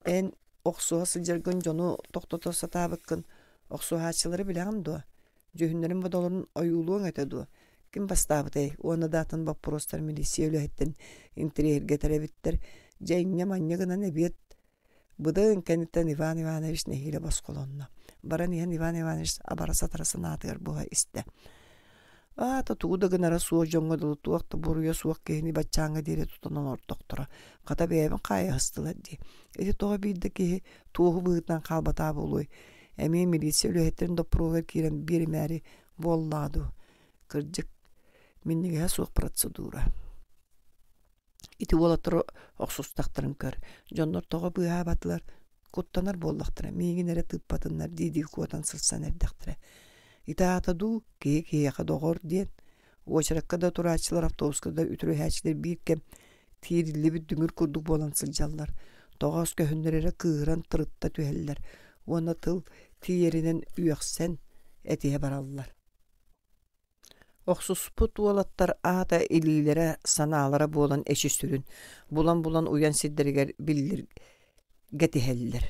Эн охсуһа сылдьаргын дьону тохтото сатаабыккын охсуһааччылары билэҕин дуо? Дьүһүннэрин бодолорун ойуулуоҥ этэ дуо? Ким бастаабытай? Уонна да атын боппуруостар милиция үлэһиттэн интэриэһиргэтэр эбиттэр. Дьэ инньэ-манньа гынан эбиэт быдан кэнниттэн Иван Иванович нэһиилэ босхолонно. Баран иһэн Иван Иванович абара-сатара санаатыгар буһа истэ. Аата тугу да гынара суох дьоҥҥо дылы туох да буруйа суох киһини баччааҥҥа диэри тутан олордохторо. Хата бэйэбин хаайыһыстылар дии. Ити тоҕо биир да киһи туоһу быһыытынан хаалбатаа буолуой? Эмиэ милиция үлэһиттэрин доппуруогар киирэн биэримээри буоллаҕа дуу? Кырдьык, минньигэһэ суох процедура. Ити уолаттар охсустахтарын көр. Дьоннор тоҕо быыһаабатылар? Куттанар буоллахтара, миигин эрэ тыыппатыннар дии-дии куотан сырсан эрдэхтэрэ. Ити аата дуу, киһи киһиэхэ доҕор диэн. Уочаракка да турааччылар, автобуска да үтүрүһээччилэр биир кэм тиириллибит дүҥүр курдук буолан сылдьаллар. Тоҕоос көһүннэр эрэ кыыһыран тырытта түһэллэр уонна тыл тиийэринэн үөхсэн этиһэ бараллар. Охсуспут уолаттар аата илиилэрэ, санаалара буолан эчи сүрүн, булан-булан уйан сирдэригэр биллиргэтиһэллэр.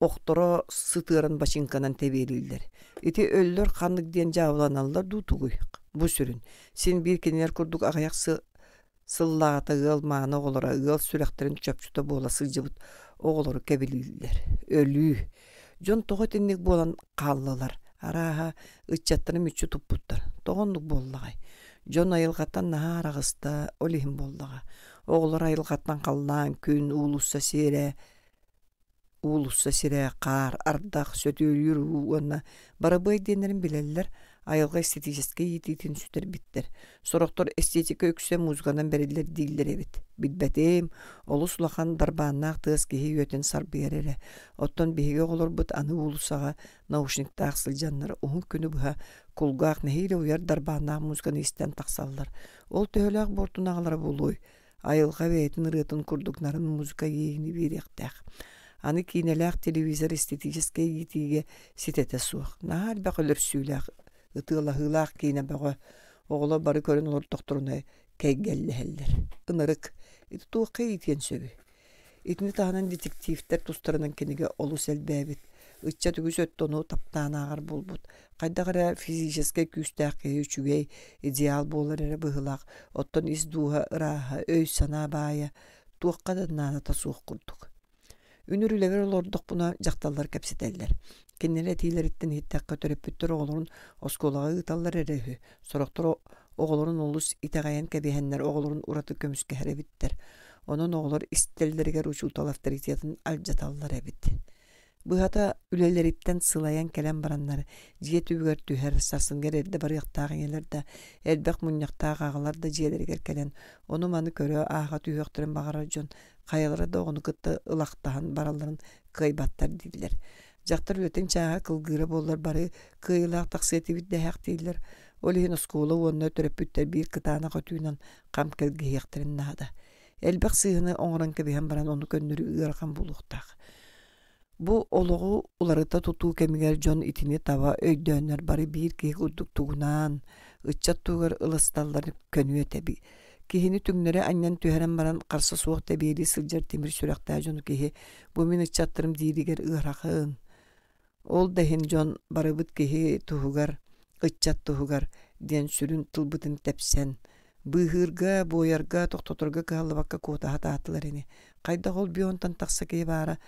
Охторо сытыаран бачыыҥканан тэбиэлииллэр. Ити өллөр ханнык диэн дьаабыланаллар дуу тугуй? Бу сүрүн. Син биир кинилэр курдук аҕыйах сыллааҕыта ыал мааны оҕолоро ыал сүрэхтэрин чопчута буола сылдьыбыт оҕолору кэбилииллэр. Өлүү. Дьон тоҕо итинник буолан хааллылар? Арааһа, ыччаттары мүччү туппуттар. Тоҕо оннук буоллаҕай? Дьон айылҕаттан наһаа араҕыста, ол иһин буоллаҕа. Оҕолор айылҕаттан халлаан, күн, уулусса сиэрэ, уулусса сирэ, хаар, ардах, сөтүөлүүр уу уонна барабыай диэннэрин билэллэр, айылҕа эстетическэй иитиитин сүтэрбиттэр. Сорохтор эстетика үксэ музыканан бэриллэр дииллэр эбит. Билбэтим, олус улахан дарбааннаах тыас киһи үөтүн сарбыйар эрэ. Оттон биһиги оҕолорбут аны уулуссаҕа наушниктаах сылдьаннар уһун күнү быһа кулгаах нэһиилэ уйар дарбааннаах музыканы истэн тахсаллар. Ол төһөлөөх буортун аҕалара буолуой? Айылҕа бэйэтин ырыатын курдук нарын музыка иэйиини биэриэхтээх. Аны киинэлээх телевизор эстетическэй иитиигэ ситэтэ суох. Наһаа элбэх өлөрсүүлээх, ытыалаһыылаах киинэ бөҕө. Оҕолор бары көрөн олордохторуна кэйгэллэһэллэр. Ынырык. Ити туохха иитиэн сөбүй? Итини таһынан детективтэр тустарынан кинигэ олус элбээбит. Ыччат үгүс өттө ону таптаан ааҕар буолбут. Хайдах эрэ физическэй күүстээх киһи үчүгэй, идеал буолар эрэ быһыылаах. Оттон ис дууһа ырааһа, өй-санаа баайа туохха да наадата суох курдук. Үнүр үлэбэр олордохпуна дьахталлар кэпсэтэллэр. Кинилэр этиилэриттэн иһиттэххэ төрөппүттэр оҕолорун оскуолаҕа ыыталлар эрэ үһү. Сорохтор оҕолорун олус итэҕэйэн кэбиһэннэр оҕолорун ураты көмүскэһэр эбиттэр. Онон оҕолор истэллэригэр учуутал авторитетын алдьаталлар эбит. Быһата үлэлэриттэн сылайан кэлэн бараннар дьиэ түбүгэр түһэр, сарсыҥҥа эрдэ барыахтаах ийэлэр да, элбэх мунньахтаах аҕалар да дьиэлэригэр кэлэн ону-маны көрө, ааҕа түһүөхтэрин баҕарар дьон хайалара да оҕону кытта ылахтаһан баралларын кыайбаттар дииллэр. Дьахтар үлэтин чааһа кылгыыра буоллар бары кыайыылаах тахсыа этибит дэһээхтииллэр. Ол иһин оскуола уонна төрөппүттэр биир кытаанах өтүүнэн хам кэлгиһиэхтэрин наада. Элбэх сыыһаны оҥорон кэбиһэн баран ону көннөрүү ыарахан буолуохтаах. Бу олоҕу уларыта тутуу кэмигэр дьон итини таба өйдөөннөр бары биир киһи курдук тугунаан, ыччат туһугар ылысталлар көнүө тэби. Киһини түҥнэри анньан түһэрэн баран харса суох тэбиэлии сылдьар тимир сүрэхтээх дьону киһи бу мин ыччаттарым дииригэр ыарахан. Ол да иһин дьон барыбыт киһи туһугар, ыччат туһугар диэн сүрүн тылбытын тэпсэн, быыһыырга, буойарга, тохтоторго кыһаллыбакка куотаһа таатылар ини. Хайдах ол бионтан тахса киһи баара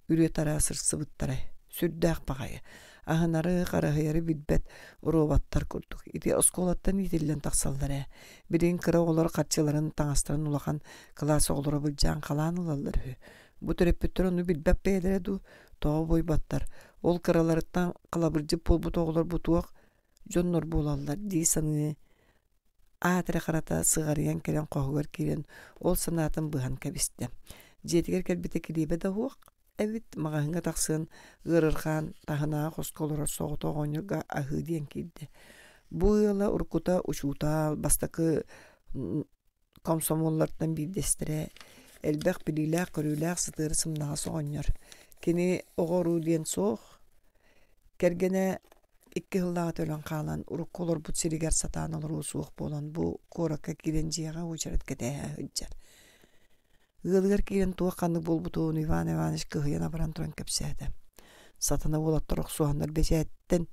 үрүө-тараа сырсыбыттара. Сүрдээх баҕайы. Аһынары, хараһыйары билбэт роботтар курдук. Ити оскуолаттан иитиллэн тахсаллар ээ. Билигин кыра оҕолор харчыларын, таҥастарын улахан кылаас оҕолоро былдьаан халаан ылаллар үһү. Бу төрөппүттэр ону билбэт бэйэлэрэ дуу, тоҕо буойбаттар. Ол кыраларыттан халабырдьыт буолбут оҕолор бу туох дьоннор буолаллар дии саныы аат эрэ харата сыҕарыйан кэлэн хоһугар киирэн ол санаатын быһан кэбистэ. Дьиэтигэр кэлбитэ килиэбэ да суох эбит, маҕаһыыҥҥа тахсыан ыарырҕаан таһынааҕы хоско олорор соҕотох оҕонньорго аһыы диэн киирдэ. Бу ыала уруккута учуутал, бастакы комсомоллартан биирдэстэрэ, элбэх билиилээх-көрүүлээх сытыары сымнаҕас оҕонньор. Кини оҕо-уруу диэн суох, кэргэнэ икки сыллааҕыта өлөн хаалан, урукку олорбут сиригэр сатаан олоруо суох буолан, бу куоракка киирэн дьиэҕэ уочарат кэтэһэ сылдьар. Ыалыгар киирэн туох ханнык буолбутун Иван Иванович кыһыйан абаран туран кэпсээтэ. Сатана уолаттар охсуһаннар бэчээттэн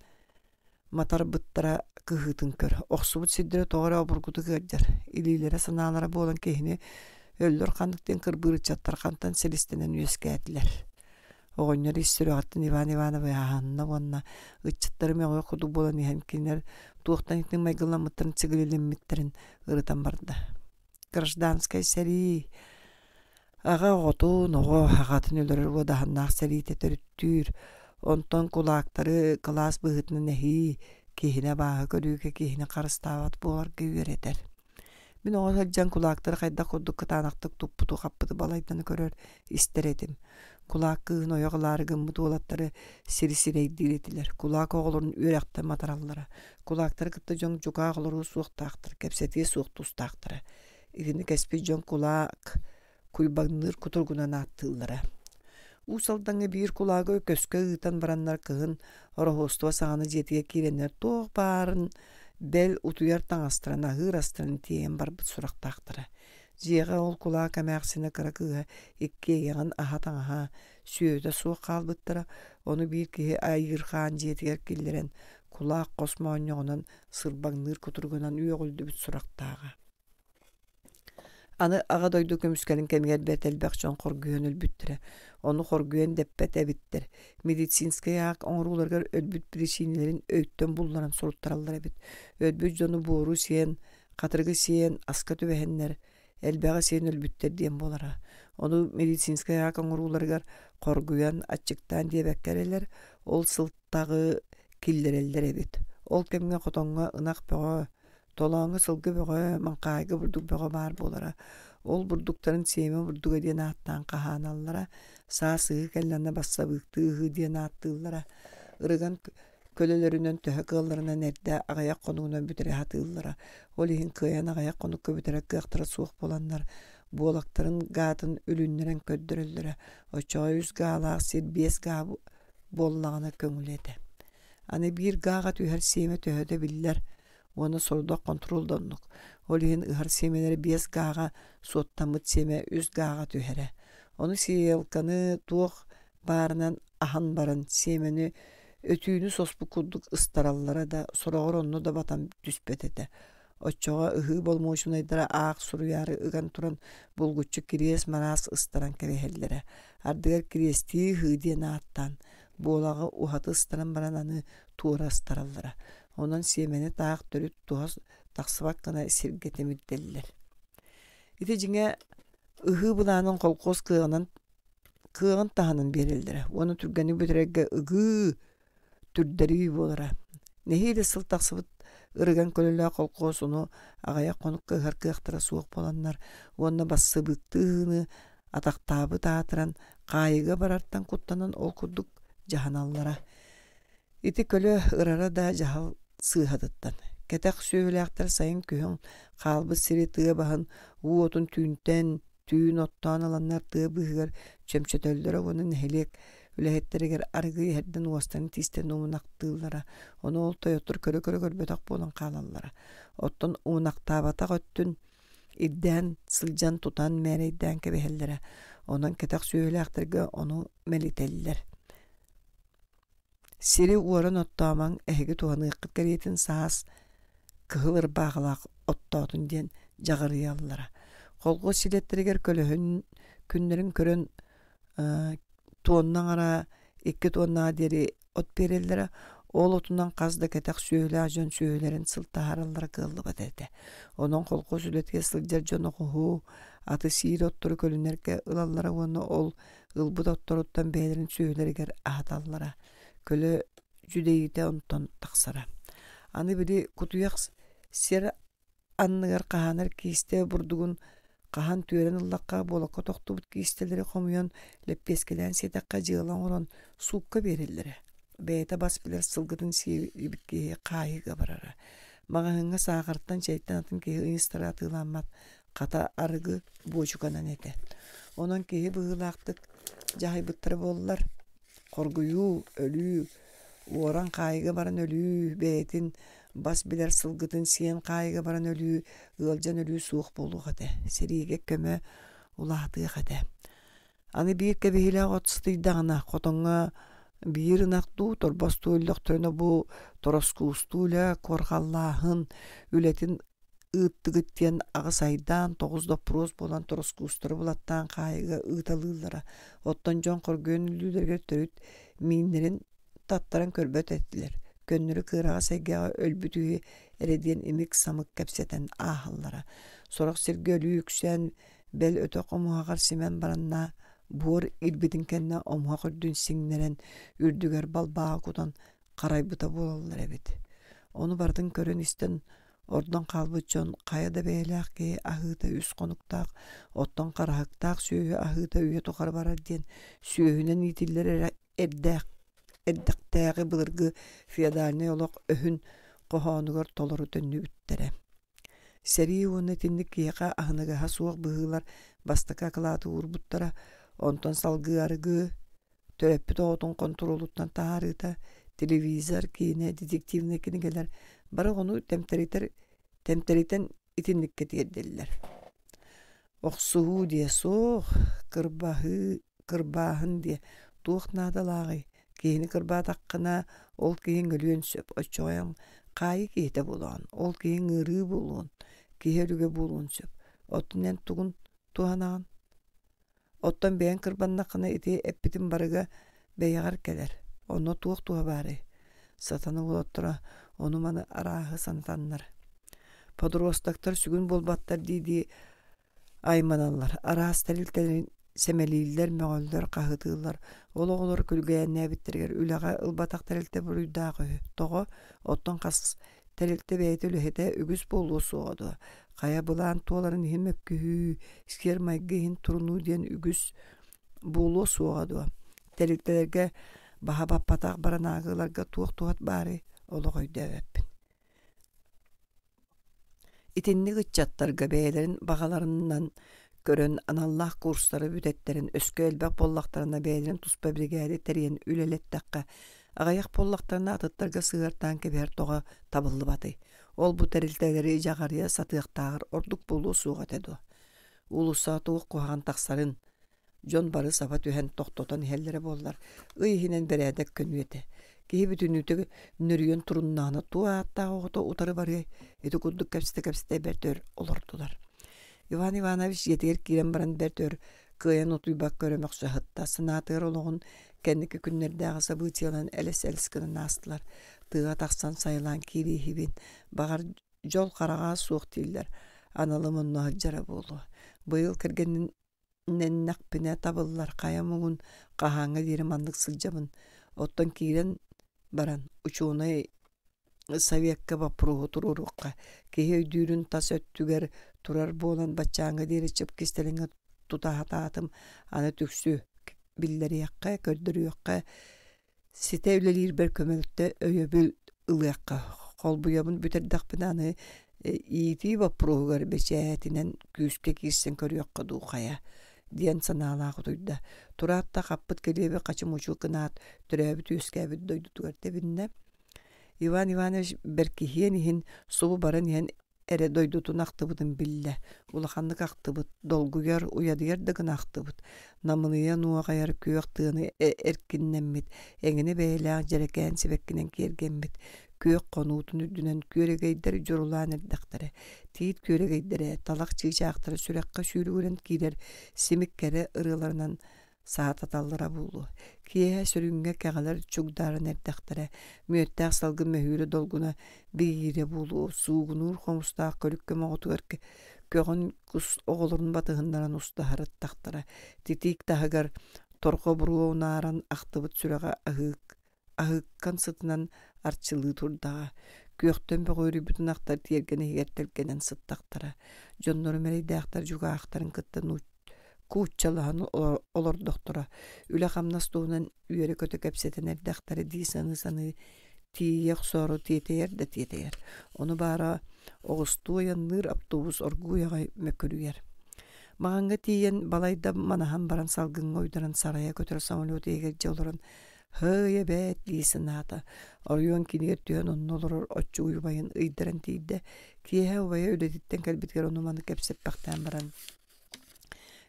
матарбыттара кыһыытын көр. Охсубут сирдэрэ тоҕо эрэ обургутук ыалдьар. Илиилэрэ санаалара буолан киһини өллөр ханнык диэн кырбыыр ыччаттар хантан силистэнэн үөскээтилэр. Оҕонньор ис сүрэҕиттэн Иван Иванович аһанна уонна ыччаттары мөҕүөх курдук буолан иһэн кинилэр туохтан итинник майгыламмыттарын сигилилэммиттэрин ырытан барда. Гражданскай сэрии аҕа оҕотун, оҕо аҕатын өлөрөр уодаһыннаах сэриитэ төрүттүүр. Онтон кулаактары кылаас быһыытынан эһии, киһини абааһы көрүүгэ киһини харыстаабат буоларга үөрэтэр. Мин оҕо сылдьан кулаактары хайдах курдук кытаанахтык туппуту-хаппыты балайданы көрөр, истэр этим. Кулаак кыыһын ойох ылаары гыммыт уолаттары сири сирэйдиир этилэр. Кулаак оҕолорун үөрэхтэн матараллара. Кулаактары кытта дьон дьукаах олоруо суохтаахтар, кэпсэтиэ суох тустаахтара. Итини кэспит дьон кулаак куйбаҥныыр кутуругунан ааттыыллара. Уус Алдаҥҥа биир кулаагы көскө ыытан бараннар кыһын Ороһуостуба саҕана дьиэтигэр киирэннэр туох баарын бэл утуйар таҥастарын, аһыыр астарын тиэйэн барбыт сурахтаахтара. Дьиэҕэ ол кулаак эмээхсинэ кыра кыыһа иккиэйэҕин аһа-таҥаһа, сүөһүтэ суох хаалбыттара. Ону биир киһи айыырхаан дьиэтигэр киллэрэн кулаак хос моонньоҕунан сырбаҥныыр кутуругунан үөҕүллүбүт сурахтааҕа. Аны Аҕа дойду көмүскэлин кэмигэр бэрт элбэх дьон хоргуйан өлбүттэрэ. Ону хоргуйан дэппэт эбиттэр. Медицинскэй аак оҥорууларыгар өлбүт биричиинэлэрин өйтөн булларан суруттараллар эбит. Өлбүт дьону буору сиэн, хатырыгы сиэн, аска түбэһэннэр, элбэҕи сиэн өлбүттэр диэн буолара. Ону медицинскэй аак оҥорууларыгар хоргуйан, аччыктаан диэбэккэ эрэлэр, ол сылтаҕы киллэрэллэр эбит. Ол кэмҥэ хотоҥҥо ынах бөҕө, толооҥҥо сылгы бөҕө, маҥхаайга бурдук бөҕө баар буолара. Ол бурдуктарын сиэмэ бурдуга диэн ааттаан хаһааналлара. Саас ыһыы кэллэҕинэ бассабыыктыы ыһыы диэн ааттыыллара. Ырыган көлөлөрүнэн төһө кыалларынан эрдэ аҕыйах хонугунан бүтэрэ сатыыллара. Ол иһин кыайан аҕыйах хонукка бүтэрэр кыахтара суох буоланнар, буолактарын гаатын үлүннэрэн көрдөрөллөрө. Оччоҕо үс гаалаах сир биэс гаа буоллаҕына көҥүлэ этэ. Аны биир гааҕа түһэр сиэмэ төһөтө биллэр уонна сорудах хонтуруол да оннук. Ол иһин ыһар сиэмэлэри биэс гааҕа суоттаммыт сиэмэ үс гааҕа түһэрэ. Ону сиэлканы туох баарынан аһан баран сиэмэни өтүүнү соспут курдук ыстараллара да, сороҕор онно да батан түспэт этэ. Оччоҕо ыһыы боломуочунайдара аах суруйаары ыган туран булгуччу кириэс-мараас ыстаран кэбиһэллэрэ. Ардыгар кириэстии ыһыы диэн ааттаан, буолаҕы уһаты ыстаран баран аны туора ыстараллара. Онон сиэмэни таах төрүт туһа тахсыбат гына сиргэ тимирдэллэр. Ити дьиҥэ ыһыы былаанын колхоз кыаҕынан кыаҕын таһынан биэрэллэрэ уонна түргэнник бүтэрэргэ ыгыы, түрдэрии буолара. Нэһиилэ сыл тахсыбыт ырыган көлөлөөх колхоз ону аҕыйах хонукка ыһар кыахтара суох буоланнар уонна бассыбыыктыы ыһыыны атахтаабыт аатыран хаайыыга барартан куттанан ол курдук дьаһаналлара. Ити көлө ырара да дьаһал сыыһатыттан. Кэтэх сүөһүлээхтэр сайын-күһүн хаалбыт сири тыа баһын уу отун түүнтэн түүн оттоон ыланнар тыа быыһыгар чөмчөтөллөрө уонна нэһилиэк үлэһиттэригэр арыгы иһэрдэн уостарын тиистэн умунахтыыллара. Ону ол тойоттор көрө-көрө көрбөтөх буолан хаалаллара. Оттон умунахтаабатах өттүн ирдээн сылдьан тутан мээрэйдээн кэбиһэллэрэ. Онон кэтэх сүөһүлээхтэргэ ону мэлитэллэр. Сири уоран оттоомоҥ, эһиги туһаныаххыт кэриэтин саас кыһыл ырбаахылаах оттоотун диэн дьаҕарыйаллара. Колхоз силиэттэригэр көлөһүн күннэрин көрөн туонна аҥара, икки туоннаҕа диэри от биэрэллэрэ. Ол отунан хас да кэтэх сүөһүлээх дьон сүөһүлэрин сыл таһаараллара кыаллыбат этэ. Онон колхоз үлэтигэр сылдьар дьон оҕуһу, аты сиир оттору көлүнэргэ ылаллара уонна ол ылбыт отторуттан бэйэлэрин сүөһүлэригэр аһаталлара. Көлө дьүдэйиитэ онтон тахсара. Аны били кутуйах сир анныгар хаһаанар киистэ бурдугун хаһан түөрэн ыллахха буолакка тохтубут киистэлэри хомуйан лэппиэскэлээн сиэтэххэ дьыала оҥорон суукка биэрэллэрэ. Бэйэтэ бас билэр сылгытын сиэбит киһи хаайыыга барара. Маҕаһыыҥҥа саахартан, чэйтэн атын киһи ыйыстара атыыламмат, хата арыгы буочуканан этэ. Онон киһи быһыылаахтык дьаһайбыттара буоллар, хоргуйуу, өлүү, уоран хаайыыга баран өлүү, бэйэтин бас билэр сылгытын сиэн хаайыыга баран өлүү, ыалдьан өлүү суох буолуох этэ. Сэриигэ көмө улаатыах этэ. Аны биир кэбиһиилээх от сытыйдаҕына, хотоҥҥо биир ынах дуу, торбос дуу өллөхтөрүнэ бу тороскуустуу үлэ, куорҕаллааһын үлэтин ыыттыгыт диэн аҕыс айдаан, тоҕус доппуруос буолан тороскуустары булаттаан хаайыыга ыыталыыллара. Оттон дьон хоргуйан өлүүлэригэр төрүт мииннэрин таттаран көрбөт этилэр. Көннөрү кыараҕас эйгэҕэ өлбүт үһү эрэ диэн имик-самык кэпсэтэн ааһаллара. Сорох сиргэ өлүү үксээн, бэл өтөх омуһаҕар симэн баранна буор ирбитин кэннэ омуһах үрдүн сиҥнэрэн, үрдүгэр балбааҕы кутан харайбыта буолаллар эбит. Ону барытын көрөн-истэн ордон хаалбыт дьон хайа да бэйэлээх киһи аһыыта үс хонуктаах, оттон хараһыктаах сүөһү аһыыта үйэ тухары барар диэн сүөһүнэн иитиллэр эрэ эрдээх эрдэхтээҕи былыргы феодальнай олох өһүн хоһоонугар толору төннүбүттэрэ. Сэрии уонна итинник киһиэхэ аһыныгаһа суох быһыылар бастакы акылааты уурбуттара, онтон салгыы арыгы, төрөппүт оҕотун хонтуруолуттан таһаарыыта, телевизор, киинэ, детективнэй кинигэлэр бары оҕону тэмтэритэр тэмтэритэн итинниккэ тиэрдэллэр. Охсуһуу диэ суох, кырбаһыы, кырбааһын диэ туох наадалааҕый? Киһини кырбаатаххына, ол киһиҥ өлүөн сөп, оччоҕо эн хаайыы киһитэ буолаҕын, ол киһиҥ ыарыы буолуон, киһи өлүгэ буолуон сөп. Оттон эн тугун туһанаҕын? Оттон бэйэҥ кырбаннаххына ити эппитим барыга бэйэҕэр кэлэр. Онно туох туһа баарый? Сатана уолаттара ону-маны арааһы санатаннар. Подростоктар сүгүн буолбаттар дии-дии айманаллар. Араас тэрилтэлэрин сэмэлииллэр, мөҕөллөр, хаһытыыллар. Ол оҕолор күлгээннээбиттэригэр үлэҕэ ылбатах тэрилтэ буруйдаах үһү. Тоҕо? Оттон хас тэрилтэ бэйэтэ үлэһитэ үгүс буолуо суоҕа дуо? Хайа былаан туоларын иһин мөккүһүү, сиэр-майгы иһин турунуу диэн үгүс буолуо суоҕа дуо? Тэрилтэлэргэ баһа баппатах баранаагыларга туох туһат баарый? Олох өйдөөбөппүн. Итинник ыччаттарга бэйэлэрин баҕаларынан көрөн аналлаах курстары бүтэттэрин өскө элбэх буоллахтарына бэйэлэрин туспа биригээдэ тэрийэн үлэлэттэххэ, аҕыйах буоллахтарына атыттарга сыһыартаан кэбиһэр тоҕо табыллыбатый? Ол бу тэрилтэлэри дьаҕарыйа сатыахтааҕар ордук буолуо суох этэ дуо? Уулуссаҕа туох куһаҕан тахсарын дьон бары саба түһэн тохтотон иһэллэрэ буоллар, ый иһинэн бэрээдэк көнүө этэ. Киһи бүтүннүүтэ нөрүйэн туруннаҕына туох ааттаах оҕото утары барыай? Ити курдук кэпсэтэ-кэпсэтэ бэрт өр олордулар. Иван Иванович дьиэтигэр киирэн баран бэрт өр кыайан утуйбакка өрө мөхсө сытта. Санаатыгар олоҕун кэнники күннэрдээҕи событиеларын элэс-элэс гынан аастылар. Тыаҕа тахсан сайылаан киирииһибин. Баҕар, дьол хараҕа суох дииллэр. Аналым онно сылдьара буолуо. Быйыл кэргэнин нэннэхпинэ табыллар хайа муҥун хаһааҥҥа диэри маннык сылдьабын. Оттон киирэн баран учуонай советка боппуруоһу туруоруохха. Киһи өйдүүрүн тас өттүгэр турар буолан баччааҥҥа диэри чып кистэлэҥҥэ тута сатаатым. Аны түксү биллэриэххэ, көрдөрүөххэ, ситэ үлэлиирбэр көмөлтө, өйөбүл ылыахха. Холбуйабын бүтэрдэхпинэ аны иитии боппуруоһугар бэчээтинэн күүскэ киирсэн көрүөххэ дуу хайа диэн санаалаах утуйда. Тураат да хаппыт килиэби хачы-мучу гынаат, төрөөбүт-үөскээбит дойдутугар тэбиннэ. Иван Иванович бэркиһиэн иһин субу баран иһэн эрэ дойдутун ахтыбытын биллэ. Улаханнык ахтыбыт, долгуйар, уйадыйар да гына ахтыбыт. Намылыйа нуоҕайар күөх тыаны эркиннэммит, эҥинэ бэйэлээх дьэрэкээн сибэккинэн киэргэммит, күөх хонуутун үрдүнэн күөрэгэйдэр дьурулаан эрдэхтэрэ. Тиит күөрэгэйдэрэ, талах чыычаахтара сүрэххэ сүүрүгүрэн киирэр симик кэрэ ырыаларынан саататаллара буолуо. Киэһэ сүрүҥҥэ кэҕэлэр чугдааран эрдэхтэрэ, мүөттээх салгын мөһүүрэ долгуна биһиирэ буолуо, суугунуур хомустаах көлүккэ моҕотугар көҕөн кус оҕолорун батыһыннаран устаһарыттахтара. Титиик таһыгар торҕо буруо унааран ахтыбыт сүрэҕэ аһыык аһыыккан сытынан арчылыы турдаҕа. Күөхтэн бөҕүөрүйбүт ынахтар тиэргэн иһигэр тэлгэнэн сыттахтара. Дьоннорум эрэйдээхтэр дьукаахтарын кытта кууччалаһан олордохторо. Үлэ-хамнас туһунан үөрэ-көтө кэпсэтэн эрдэхтэрэ дии саныы-саныы тиийэ охсоору тиэтэйэр да тиэтэйэр. Ону баара оҕустуу айанныыр автобус оргууй аҕай мөкүрүйэр. Маҕаҥҥа тиийэн балайда манаһан баран салгыҥҥа уйдаран сарайа көтөр самолет иһигэр дьэ олорон «Һый эбээт» дии санаата. Оройуон киинигэр түһэн онно олорор оччугуй убайын ыйдаран тиийдэ. Киэһэ убайа үлэтиттэн кэлбитигэр ону-маны кэпсэппэхтээн баран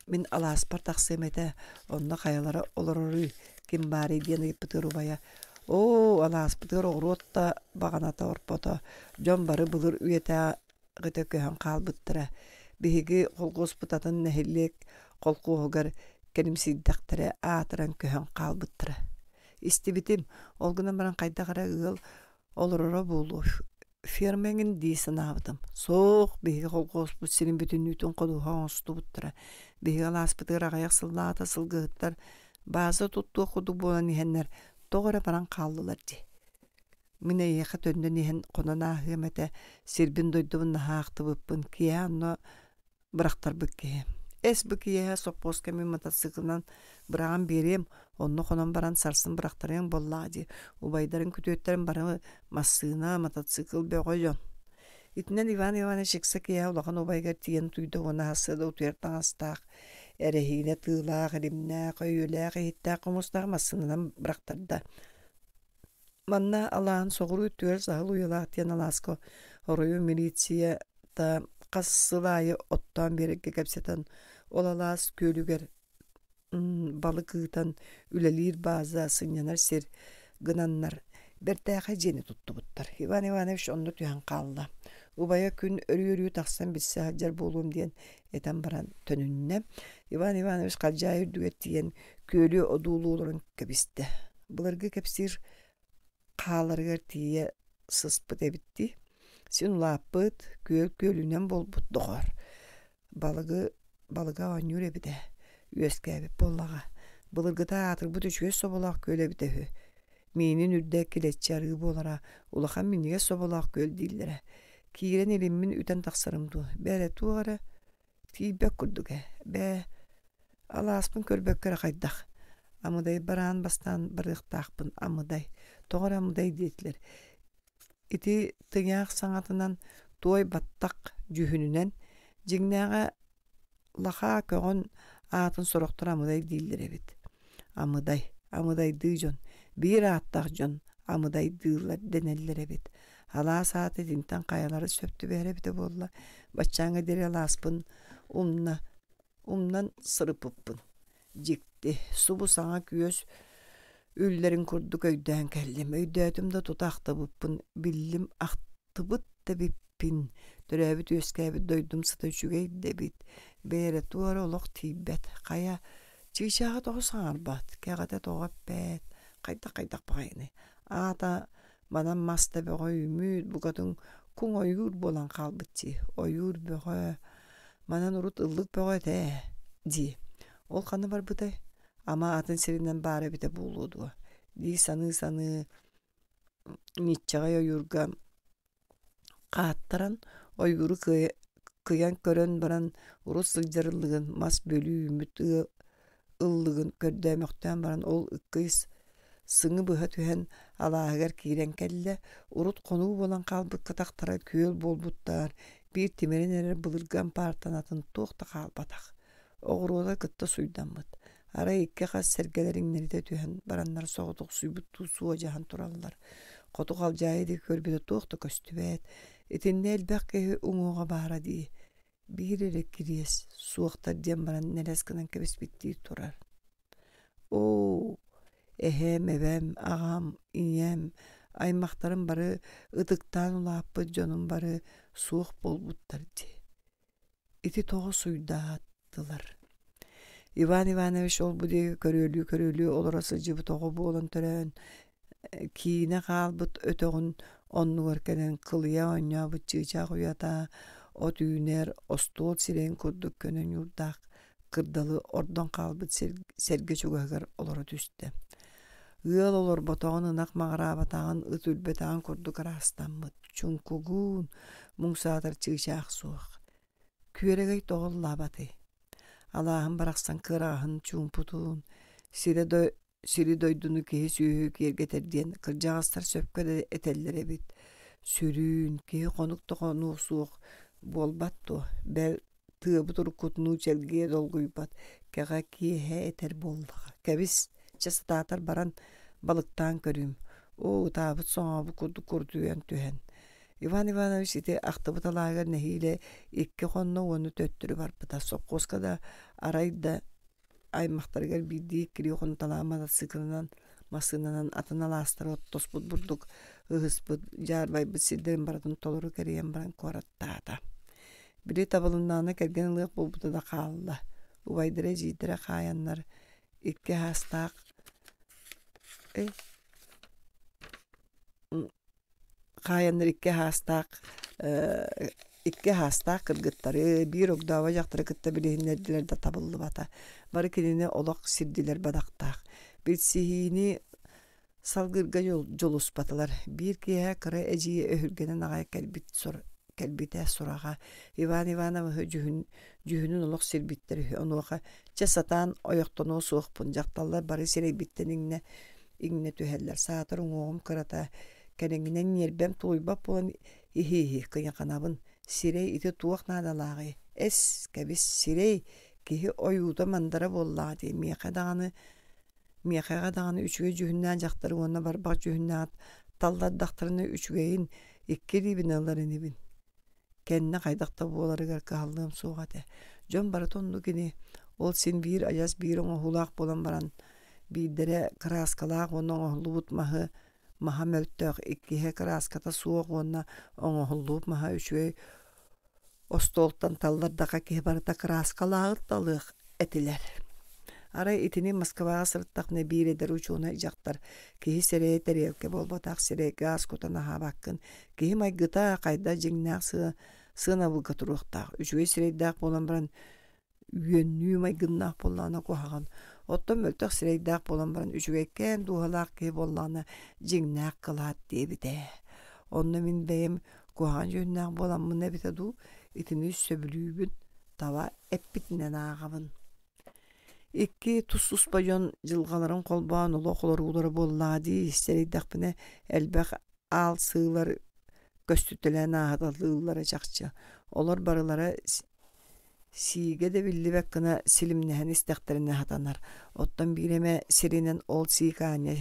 «Мин алааспар тахсыам этэ, онно хайалара олороруй, ким баарый?» диэн ыйыппытыгар убайа «Оо, алааспытыгар оҕуруот да баҕаната орпото, дьон бары былыр үйэтээҕитэ көһөн хаалбыттара. Биһиги холкуоспут атын нэһилиэк холкуоһугар кэлимсийдэхтэрэ аатыран көһөн хаалбыттара. Истибитим, ол гынан баран хайдах эрэ ыал олороро буолуо, ферма эҥин дии санаабытым. Суох, биһиги холкуоспут сирин бүтүннүүтүн ходуһа оҥостубуттара. Биһиги алааспытыгар аҕыйах сыллааҕыта сылгыһыттар бааза туттуох курдук буолан иһэннэр тоҕо эрэ баран хааллылар дии. Мин эйиэхэ төннөн иһэн хонон ааһыам этэ, сирбин-дойдубун наһаа ахтыбыппын, киэһэ онно бырахтарбыт киһи. Эс бу киэһэ сопхуоска мин мотоциклынан быраҕан биэриэм, онно хонон баран сарсын бырахтарыаҥ буоллаҕа дии. Убайдарын күтүөттэрин бары массыына, мотоцикл бөҕө дьон. Итинэн Иван Иванович ыкса киэһэ улахан убайыгар тиийэн утуйда уонна сарсыарда утуйар таҥастаах, эрэһиинэ тыылаах, илимнээх, өйүөлээх, иһиттээх хомустаах массыынанан бырахтарда. Манна алааһын соҕуруу өттүгэр Саһыл Уйалаах диэн алааска оройуон милицията Хас сыл аайы оттоон биэрэргэ кэпсэтэн, ол алаас күөлүгэр балык ыытан үлэлиир бааза, сынньанар сир гынаннар бэртээхэй дьиэни туттубуттар. Иван Иванович онно түһэн хаалла. Убайа күн өрүү-өрүү тахсан билсэ сылдьар буолуом диэн этэн баран төнүннэ. Иван Иванович халдьаайы үрдүгэр тиийэн күөлү одуулуу олорон кэбистэ. Былыргы кэпсиир хааларыгар тиийэ сыспыт эбит дии. Син улааппыт, күөл күөлүнэн буолбут доҕор. Балыгы балыга оонньуур эбит ээ. Үөскээбит буоллаҕа. Былыргыта аатырбыт үчүгэй соболоох күөл эбитэ үһү. Миинин үрдэ килэччи арыы буолара, улахан минньигэс соболоох күөл дииллэрэ. Киирэн илиммин үтэн тахсарым дуу, бээрэ туох эрэ тиийбэт курдук ээ. Бээ, алааспын көрбөккө эрэ хайдах. Амыдай бараан бастаан барыахтаахпын, амыдай. Тоҕо эрэ амыдай диэтилэр. Ити тыҥаах саҥатынан туой баттах дьүһүнүнэн дьиҥнээҕэ лахаа көҕөн аатын сорохтор амыдай дииллэр эбит. Амыдай, амыдайдыы дьон, биир ааттаах дьон амыдайдыыллар дэнэллэр эбит. Алаас аата итинтэн хайалара сөп түбэһэр эбитэ буолла. Баччааҥҥа диэри алааспын умна, умнан сырыппыппын. Дьикти, субу саҥа күөс үллэрин курдук өйдөөн кэллим. Өйдөөтүм да тута ахтыбыппын, биллим ахтыбыт да эбиппин. Төрөөбүт-үөскээбит дойдум сыта үчүгэй да эбит. Бээрэ туора олох тиийбэт. Хайа, чыычааҕа тоҕо саҥарбат, кэҕэтэ тоҕо эппэт, хайдах-хайдах баҕайыный. Аата манан мас да бөҕө үүммүт, букатын куҥ ойуур буолан хаалбыт дии. Ойуур бөҕө, манан урут ыллык бөҕө этэ ээ дии. Ол ханна барбытай? Ама атын сиринэн баара эбитэ буолуо дуо? Дии саныы-саныы ньиччэҕэй ойуурга хааттаран ойууру кыайа кыйан көрөн баран урут сылдьар ыллыгын мас бөлүү үүммүт ыллыгын көрдөөмөхтөөн баран ол ыккый сыҥы быһа түһэн алааһыгар киирэн кэллэ. Урут хонуу буолан хаалбыт кытахтара күөл буолбуттар, биир тимирэн эрэр былыргы ампаартан атын туох да хаалбатах. Оҕуруота кытта суйдаммыт. Арай икки хас сэргэлэр иҥнэритэ түһэн бараннар соҕотохсуйбуттуу суодьаһан тураллар. Хоту халдьаайы диэки көрбүтэ туох да көстүбэт. Итиннэ элбэх киһи уҥуоҕа баара дии. Биир эрэ кириэс суохтар диэн баран нэлэс гынан кэбиспиттии турар. Оо, эһээм, эбэм, аҕам, ийэм, аймахтарым бары ытыктаан улааппыт дьонум бары суох буолбуттар дии. Ити тоҕо суйдааттылар? Иван Иванович ол-бу диэки көрүөлүү-көрүөлүү олоро сылдьыбыт оҕо буолан төрөөн, киинэ хаалбыт өтөҕүн оннугар кэлэн кылыйа оонньообут чыычаах уйата от үүнэр, остуол сирэйин курдук көнө ньуурдаах кырдалы ордон хаалбыт сэргэ чугаһыгар олоро түстэ. Ыал олорботоҕун, ынах маҕыраабатаҕын, ыт үрбэтэҕин курдук ыраастаммыт, чуҥкугун, муҥ саатар чыычаах суох. Күөрэгэй тоҕо ыллаабатый? Алааһын барахсан кыараҕаһын чуумпутун, сирэ сири-дойдуну киһи-сүөһү киэргэтэр диэн кырдьаҕастар сөпкө да этэллэр эбит. Сүрүүн, киһи хонук да хонуо суох буолбат дуо? Бэл, тыабыт уруккутунуу чэлгийэ долгуйбат, кэҕэ киэһэ этэр буоллаҕа. Кэбис, чэ сатаатар баран балыктаан көрүүм. Оо, ытаабыт соҥообут курдук курдуйан түһэн. Иван Иванович ити ахтыбыт алааһыгар нэһиилэ икки хонно уонна төттөрү барбыта. Сопхуоска да арай да аймахтарыгар биирдии иккилии хонуталаан матасыыкылынан массыынанан атын алаастары оттоспут бурдук ыһыспыт, дьаарбайбыт сирдэрин барытын толору кэрийэн баран куораттаата. Били табылыннаҕына кэргэн ылыах буолбута да хаалла. Убайдара эдьиийдэрэ хаайаннар икки аастаах э хаайаннар икки аастаах икки аастаах кыргыттары, биир огдообо дьахтары кытта билиһиннэрдилэр да табыллыбата. Бары кинини олох сирдилэр бадахтаах. Билсиһиини салгыырга дьулуспатылар. Биир киэһэ кыра эдьиийэ өһүргэнэн аҕай кэлбит кэлбитэ сураҕа Иван Ивановиһы дьүһүн, дьүһүнүн олох сирбиттэр үһү. Онуоха чэ сатаан ойохтонуо суохпун, дьахталлар бары сирэйбиттэн иҥнэ иҥнэ түһэллэр. Саатар уҥуоҕум кырата, кэриҥинэн ньиэрбэм тулуйбат буолан иһи-иһи кыйаханабын. Сирэй ити туох наадалааҕый? Эс, кэбис, сирэй киһи ойуута-мандара буоллаҕа дии. Миэхэ даҕаны миэхэҕэ даҕаны үчүгэй дьүһүннээх дьахтары уонна барбах дьүһүннээх таллардахтарына үчүгэйин икки илиибин ылар инибин. Кэннэ хайдах да буоларыгар кыһаллыам суох этэ. Дьон барыта оннук ини. Ол син биир адьас биир оҥоһуулаах буолан баран, биирдэрэ кырааскалаах уонна оҥоһуллубут маһы маһа мөлтөх, иккиһэ кырааската суох уонна оҥоһуллубут маһа үчүгэй остуолтан таллардаха киһи барыта кырааскалааҕы талыах этилэр. Арай итини Москваҕа сырыттахпына биир эдэр учуонай дьахтар киһи сирэйэ тэриэлкэ буолбатах сирэйгэ аас кутан аһаабаккын, киһи майгыта хайда дьиҥнээх сыа сыанабылга туруохтаах, үчүгэй сирэйдээх буолан баран үөннүү майгыннаах буоллаҕына куһаҕан, оттон мөлтөх сирэйдээх буолан баран үчүгэйкээн дууһалаах киһи буоллаҕына дьиҥнээх кылаат диэбитэ. Онно мин бэйэм куһаҕан дьүһүннээх буоламмын эбитэ дуу, итини сөбүлүүбүн, таба эппитинэн ааҕабын. Икки тус-туспа дьон дьылҕаларын холбоон олох олоруулара буоллаҕа дии, сэрэйдэхпинэ элбэх аалсыылар көстүтэлээн ааһыталыыллара чахчы. Олор барылара сиигэ да биллибэт гына силимнэһэн истэхтэринэ сатанар. Оттон биир эмэ сиринэн ол сиик аанньа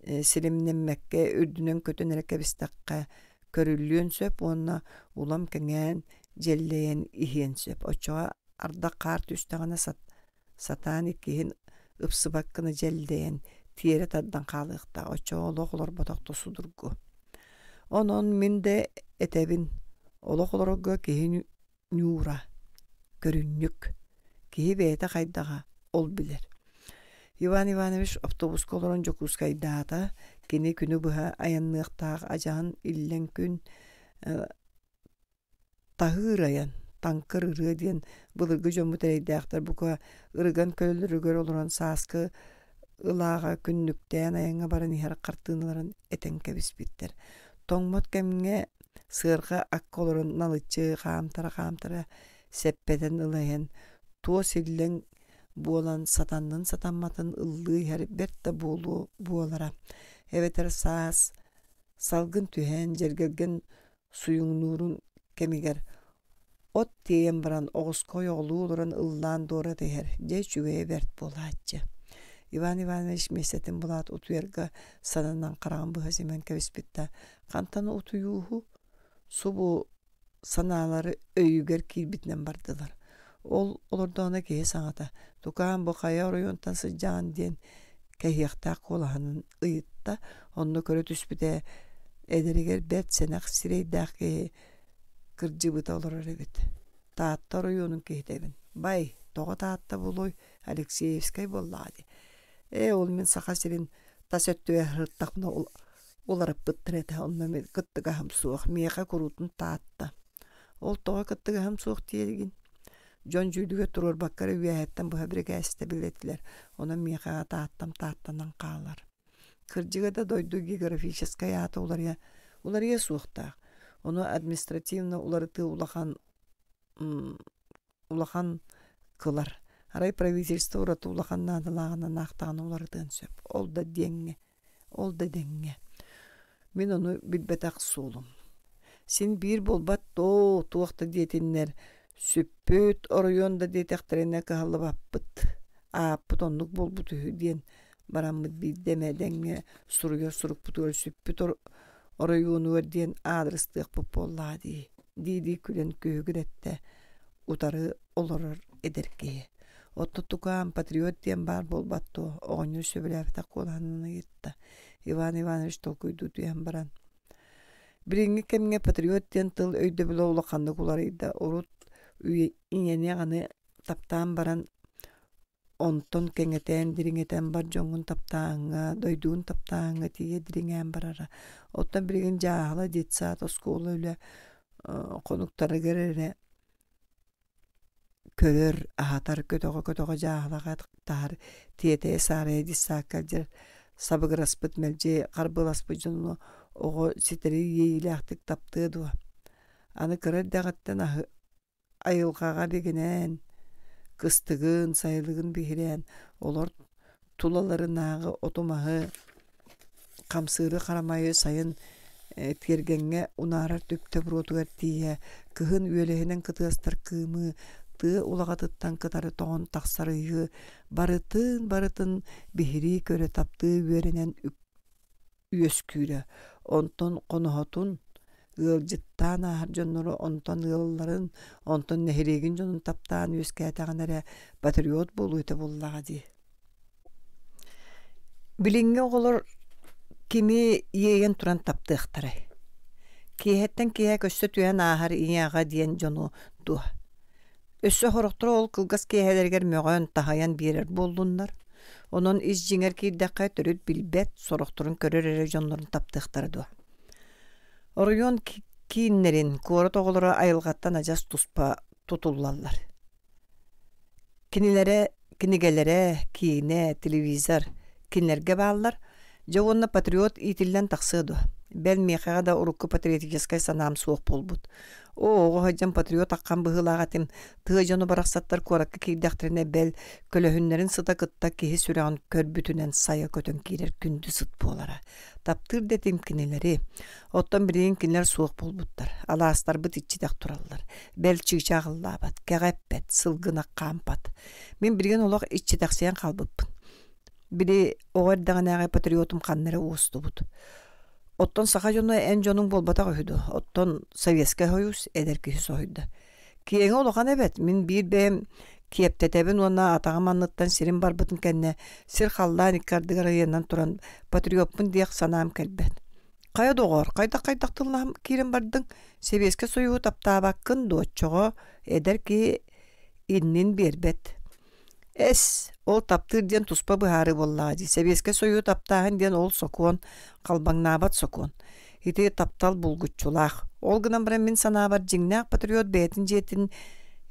силимнэммэккэ үрдүнэн көтөн эрэ кэбистэххэ көрүллүөн сөп уонна улам кэҥээн дьэллэйэн иһиэн сөп. Оччоҕо ардах хаар түстэҕинэ сат сатаан иккиһин ыпсыбат гына дьэллэйэн тиэрэ тардан хаалыахтаах. Оччоҕо олох олорботох да судургу. Онон мин да этэбин, олох олорорго киһи ньуура, көрүнньүк. Киһи бэйэтэ хайдаҕа ол билэр. Иван Иванович автобуска олорон Дьокуускайдаата. Кини күнү быһа айанныахтаах адьаһын иллэҥ күн таһыыр айан, таҥкыр ырыа диэн былыргы дьоммут эрэйдээхтэр бука ырыган көлөлөрүгэр олорон сааскы ылааҕа күннүктээн айаҥҥа баран иһэр хартыыналарын этэн кэбиспиттэр. Тоҥмот кэмҥэ сыарҕа акка олорон налыччы хаамтара-хаамтара сэппэтэн ыла иһэн туос иллэҥ буолан сатаннын сатамматын ыллыы иһэр бэрт да буолуо буолара. Эбэтэр саас салгын түһэн дьэргэлгэн суйуҥнуурун кэмигэр от тиэйэн баран оҕуска ойоҕолуу олорон ыллаан дуората иһэр, дьэ үчүгэйэ бэрт буолааччы. Иван Иванович миэстэтин булаат утуйарга сананан хараҕын быһа симэн кэбиспит да, хантан утуйууһу субу санаалары өйүгэр киирбитинэн бардылар. Ол олордоҕуна киһи саҥата «Тукаам бу хайа оройуонтан сылдьаҕын?» диэн кэһиэхтээх куолаһынан ыйытта. Онно көрө түспүтэ эдэригэр бэрт сэнэх сирэйдээх киһи кырдьыбыта олорор эбит. Таатта оройуонун киһитэбин. Бай, тоҕо Таатта буолуой? Алексеевскай буоллаҕа дии. Ээ, ол мин Саха сирин тас өттүгэр сырыттахпына уларыппыттар этэ, онно мин кыттыгаһым суох. Миэхэ куруутун Таатта. Ол тоҕо кыттыгаһым суох диэгин? Дьон дьүүлүгэр туруорбакка эрэ үөһэттэн быһа бирикээстэбил этилэр. Онон миэхэ Тааттам Тааттанан хаалар. Кырдьыга да дойду географическай аата уларыйа, уларыйа суохтаах. Ону административно уларытыы улахан улахан кылар. Арай правительство ураты улахан наадалааҕынан аахтаҕына уларытыан сөп. Ол да диэҥҥэ, ол да дэҥҥэ. Мин ону билбэтэх суолум. Син биир буолбат доо, туох да диэтиннэр, сүппүт оройуон да диэтэхтэринэ кыһаллыбаппыт. Ааппыт оннук буолбут үһү диэн бараммыт биирдэ эмэ дэҥҥэ суруйар сурукпутугар сүппүт оройуонугар диэн аадырыстыахпыт буоллаҕа дии дии-дии күлэн күһүгүрэттэ утары олорор эдэр киһи. Оттон тукаам патриот диэн баар буолбат дуо? Оҕонньор сөбүлээбэтэх куолаһынан ыйытта. Иван Иванович толкуйдуу түһэн баран Билиҥҥи кэмҥэ патриот диэн тыл өйдөбүлэ улаханнык уларыйда. Урут ийэни аҕаны таптаан баран онтон кэҥэтэн, дириҥэтэн бар дьоҥҥун таптааһыҥҥа, дойдугун таптааһыҥҥа тиийэ дириҥээн барара. Оттон билигин дьааһыла, детсад, оскуола үлэ хонуктарыгар эрэ көрөр, аһатар, көтөҕө-көтөҕө дьааһылаҕа таһар, тиэтэйэ-саарайа детсадка илдьэр сабыгыраспыт, мэлдьи харбыаласпыт дьону оҕо ситэри иэйиилээхтик таптыа дуо? Аны кыра эрдэҕиттэн аһы айылҕаҕа бигинээн, кыстыгын, сайылыгын биһирээн, олор тулаларынааҕы оту-маһы, хамсыыры харамайы сайын тиэргэҥҥэ унаарар түптэ буруотугар тиийэ, кыһын үөлэһинэн кытыастар кыымы, тыа улаҕатыттан кытары тоҥон тахсар ыйы барытын-барытын биһирии көрө таптыы үөрэнэн үөскүүрэ. Онтон хоноһотун, Ыалдьыттаан ааһар дьоннору, онтон ыалларын, онтон нэһилиэгин дьонун таптаан үөскээтэҕинэ эрэ патриот буолуо этэ буоллаҕа дии. Билиҥҥи оҕолор кими иэйэн туран таптыахтарай? Киэһэттэн киэһэ көссө түһэн ааһар ийэ-аҕа диэн дьону дуо? Өссө сорохторо ол кылгас киэһэлэригэр мөҕөн, таһыйан биэрэр буоллуннар. Онон ис дьиҥэр киирдэххэ төрүт билбэт, сорохторун көрөр эрэ дьоннорун таптыахтара дуо? Оройуон кииннэрин, куорат оҕолоро айылҕаттан адьас туспа тутуллаллар. Кинилэрэ, кинигэлэрэ, киинэ, телевизор кинилэргэ бааллар. Дьэ уонна патриот иитиллэн тахсыа дуо? Бэл миэхэҕэ да урукку патриотическай санаам суох буолбут. Оо, оҕо сылдьан патриот аххан быһыылаах этим. Тыа дьоно барахсаттар куоракка киирдэхтэринэ бэл, көлөһүннэрин сыта кытта киһи сүрэҕин көрбүтүнэн сайа көтөн киирэр күндү сыт буолара. Таптыыр да этим кинилэри. Оттон билигин кинилэр суох буолбуттар. Алаастарбыт иччитэх тураллар. Бэл чыычаах ыллаабат, кэҕэ эппэт, сылгы ынах хаампат. Мин билигин олох иччитэхсийэн хаалбыппын. Били оҕо эрдэҕинээҕи патриотум ханна эрэ уостубут. Оттон саха дьоно эн дьонуҥ буолбатах үһү дуо? Оттон Советскай Союз эдэр киһи соһуйда. Киэҥэ улахан эбэт, мин биир бэйэм киэптэтэбин уонна атаҕым анныттан сирим барбытын кэннэ сир-халлаан икки ардыгар ыйанан туран патриоппун диэх санаам кэлбэт. Хайа доҕоор, хайдах-хайдах тыллаһан киирэн бардыҥ? Сэбиэскэй Союһу таптаабаккын дуо оччоҕо? Эдэр киһи иннин биэрбэт. Эс, ол таптыыр диэн туспа быһаарыы буоллаҕа дии. Сэбиэскэй Союһу таптааһын диэн ол сокуон, халбаҥнаабат сокуон. Ити таптал булгуччулаах. Ол гынан баран мин санаабар дьиҥнээх патриот бэйэтин дьиэтин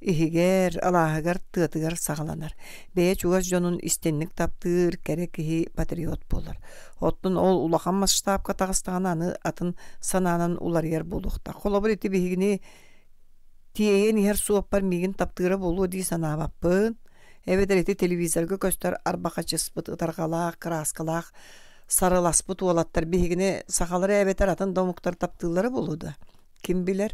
иһигэр, алааһыгар, тыатыгар саҕаланар. Бэйэ чугас дьонун истинник таптыыр, кэрэ киһи патриот буолар. Оттон ол улахан масштабка таҕыстаҕына аны атын санаанан уларыйар буолуохтаах. Холобур ити биһигини тиэйэн иһэр суоппар миигин таптыыра буолуо дии санаабаппын. Эбэтэр ити телевизорга көстөр арбахачыспыт ытарҕалаах, кырааскалаах сарыласпыт уолаттар биһигини сахалары эбэтэр атын да омуктар таптыыллара буолуо да? Ким билэр?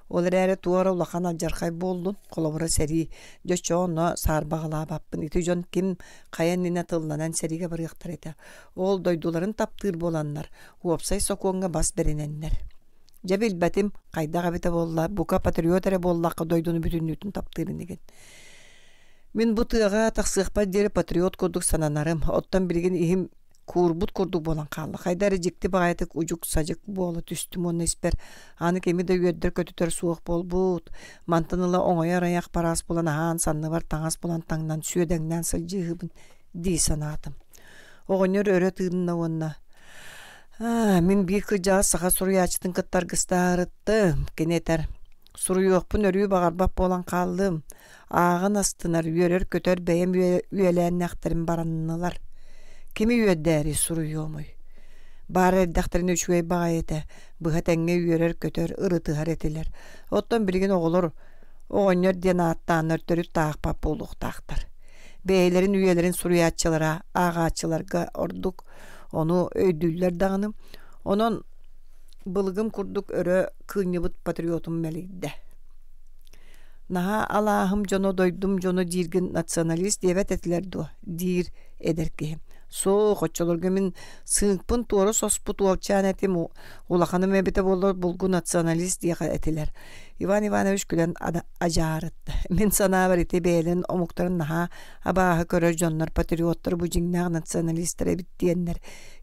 Ол эрээри туора улахан алдьархай буоллун, холобура сэрии. Дьэ оччоҕо онно саарбаҕалаабаппын. Ити дьон ким хайа иннинэ тылланан сэриигэ барыахтара этэ. Ол дойдуларын таптыыр буоланнар, уопсай сокуоҥҥа бас бэринэннэр. Дьэ билбэтим, хайдах эбитэ буолла, бука патриот эрэ буоллахха дойдуну бүтүннүүтүн таптыыр инигин. Мин бу тыаҕа тахсыахпар диэри патриот курдук сананарым. Оттон билигин иһим куурбут курдук буолан хаалла. Хайда эрэ дьикти баҕайытык удьук-садьык буола түстүм уонна испэр аны кими да үөрдэр-көтүтэр суох буолбут. Мантан ыла оҥойор айах параас булан аһаан, санныбар таҥас булан таҥнан сүөдэҥнээн сылдьыыһыбын дии санаатым. Оҕонньор өрө тыынна уонна «Аа, мин биир кырдьаҕас саха суруйааччытын кытта аргыстаһарыттым», кини этэр. Суруйуохпун өрүү баҕарбат буолан хааллым. Ааҕан астынар, үөрэр-көтөр бэйэм үөлээннээхтэрим бараннылар. Кими үөрдээри суруйуомуй? Баар эрдэхтэринэ үчүгэй баҕайы этэ, быһа тэҥҥэ үөрэр-көтөр, ырытыһар этилэр. Оттон билигин оҕолор оҕонньор диэн ааттааннар төрүт таахпат буолуохтаахтар. Бэйэлэрин үйэлэрин суруйааччылара ааҕааччыларга ордук ону өйдүүллэр даҕаны. Онон былыгым курдук өрө кыынньыбыт патриотум мэлийдэ. Наһаа алааһым дьоно, дойдум дьоно дииргин националист диэбэт этилэр дуо? Диир эдэр киһи. Суох, оччолорго мин сыыҥпын туора соспут уолчаан этим, улаханым эбитэ буоллар булгу националист диэх этилэр. Иван Иванович күлэн адьаарытта. Мин санаабар ити бэйэлэрин омуктарын наһаа абааһы көрөр дьоннор патриоттар бу дьиҥнээх националистар эбит диэннэр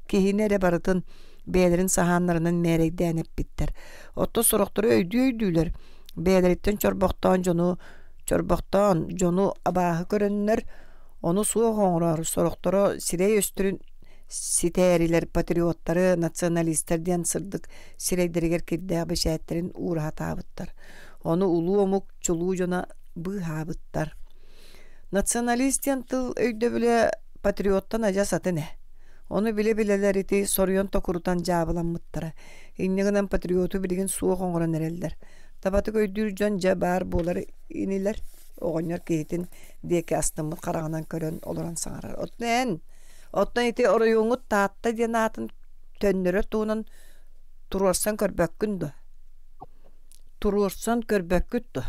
киһини эрэ барытын бэйэлэрин саһааннарынан мээрэйдээн эппиттэр. Оттон сорохтору өйдүү-өйдүүлэр бэйэлэриттэн чорбохтоон дьону чорбохтоон дьону абааһы көрөннөр ону суох оҥорор сорохторо сирэй өстөрүн ситээрилэр патриоттары националистар диэн сырдык сирэйдэригэр кирдээх бэчээттэрин уураһатаабыттар. Ону улуу омук чулуу дьоно быыһаабыттар. Националист диэн тыл өйдөбүлэ патриоттан адьас атын ээ. Ону билэ-билэлэр ити соруйан токурутан дьаабыламмыттара. Инньэ гынан патриоту билигин суох оҥорон эрэллэр. Табатык өйдүүр дьон дьэ баар буолар инилэр. Оҕонньор киһитин диэки астыммыт хараҕынан көрөн олорон саҥарар. Оттон эн, оттон ити оройуоҥҥут Таатта диэн аатын төннөрөр туһунан туруорсан көрбөккүн дуо? Туруорсан көрбөккүт дуо?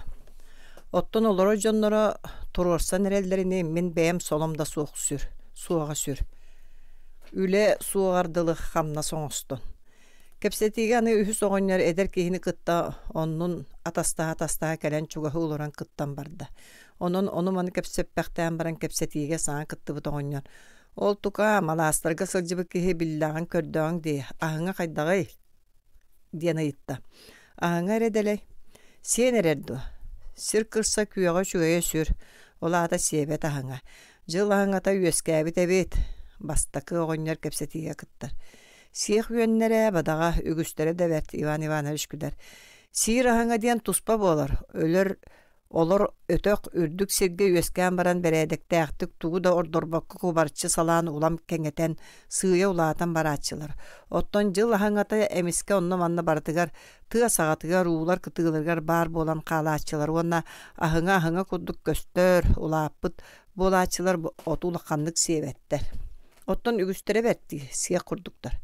Оттон олорор дьонноро туруорсан эрэллэрини мин бэйэм солом да суох сүр, суоҕа сүр. Үлэ суоҕар дылы хамнас оҥостон. Кэпсэтиигэ аны үһүс оҕонньор эдэр киһини кытта оннун атастаһа-атастаһа кэлэн чугаһыы олорон кыттан барда. Онон ону-маны кэпсэппэхтээн баран кэпсэтиигэ саҥа кыттыбыт оҕонньор: «Ол тукаам, алаастарга сылдьыбыт киһи биллэҕин көрдөҕүҥ дии, аһыҥа хайдаҕый?» диэн ыйытта. Аһыҥа эрэ дэлэй. Сиэн эрэр дуо? Сир кырса күөҕэ үчүгэйэ сүр, ол аата сиэбэт аһыҥа. Дьыл аһыҥата үөскээбит эбит. Бастакы оҕонньор кэпсэтиигэ кыттар. Сиэх үөннэрэ, бадаҕа, үгүстэрэ да бэрт, Иван Иванович күлэр. Сиир аһыҥа диэн туспа буолар, өлөр олор өтөх үрдүк сиргэ үөскээн баран бэрээдэктээхтик тугу да ордорбокко кубарчы салаан улам кэҥэтэн, сыыйа улаатан барааччылар. Оттон дьыл аһыҥата эмискэ онно-манна барытыгар, тыа саҕатыгар, уулар кытыыларыгар баар буолан хаалааччылар уонна аһыҥа-аһыҥа курдук көстөр, улааппыт буолааччылар оту улаханнык сиэбэттэр. Оттон үгүстэрэ бэртии, сиэх курдуктар.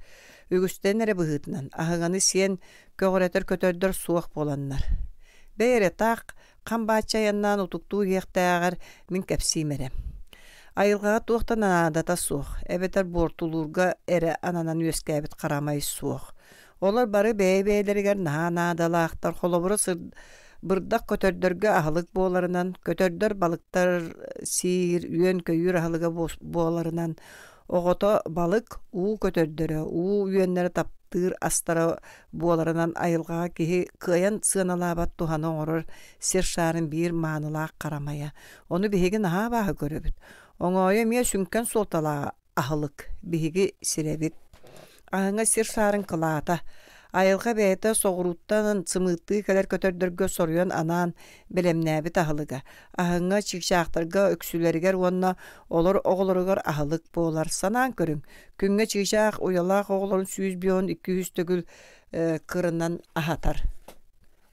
Үгүстэрин эрэ быһыытынан аһыҥаны сиэн көҕүрэтэр көтөрдөр суох буоланнар. Бэй эрэ таах хам бааччы айаннаан утуктуу иһиэхтээҕэр мин кэпсиим эрэ. Айылҕаҕа туох да наадата суох, эбэтэр буортулуурга эрэ ананан үөскээбит харамай суох. Олор бары бэйэ-бэйэлэригэр наһаа наадалаахтар. Холобура, бырдах көтөрдөргө аһылык буоларынан, көтөрдөр балыктар сиир, үөн-көйүүр аһылыга буоларынан, оҕото балык, уу көтөрдөрө, уу үөннэрэ таптыыр астара буоларынан айылҕаҕа киһи кыайан сыаналаабат туһаны оҥорор сир шаарын биир маанылаах харамайа. Ону биһиги наһаа абааһы көрөбүт. Оҥоойу эмиэ сүҥкэн суолталаах аһылык. Биһиги сирэбит. Аһыҥа сир шаарын кылаата. Айылҕа бэйэтэ соҕурууттан сымыыттыы кэлэр көтөрдөргө соруйан анаан бэлэмнээбит аһылыга. Аһыҥа чыычаахтарга үксүлэригэр уонна олор оҕолоругар аһылык буолар. Санаан көрүҥ, күҥҥэ чыычаах уйалаах оҕолорун сүүс бион икки үс төгүл э, кырынан аһатар.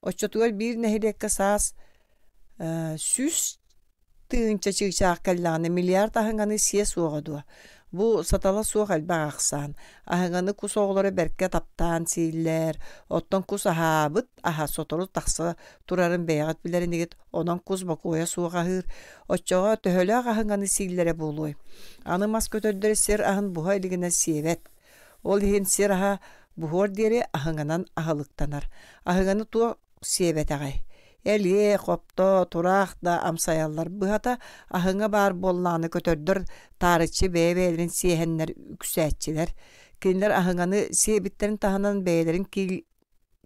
Оччотугар биир нэһилиэккэ саас э, сүүс тыһыынча чыычаах кэллэҕинэ миллиард аһыҥаны сиэ суоҕа дуо? Бу сатала суох элбэх ахсаан. Аһыҥаны кус оҕолоро бэркэ таптаан сииллэр. Оттон кус аһаабыт аһа сотору тахса турарын бэйэҕит билэр инигит. Онон кус бокуойа суох аһыыр. Оччоҕо төһөлөөх аһыҥаны сииллэрэ буолуой? Аны мас көтөрдөрө сир аһын буһа илигинэ сиэбэт. Ол иһин сир аһа буһуор диэри аһыҥанан аһылыктанар. Аһыҥаны туох сиэбэтэҕэй? Элиэ, хопто, тураах да амсайаллар. Быһата, аһыҥа баар буоллаҕына көтөрдөр таарыччы бэйэ-бэйэлэрин сиэһэннэр үксээччилэр. Кинилэр аһыҥаны сиэбиттэрин таһынан бэйэлэрин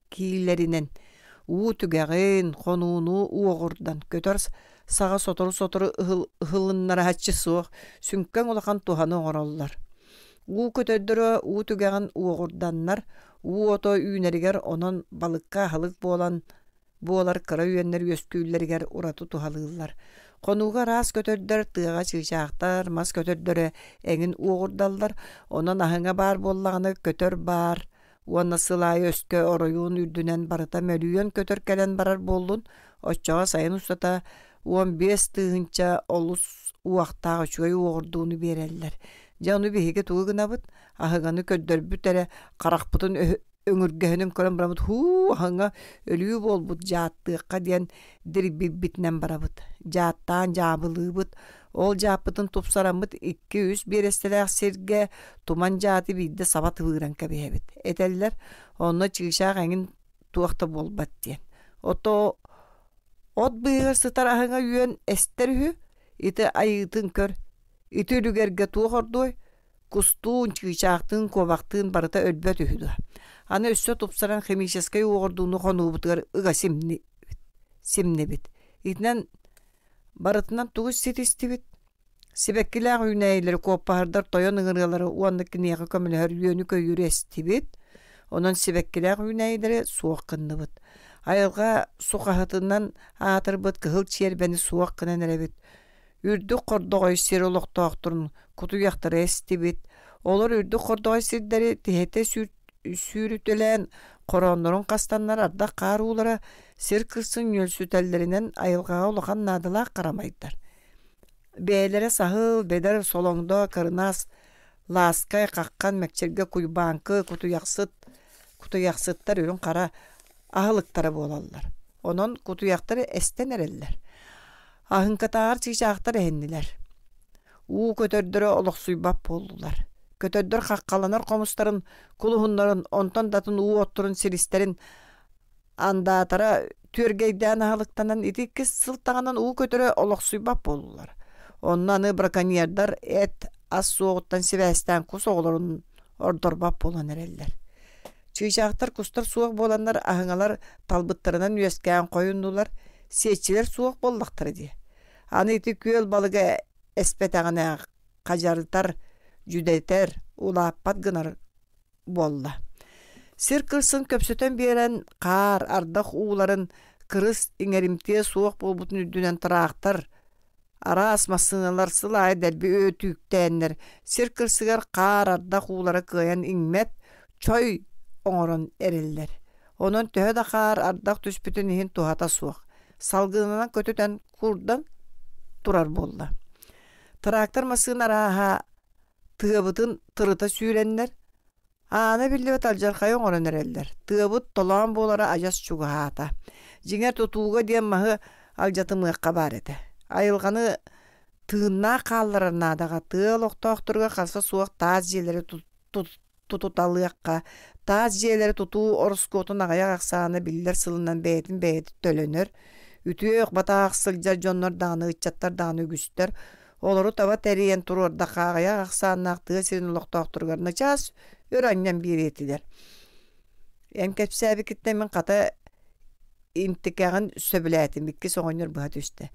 киилэринэн уу түгэҕин, хонууну уоҕурдан, көтөр саҕа сотору-сотору ыһылыннарааччы суох, сүҥкэн улахан туһаны оҥороллор. Уу көтөрдөрө уу түгэҕин уоҕурданнар, уу ото үүнэригэр онон балыкка аһылык буолан буолар кыра үөннэр үөскүүллэригэр ураты туһалыыллар. Хонууга араас көтөрдөр, тыаҕа чыычаахтар, мас көтөрдөрө эҥин уоҕурдаллар. Онон аһыҥа баар буоллаҕына көтөр баар уонна сыл аайы өскө оройуон үрдүнэн барыта мөлүйүөн көтөр кэлэн барар буоллун, оччоҕо сайын устата уон биэс тыһыынча олус уохтаах үчүгэй уоҕурдууну биэрэллэр. Дьэ ону биһиги тугу гынабыт? Аһыҥаны көрдөрбүт эрэ харахпытын өҥүргэһинин көрөн барабыт, һуу, аһыҥа өлүү буолбут дьааттыахха диэн дирбийбитинэн барабыт. Дьааттаан дьаабылыыбыт. Ол дьааппытын тупсараммыт икки-үс биэрэстэлээх сиргэ туман дьааты биирдэ саба тыбыыран кэбиһэбит. Этэллэр, онно чыычаах эҥин туох да буолбат диэн. Ото от быыһыгар сытар аһыҥа үөн эстэр үһү, ити айыытын көр. Ити үлүгэргэ туох ордуой? Кустуун, чыычаахтыын, куобахтыын барыта өлбөт үһү дуо? Аны өссө тупсаран химическэй уоҕурдууну хонуубутугар ыга симнибит. симнибит. Итинэн барытынан тугу ситистибит? Сибэккилээх үүнээйилэри куоппаһырдар тойон ыҥырыалары уонна киниэхэ көмөлөһөр үөнү-көйүүрү эстибит. Онон сибэккилээх үүнээйилэри суох гынныбыт. Айылҕа сухаһытынан аатырбыт кыһыл чиэрбэни суох гынан эрэбит. Үрдүк хордоҕой сир олохтоохторун кутуйахтары эстибит. Олор үрдүк хордоҕой сирдэри тиһэтэ сүүрүтэлээн хорооннорун хастаннар ардах хаар уулара сир кырсын ньүөлсүтэллэринэн айылҕаҕа улахан наадалаах харамайдар. Бэйэлэрэ саһыл, бэдэр, солоҥдо, кырынаас, лааскай, хаххан, мэкчиргэ, куйбааҥкы, кутуйахсыт, кутуйахсыттар үрүҥ хара аһылыктара буолаллар. Онон кутуйахтар эстэн эрэллэр. Аһыҥкатааҕар чыычаахтар эһиннилэр. Уу көтөрдөрө олохсуйбат буоллулар. Көтөрдөр хаххаланар хомустарын, кулуһуннарын, онтон да атын уу отторун силистэрин андаатара түөргэйдээн аһылыктанан ити иккис сылтаҕынан уу көтөрө олохсуйбат буоллулар. Онно аны браконьердар эт ас суоҕуттан сибээстээн кус оҕолорун ордорбот буолан эрэллэр. Чыычаахтар кустар суох буоланнар аһыҥалар талбыттарынан үөскээн хойуннулар, сиэччилэр суох буоллахтара дии. Аны ити күөл балыга эспэтэҕинэ хадьарытар, дьүдэтэр, улааппат гынар буолла. Сир кырсын көпсөтөн биэрэн хаар, ардах ууларын кырыс иҥэримтиэ суох буолбутун үрдүнэн тыраахтар, араас массыыналар сыл аайы дэлби өтүүктээннэр сир кырсыгар хаар, ардах уулара кыайан иҥмэт, чой оҥорон эрэллэр. Онон төһө да хаар, ардах түспүтүн иһин туһата суох. Салгынынан көтүтэн куурдан турар буолла. Трактор массыына арааһа тыабытын тырыта сүүрэннэр, аана биллибэт алдьархайы оҥорон эрэллэр. Тыабыт толоон буолара адьас чугаһаата. Дьиҥэр тутууга диэн маһы алдьатымыахха баар этэ. Айылҕаны тыыннаах хаалларар наадаҕа тыа олохтоохторугар харса суох таас дьиэлэри тутуталыахха, таас дьиэлэри тутуу ороскуотун аҕыйах ахсаана биллэр сылынан бэйэтин бэйэтэ төлөнөр. Үтүөх батаах сылдьар дьоннор даҕаны, ыччаттар даҕаны үгүстэр. Олору таба тэрийэн туруордахха аҕыйах ахсааннаах тыа сирин олохтоохторугар начаас өр анньан биэриэ этилэр. Эн кэпсээбиккиттэн мин хата интикэҕин сөбүлээтим, иккис оҕонньор быһа түстэ.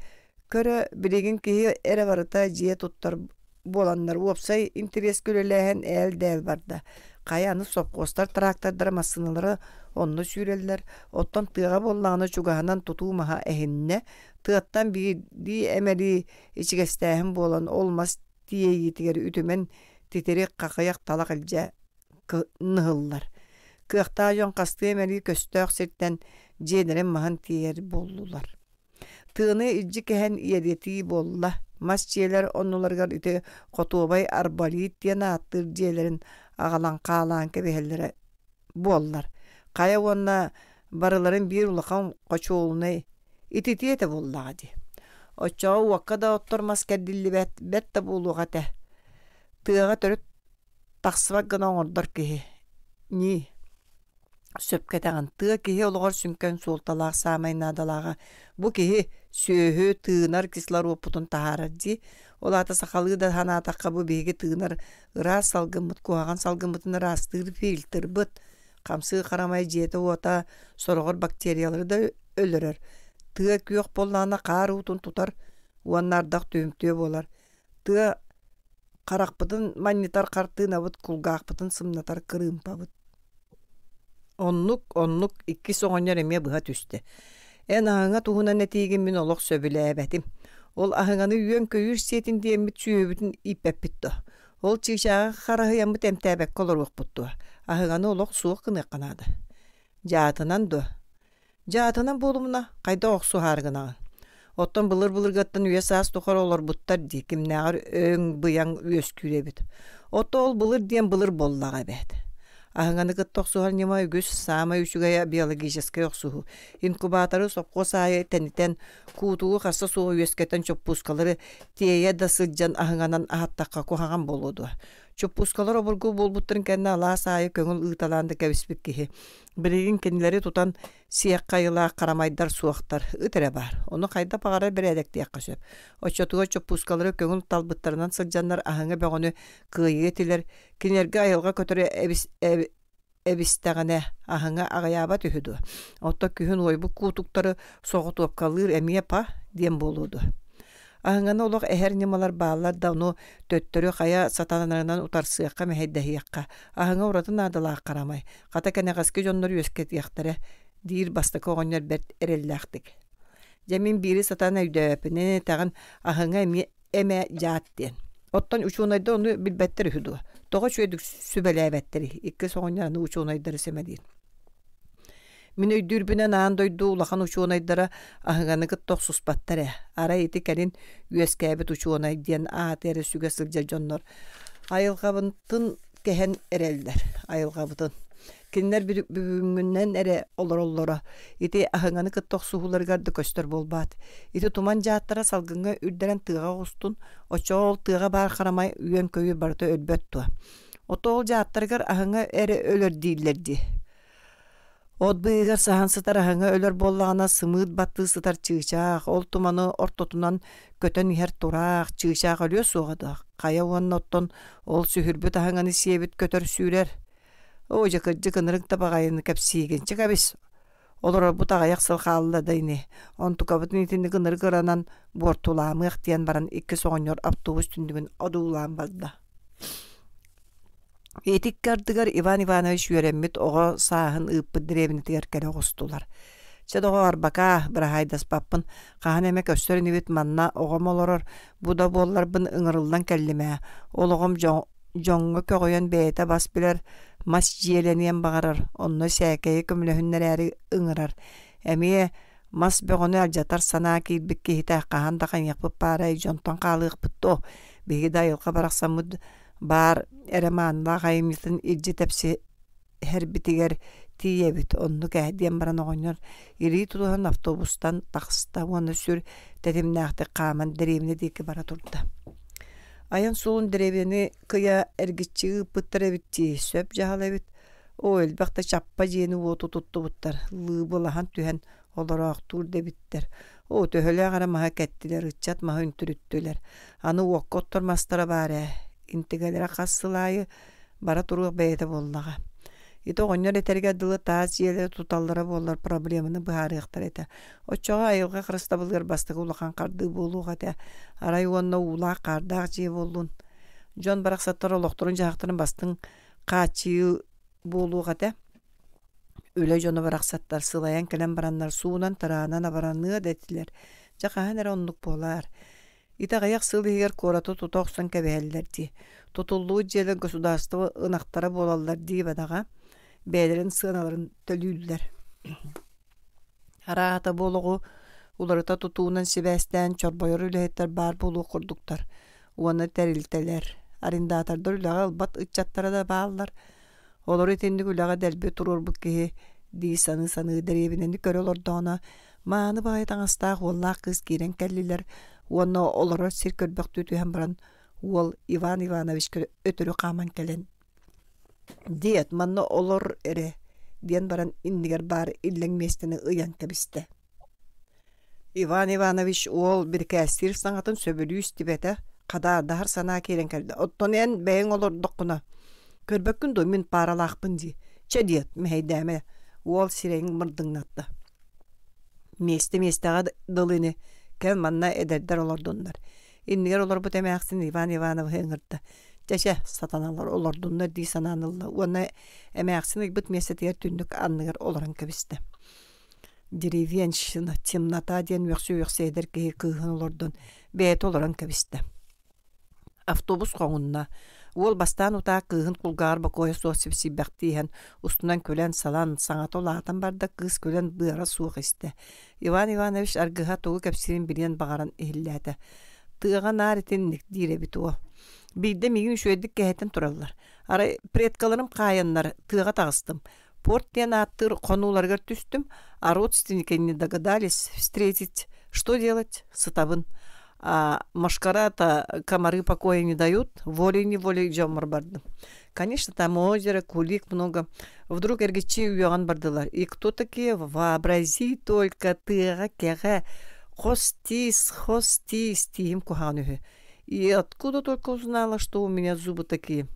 Көрө, билигин киһи эрэ барыта дьиэ туттар буоланнар уопсай интэриэскэ үлэлээһин ээл-дээл барда. Хайа аны сопхуостар трактордара, массыыналара онно сүүрэллэр. Оттон тыаҕа буоллаҕына чугаһынан тутуу маһа эһиннэ. Тыаттан биирдии эмэлии ичигэстээһин буолан ол мас тиэйиитигэр үтүмэн титирик хахыйах талах илдьэ ныһыллар. Кыахтаах дьон хастыы эмэлии көстөөх сиртэн дьиэлэрин маһын тиэйэр буоллулар. Тыаны илдьи кэһэн иэдэтии буолла. Мас дьиэлэр оннуларыгар ити хотуобай арболит диэн ааттыыр дьиэлэрин аҕалан хаалаан кэбиһэллэрэ буоллар. Хайа уонна барыларын биир улахан хочуолунай ититиэ этэ буоллаҕа дии. Оччоҕо уокка да оттор мас кэрдиллибэт, бэрт да буолуох этэ. Тыаҕа төрүт тахсыбат гына оҥордор киһи. Ньии. Сөпкө этэҕин, тыа киһи олоҕор сүҥкэн суолталаах саамай наадалааҕа бу киһи сүөһү тыынар кислородпутун таһаарар дии. Ол аата сахалыы да санаатахха бу биһиги тыынар ыраас салгыммыт, куһаҕан салгыммытын ыраастыыр фильтрбыт. Хамсыы харамай дьиэтэ-уота сороҕор бактериялары да өлөрөр. Тыа күөх буоллаҕына хаар уутун тутар уонна ардах түһүмтүө буолар. Тыа харахпытын манньытар хартыынабыт, кулгаахпытын сымнатар кырыымпабыт. Оннук, оннук иккис оҕонньор эмиэ быһа түстэ. Эн аһыҥа туһунан этиигин мин олох сөбүлээбэтим. Ол аһыҥаны үөн-көйүүр сиэтин диэммит сүөһүбүтүн ииппэппит дуо? Ол чыычааҕы хараһыйаммыт эмтээбэккэ олоруохпут дуо? Аһыҥаны олох суох гыныахха наада. Дьаатынан дуо? Дьаатынан буолумуна, хайдах охсуһаары гынаҕын? Оттон былыр-былыргаттан үйэ-саас тухары олорбуттар дии, кимнээҕэр өҥ-быйаҥ үөскүүр эбит. Оттон ол былыр диэн былыр буоллаҕа эбээт. Аһыҥаны кытта охсуһар ньыма үгүс, саамай үчүгэйэ биологическай охсуһуу. Инкубаторы сопхуос аайы тэнитэн, куутугу харса суох үөскэтэн чоппуускалары тиэйэ да сылдьан аһыҥанан аһаттахха куһаҕан буолуо дуо? Чоппуускалар обургу буолбуттарын кэннэ алаас аайы көҥүл ыыталаан да кэбиспит киһи. Билигин кинилэри тутан сиэххэ айылаах харамайдар суохтар, ыт эрэ баар. Ону хайдах баҕарар бэрээдэктиэххэ сөп. Оччотугар чоппуускалары көҥүл талбыттарынан сылдьаннар аһыҥа бөҕөнү кыайыа этилэр. Кинилэргэ айылҕа көтөрө эбис, эбистэҕинэ аһыҥа аҕыйаабат үһү дуо? Оттон күһүн уойбут куутуктары соҕотуопкалыыр эмиэ па диэн буолуо дуо? Аһыҥаны олох эһэр ньымалар бааллар да ону төттөрү хайа сатанарынан утарсыахха, мэһэйдэһиэххэ. Аһыҥа ураты наадалаах харамай. Хата кэнэҕэски дьоннор үөскэтиэхтэрэ, диир бастакы оҕонньор бэрт эрэллээхтик. Дьэ мин биири сатаан өйдөөбөппүн, эн этэҕин аһыҥа эмиэ эмэ дьаат диэн. Оттон учуонайдар ону билбэттэр үһү дуо? Тоҕо үчүгэйдик сүбэлээбэттэрий? Иккис оҕонньор аны учуонайдары сэмэлиир. Мин өйдүүрбүнэн аан дойду улахан учуонайдара аһыҥаны кытта охсуспаттар ээ. Арай ити кэлин үөскээбит учуонай диэн ааты эрэ сүгэ сылдьар дьоннор айылҕабытын кэһэн эрэллэр. Айылҕабытын. Кинилэр бүгүҥҥүнэн эрэ олороллоро. Ити аһыҥаны кытта охсуһууларыгар да көстөр буолбаат. Ити туман дьааттара салгыҥҥа үрдэрэн тыаҕа оҕустун, оччоҕо ол тыаҕа баар харамай үөн-көйүүр барыта өлбөт дуо? Ото ол дьааттарыгар аһыҥа эрэ өлөр дииллэр дии. От быыһыгар саһан сытар аһыҥа өлөр буоллаҕына сымыыт баттыы сытар чыычаах, ол туманы ортотунан көтөн иһэр тураах, чыычаах өлүө суоҕа дуо? Хайа уонна оттон ол сүһүрбүт аһыҥаны сиэбит көтөр сүүрэр. Оо, дьэ кырдьык ынырык да баҕайыны кэпсиигин. Чэ кэбис, олорорбут аҕыйах сыл хаалла да ини. Онтукабытын итинник ынырык ыранан буортулаамыах диэн баран иккис оҕонньор автобус түннүгүн одуулаан барда. Ити икки ардыгар Иван Иванович үөрэммит оҕо сааһын ыыппыт дэриэбинэтигэр кэлэ оҕустулар. Чэ, доҕоор, бакаа, быраһаайдаспаппын, хаһан эмэ көрсөр инибит манна оҕом олорор, бу да буолларбын ыҥырыллан кэллим ээ. Ол оҕом дьоҥҥо көҕүйэн бэйэтэ бас билэр мас дьиэлэниэн баҕарар, онно сээкэйи көмөлөһүннэрээри ыҥырар. Эмиэ мас бөҕөнү алдьатар санаа киирбит киһитэ хаһан да хайыахпыт баарай, дьонтон хаалыахпыт дуо? Биһиги да айылҕа барахсаммыт баар эрэ маанылаах айымньытын илдьи тэпсиһэрбитигэр тиийэбит, оннук ээ диэн баран оҕонньор илии тутуһан автобустан таҕыста уонна сүр тэтимнээхтик хааман дэриэбинэ диэки бара турда. Айан суолун дэриэбинэни кыйа эргиччи ыыппыттар эбит дии, сөп дьаһал эбит. Оо, элбэх да чаппа дьиэни-уоту туттубуттар, лыыбылаһан түһэн олороохтуур да эбиттэр. Оо, төһөлөөх эрэ маһы кэттилэр, ыччат маһы үнтүрүттүлэр. Аны уокка оттор мастара баар ээ, интигэлэрэ хас сыл аайы бара туруох бэйэтэ буоллаҕа. Ити оҕонньор этэригэр дылы таас дьиэлэри туталлара буоллар проблеманы быһаарыахтара этэ. Оччоҕо айылҕа харыстабылыгар бастакы улахан хардыы буолуох этэ. Арай уонна уулаах-хаардаах дьиэ буоллун. Дьон барахсаттар олохторун-дьаһахтарын бастыҥ хааччыйыы буолуох этэ. Үлэ дьоно барахсаттар сылайан кэлэн бараннар суунан-тараанан абараныа да этилэр. Дьэ хаһан эрэ оннук буолаар. Ити аҕыйах сыл иһигэр куораты тута охсон кэбиһэллэр дии. Тутуллубут дьиэлэр государство ынахтара буолаллар дии бадаҕа. Бэйэлэрин сыаналарын төлүүллэр. Арааһата бу олоҕу уларыта тутуунан сибээстээн чорбойор үлэһиттэр баар буолуох курдуктар. Уонна тэрилтэлэр, арендатордар үлэҕэ ылбат ыччаттара да бааллар. Олору итинник үлэҕэ дэлби туруорбут киһи дии саныы-саныы дэриэбинэни көрө олордоҕуна, мааны баҕайы таҥастаах уоллаах кыыс киирэн кэллилэр уонна олорор сир көрбөхтүү түһэн баран уол Иван Ивановичка өтөрү хааман кэлэн «Диэт, манна олор эрэ» диэн баран иннигэр баар иллэҥ миэстэни ыйан кэбистэ. Иван Иванович уол бирикээстиир саҥатын сөбүлүү истибэтэ, хадаардаһар санаа киирэн кэллэ. «Оттон эн бэйэҥ олордоххуна, көрбөккүн дуо мин пааралаахпын дии. Чэ диэт, мэһэйдээмэ» уол сирэйин мырдыҥнатта. Миэстэ миэстэҕэ дылы ини, кэл манна эдэрдэр олордуннар. Иннигэр олорбут эмээхсин Иван Ивановиһы ыҥырда. Чэ чэ, сатаналар олордуннар дии санаан ылла уонна эмээхсин ыйбыт миэстэтигэр түннүк анныгар олорон кэбистэ. Деревенщина, темнота диэн үөхсэ-үөхсэ эдэр киһи кыыһын олордон бэйэтэ олорон кэбистэ. Автобус хоҥунна. Уол бастаан утаа кыыһын кулгааҕар бокуойа суох сипсийбэхтии иһэн, устунан күлэн-салан, саҥата улаатан барда, кыыс күлэн быара суох истэ. Иван Иванович аргыһа тугу кэпсиирин билиэн баҕаран иһиллээтэ. Тыаҕа наар итинник диир эбит уол. Биирдэ миигин үчүгэйдик кэһэтэн тураллар. Арай предкаларым хаайаннар тыаҕа таҕыстым. Порт диэн ааттыыр хонууларыгар түстүм, а родственники не догадались встретить. Что делать? Сытабын. А мошкара-то комары покоя не дают, волей-неволей дьоммор бардым. Конечно, там озеро, кулик много. Вдруг эргиччи үөҕэн бардылар. И кто такие? Вообрази только тыаҕа кэҕэ хос тиис, хос тиис тииһим куһаҕан үһү. И откуда только узнала, что у меня зубы такие.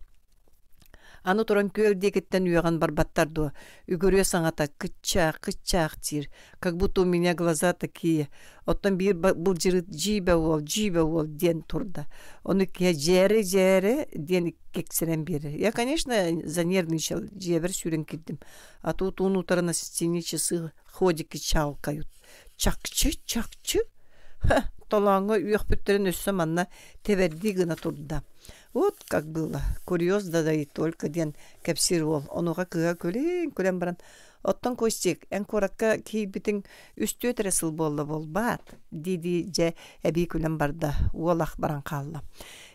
Аны туран күөл диэкиттэн үөҕэн барбаттар дуо, үгүрүө саҥата кыччаах, кыччаах диир, как будто у меня глаза такие. Оттон биир былдьырыт дьиибэ уол, дьиибэ уол диэн турда. Ону киһи дьээрэ-дьээрэ диэн кэксэрэн биэрэр. Я, конечно, занервничал, дьиэбэр сүүрэн киирдим. А тут уун утары на стене часы ходики чалкают. Чакчы, чакчы. Ха, толооҥҥо үөхпүттэрин өссө манна тэбэрдии гына турда. Вот как было. Курьез да да и только диэн кэпсиир уол. Онуоха кыыһа күлэн-күлэн баран «Оттон Костик, эн куоракка киирбитиҥ үстүөт эрэ сыл буолла буолбаат?» дии-дии дьэ эбии күлэн барда. Уол ах баран хаалла.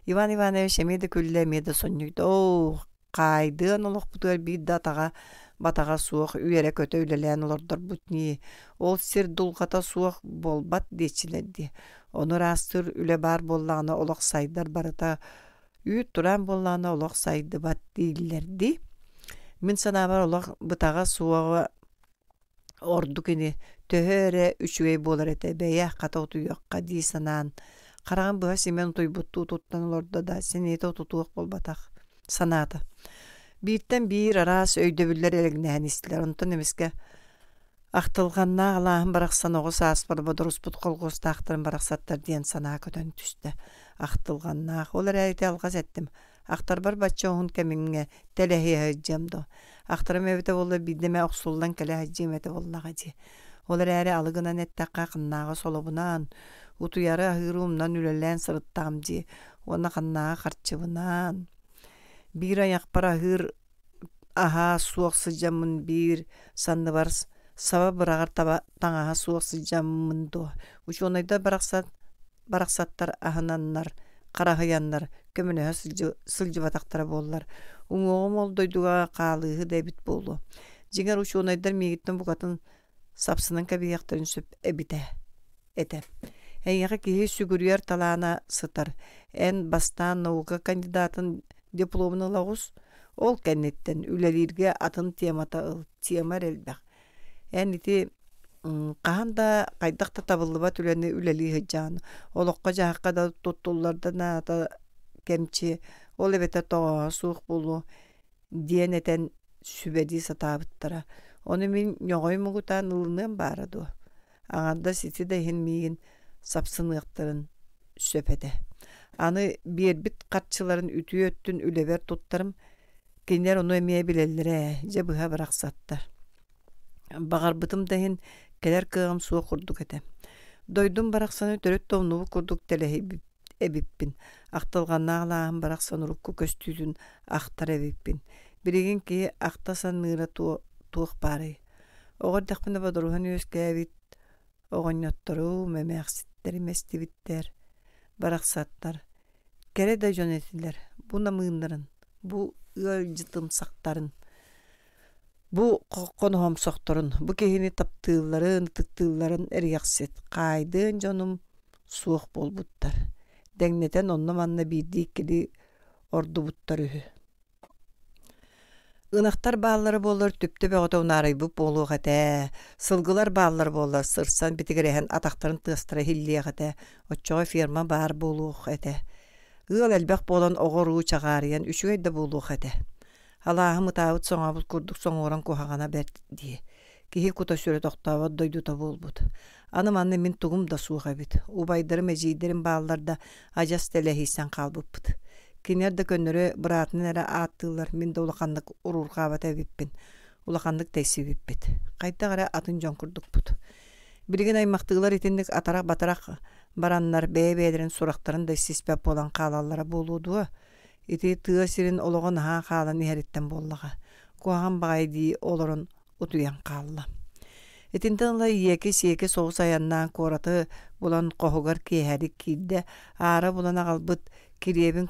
Иван Иванович эмиэ да күллэ, эмиэ да сонньуйда. «Оо, хаайдыан олохпутугар биир да атаҕа батаҕа суох үөрэ-көтө үлэлээн олордорбут ньии. Ол сир дулҕата суох буолбат диэччилэр дии. Ону ыраастыыр үлэ баар буоллаҕына олох сайдар барыта Үүт тураан буоллаҕына олох сайдыбат дииллэр дии. Мин санаабар олох бытаҕа суоҕа ордук ини, төһө эрэ үчүгэй буолар этэ, бэйэ хата утуйуохха дии санаан, хараҕын быһа симэн утуйбуттуу туттан олордо да, сэниэтэ утутуох буолбатах санаата. Бииртэн биир араас өйдөбүллэр элэҥнэһэн истилэр, онтон эмискэ ахтылҕаннаах алааһым барахсан оҕо сааспар бодоруспут колхуостаахтарын барахсаттар диэн санаа көтөн түстэ. Ахтылҕаннаах, ол эрээри ити алҕас эттим. Ахтарбар бачча уһун кэмҥэ тэлэһийэ сылдьыам дуо? Ахтарым эбитэ буоллар биирдэ эмэ охсуллан кэлэ сылдьыам этэ буоллаҕа дии. Ол эрээри алы гынан эттэххэ ханнааҕы солобунаан, утуйары аһыыры умнан үлэлээн сырыттаҕым дии уонна ханнааҕы харчыбынаан. Биир айахпар аһыыр аһаа суох сылдьаммын биир санныбар саба быраҕар таба таҥаһа суох сылдьаммын дуо? Учуонайдар барахсат барахсаттар аһынаннар, хараһыйаннар көмөлөһө сылдьыбатахтара буоллар, уҥуоҕум ол дойдуга хаалыыһы да эбит буолуо. Дьиҥэр учуонайдар миигиттэн букатын сапсынан кэбиһиэхтэрин сөп эбитэ этэ. Эйиэхэ киһи сүгүрүйэр талаана сытар. Эн бастаан наука кандидатын дипломун ыла оҕус, ол кэнниттэн үлэлииргэ атын темата ыл, тема эрэ элбэх. Эн ити хаһан да хайдах да табыллыбат үлэни үлэлии сылдьаҕын, олоххо-дьаһахха да туттуллар да наада кэмчи, ол эбэтэр тоҕооһо суох буолуо диэн этэн сүбэлии сатаабыттара. Ону мин ньоҕой муҥутаан ылыныам баара дуо? Аҥардас ити да иһин миигин сапсыныахтарын сөп этэ. Аны биэрбит харчыларын үтүө өттүн үлэбэр туттарым, кинилэр ону эмиэ билэллэрэ ээ, дьэ быһа бырахсаттар. Баҕарбытым да иһин кэлэр кыаҕым суох курдук этэ. Дойдум барахсаны төрүт да умнубут курдук тэлэһийбит эбиппин. Ахтылҕаннаах алааһым барахсан урукку көстүүтүн ахтар эбиппин. Билигин киһи ахта саныыра туох баарый? Оҕо эрдэхпинэ бодоруһан үөскээбит оҕонньотторум, эмээхситтэрим эстибиттэр, барахсаттар. Кэрэ да дьон этилэр, бу намыыннарын, бу ыалдьытымсахтарын, бу хоноһомсохторун, бу киһини таптыылларын, ытыктыылларын эриэхсит, хаайдыан дьонум суох буолбуттар. Дэҥнэтэн онно-манна биирдии-иккилии ордубуттар үһү. Ынахтар бааллара буоллар түптэ бөҕөтө унаарыйбыт буолуох этэ, сылгылар бааллар буоллар сырсан битигирэһэн атахтарын тыастара иһиллиэх этэ, оччоҕо ферма баар буолуох этэ. Ыал элбэх буолан оҕо-уруу чаҕаарыйан үчүгэй да буолуох этэ. Алааһым ытаабыт соҥообут курдук соҥуоран куһаҕана бэрт дии. Киһи кута-сүрэ тохтообот дойдута буолбут. Аны манна мин тугум да суох эбит. Убайдарым, эдьиийдэрим бааллар да адьас тэлэһийсэн хаалбыппыт. Кинилэр да көннөрү быраатын эрэ ааттыыллар, мин да улаханнык уруурҕаабат эбиппин, улаханнык тэйсибиппит. Хайдах эрэ атын дьон курдукпут. Билигин аймахтыылар итинник атарах-батарах бараннар бэйэ-бэйэлэрин сурахтарын да истиспэт буолан хаалаллара буолуо дуо? Ити тыа сирин олоҕо наһаа хаалан иһэриттэн буоллаҕа. Куһаҕан баҕайы дии олорон утуйан хаалла. Итинтэн ыла иэки-сиэки соҕус айаннаан куораты булан хоһугар киэһэлик киирдэ, аара булан аҕалбыт килиэбин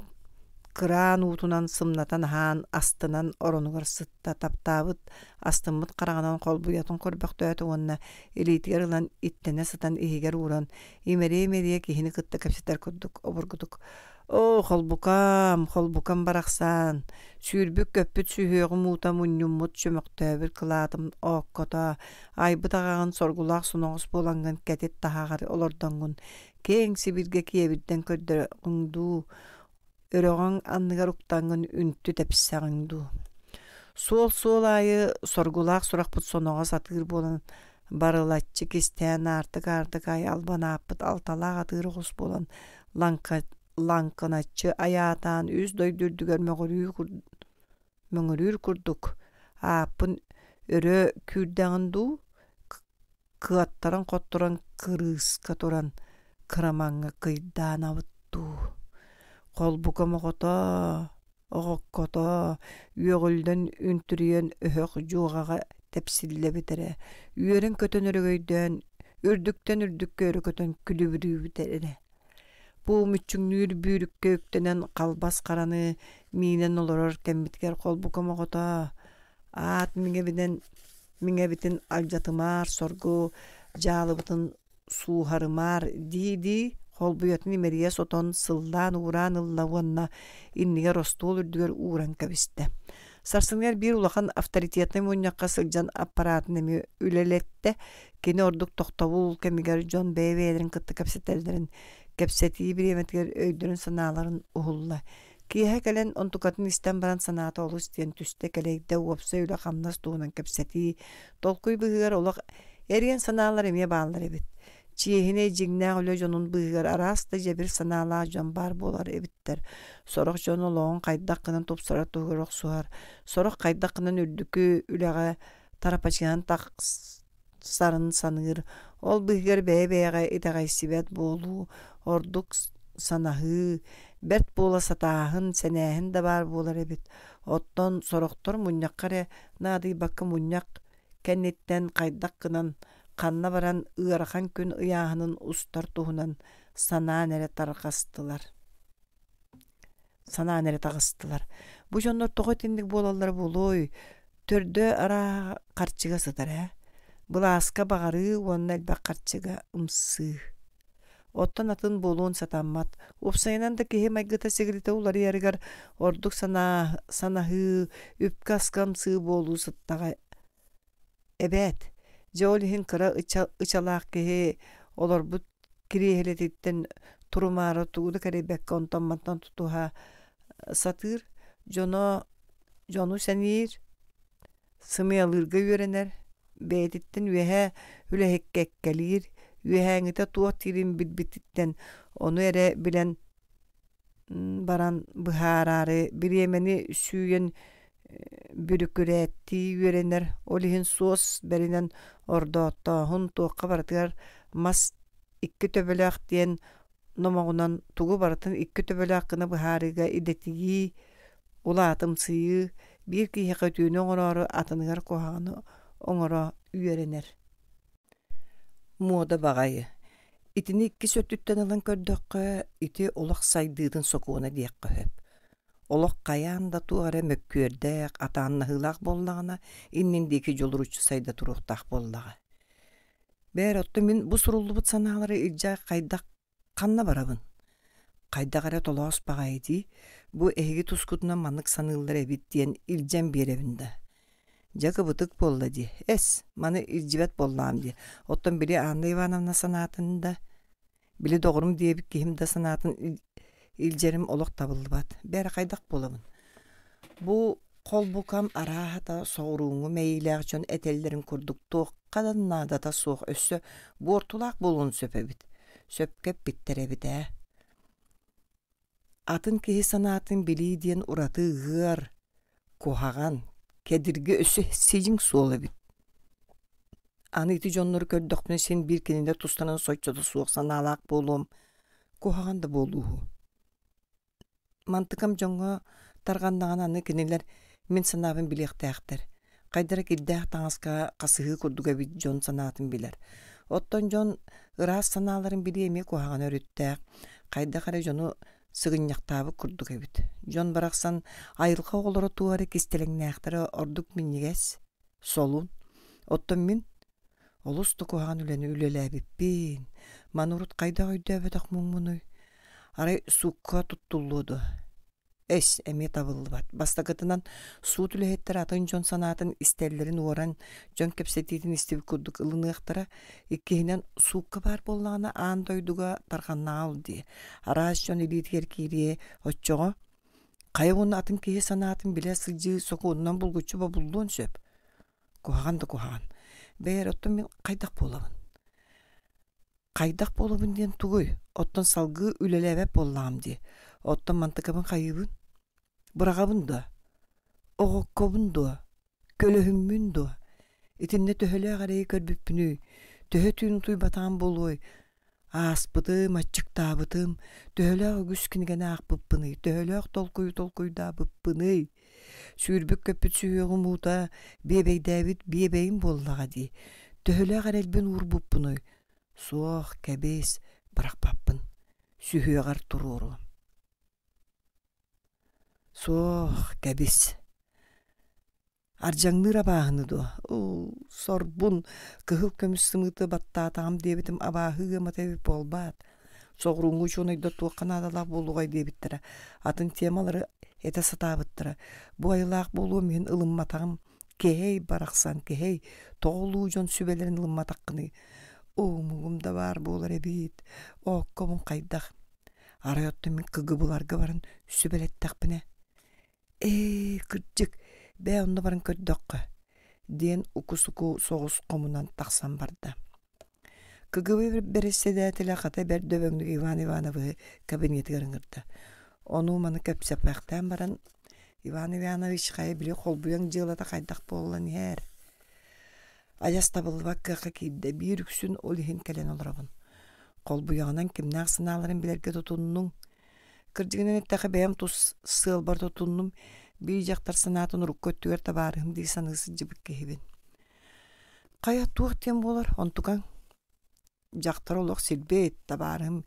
кыраан уутунан сымнатан аһаан, астынан оронугар сытта, таптаабыт, астыммыт хараҕынан холбуйатын көрбөхтөөтө уонна илиитигэр ылан иттэнэ сытан иһигэр ууран, имэрийэ-имэрийэ киһини кытта кэпсэтэр курдук обургутук «Оо, холбукам, холбукам барахсан, сүүрбүт-көппүт сүһүөҕүм уута мунньуммут чөмөхтөөбүт кылаатым ооккото, айбыт аҕаҕын соргулаах соноҕос буолаҥҥын кэтит таһааҕар олордоҥҥун, киэҥ сибиргэ киэбирдэн көрдөрөҕүҥ дуу, өрөҕөҥ анныгар уктаҥҥын үнтү тэпсэҕиҥ дуу. Суол-суол аайы соргулаах сурахпыт соноҕос атыыр буолан барылаччы кистээн аартык-аартык аайы албан ааппыт алталаах атыыр оҕус буолан лаҥка, лаҥкыначчы айаатаан үс дойду үрдүгэр мөҕүрүү мөҥүрүүр курдук ааппын өрө күүрдэҕин дуу, кыаттаран-хотторон кырыыска туран кырамаҥҥа кыйдаанабыт дуу. Холбукам оҕото, оҕоккото үөҕүллэн үнтүрүйэн өһөх дьуоҕаҕа тэпсиллэбит эрэ, үөрэн-көтөн өрөгөйдөөн, үрдүктэн үрдүккэ өрө көтөн күлүбүрүүбүт эрэ. Бу мүччүҥнүүр бүүрүккэ үктэнэн халбас хараны миинэн олорор кэммитигэр холбукам оҕото аат миҥэбинэн миҥэбитин алдьатымаар соргу дьаалыбытын сууһарымаар дии-дии Холбуйатын имэрийэ сотон, сыллаан уураан ылла уонна иннигэр остуол үрдүгэр ууран кэбистэ. Сарсыныгар биир улахан авторитетнай мунньахха сылдьан аппараатын эмиэ үлэлэттэ. Кини ордук тохтобул кэмигэр дьон бэйэ-бэйэлэрин кытта кэпсэтэллэрин, кэпсэтии бириэмэтигэр өйдөрүн-санааларын уһулла. Киэһэ кэлэн онтукатын истэн баран санаата олус диэн түстэ, кэлэйдэ, уопсай үлэ-хамнас туһунан кэпсэтии, толкуй быыһыгар олох эриэн санаалар эмиэ бааллар эбит. Чиэһинэй дьиҥнээх үлэ дьонун быыһыгар араас да дьэбир санаалаах дьон баар буолар эбиттэр. Сорох дьон олоҕун хайдах гынан тупсарар туһугар охсуһар, сорох хайдах гынан үрдүкү үлэҕэ тарапачыһан тахсарын саныыр. Ол быыһыгар бэйэ-бэйэҕэ итэҕэйсибэт буолуу, ордук санаһыы, бэрт буола сатааһын, сэнээһин да баар буолар эбит. Оттон сорохтор мунньахха эрэ наадыйбакка мунньах кэнниттэн хайдах гынан ханна баран ыарахан күн ыйааһынын устар туһунан санаан эрэ тарҕастылар. Санаан эрэ таҕыстылар. Бу дьоннор тоҕо итинник буолаллара буолуой? Төрдө арааһа харчыга сытар ээ. Былааска баҕарыы уонна элбэх харчыга ымсыы. Оттон атын буолуон сатаммат. Уопсайынан да киһи майгыта-сигилитэ уларыйарыгар ордук санаа, санаһыы, үпкэ-аска ымсыы буолуу сыттаҕа эбээт. Дьэ ол иһин кыра ыча, ычалаах киһи олорбут кириэһилэтиттэн турумаары тугу да кэрэйбэккэ онтон-мантан тутуһа сатыыр, дьоно дьону сэниир, сымыйалыырга үөрэнэр, бэйэтиттэн үөһэ үлэһиккэ эккэлиир, үөһээҥҥитэ туох диирин билбититтэн ону эрэ билэн баран быһаараары бириэмэни сүүйэн бүрүкүрээттии үөрэнэр, ол иһин суос бэринэн ордооттооһун туохха барытыгар мас икки төбөлөөх диэн номоҕунан тугу барытын икки төбөлөөх гына быһаарыыга идэтийии, улаатымсыйыы, биир киһиэхэ үтүөнү оҥороору атыныгар куһаҕаны оҥоро үөрэнэр. Муода баҕайы. Итини иккис өттүттэн ылан көрдөххө, ити олох сайдыытын сокуона диэххэ сөп. Олох хайаан да туох эрэ мөккүөрдээх, атааннаһыылаах буоллаҕына, иннин диэки дьулуруччу сайда туруохтаах буоллаҕа. Бээр, оттон мин бу суруллубут санаалары илдьэ хайдах ханна барабын? Хайдах эрэ толоос баҕайы дии, бу эһиги тускутунан маннык саныыллар эбит диэн илдьэн биэрэбин да. Дьэ кыбытык буолла дии. Эс, маны илдьибэт буоллаҕым дии. Оттон били Анна Ивановна санаатын да, били доҕорум диэбит киһим да санаатын илдьэрим олох табыллыбат. Бээрэ хайдах буолабын? Бу холбукам арааһата соҕурууҥҥу мэйиилээх дьон этэллэрин курдук туохха да наадата суох өссө буортулаах буолуон сөп эбит. Сөпкө эппиттэр эбит ээ. Атын киһи санаатын билии диэн ураты ыар, куһаҕан, кэдирги өссө сидьиҥ суол эбит. Аны ити дьоннору көрдөхпүнэ син биир кинилэр тустарынан соччото суох санаалаах буолуом, куһаҕан да буолууһу. Мантыкам дьоҥҥо тарҕаннаҕына аны кинилэр мин санаабын билиэхтээхтэр. Хайдара кирдээх таҥаска хасыһыы курдук эбит дьон санаатын билэр. Оттон дьон ыраас санааларын билии эмиэ куһаҕан өрүттээх. Хайдах эрэ дьону сыгынньахтаабыт курдук эбит. Дьон барахсан айылҕа оҕолоро туох эрэ кистэлэҥнээхтэрэ ордук минньигэс, солун. Оттон мин олус да куһаҕан үлэни үлэлээбиппин. Маны урут хайдах өйдөөбөтөх муҥмунуй? Арай суукка туттуллуо дуо? Эс, эмиэ табыллыбат. Бастакытынан, суут үлэһиттэрэ атын дьон санаатын истэллэрин уоран, дьон кэпсэтиитин истибит курдук ылыныахтара. Иккиһинэн, суукка баар буоллаҕына аан дойдуга тарҕаннаҕа ол дии. Араас дьон илиитигэр киириэ, оччоҕо хайа уонна атын киһи санаатын билэ сылдьыы сокуонунан булгуччу бобуллуон сөп. Куһаҕан да куһаҕан. Бэйэр, оттон мин хайдах буолабын? Хайдах буолабын диэн тугуй? Оттон салгыы үлэлээбэт буоллаҕым дии. Оттон мантыкабын хайыыбын? Быраҕабын дуо? Оҕоккобун дуо? Көлөһүммүн дуо? Итиннэ төһөлөөх эрэйи көрбүппүнүй? Төһө түүн утуйбатаҕым буолуой? Ааспытым, аччыктаабытым, төһөлөөх үгүс кинигэни аахпыппыный, төһөлөөх толкуйу толкуйдаабыппыный? Сүүрбүт-көппүт сүһүөҕүм уута, биэбэйдээбит биэбэйим буоллаҕа дии. Төһөлөөх эрэлбин уурбуппунуй? Суох, кэбис, бырахпаппын. Сүһүөҕэр туруоруом. Суох, кэбис. Ардьаҥныыр абааһыны дуо? Уу, сорбун, кыһыл көмүс сымыыты баттаатаҕым диэбитим абааһы ыамата эбит буолбаат. Соҕурууҥҥу учуонайдар туохха наадалаах буолуоҕай диэбиттэрэ, атын темалары этэ сатаабыттара. Бу айылаах буолуом иһин ылымматаҕым. Кэһэй барахсан, кэһэй, тоҕо улуу дьон сүбэлэрин ылымматаххыный? Омугум да баар буолар эбит, ооккобун хайдах? Арай оттон мин кыгыбыларга баран сүбэлэттэхпинэ, ээ, кырдьык, бээ онно баран көрдөххө, диэн уку-суку соҕус хомунан тахсан барда. КГБ бэрэссэдээтэлэ хата бэрт дөбөҥнүк Иван Ивановиһы кабинетыгар ыҥырда. Ону-маны кэпсэппэхтээн баран, Иван Иванович хайа били холбуйаҥ дьыалата хайдах буолан иһэр? Адьас табыллыбат кыахха киирдэ, биир үксүн ол иһин кэлэн олоробун. Холбуйаҕынан кимнээх санааларын билэргэ тутуннуҥ? Кырдьыгынан эттэххэ бэйэм тус сыалбар тутуннум, биир дьахтар санаатын урукку өттүгэр табаарыһым дии саныы сылдьыбыт киһибин. Хайа туох диэн буолар, онтукаҥ? Дьахтар олох сирбит, табаарыһым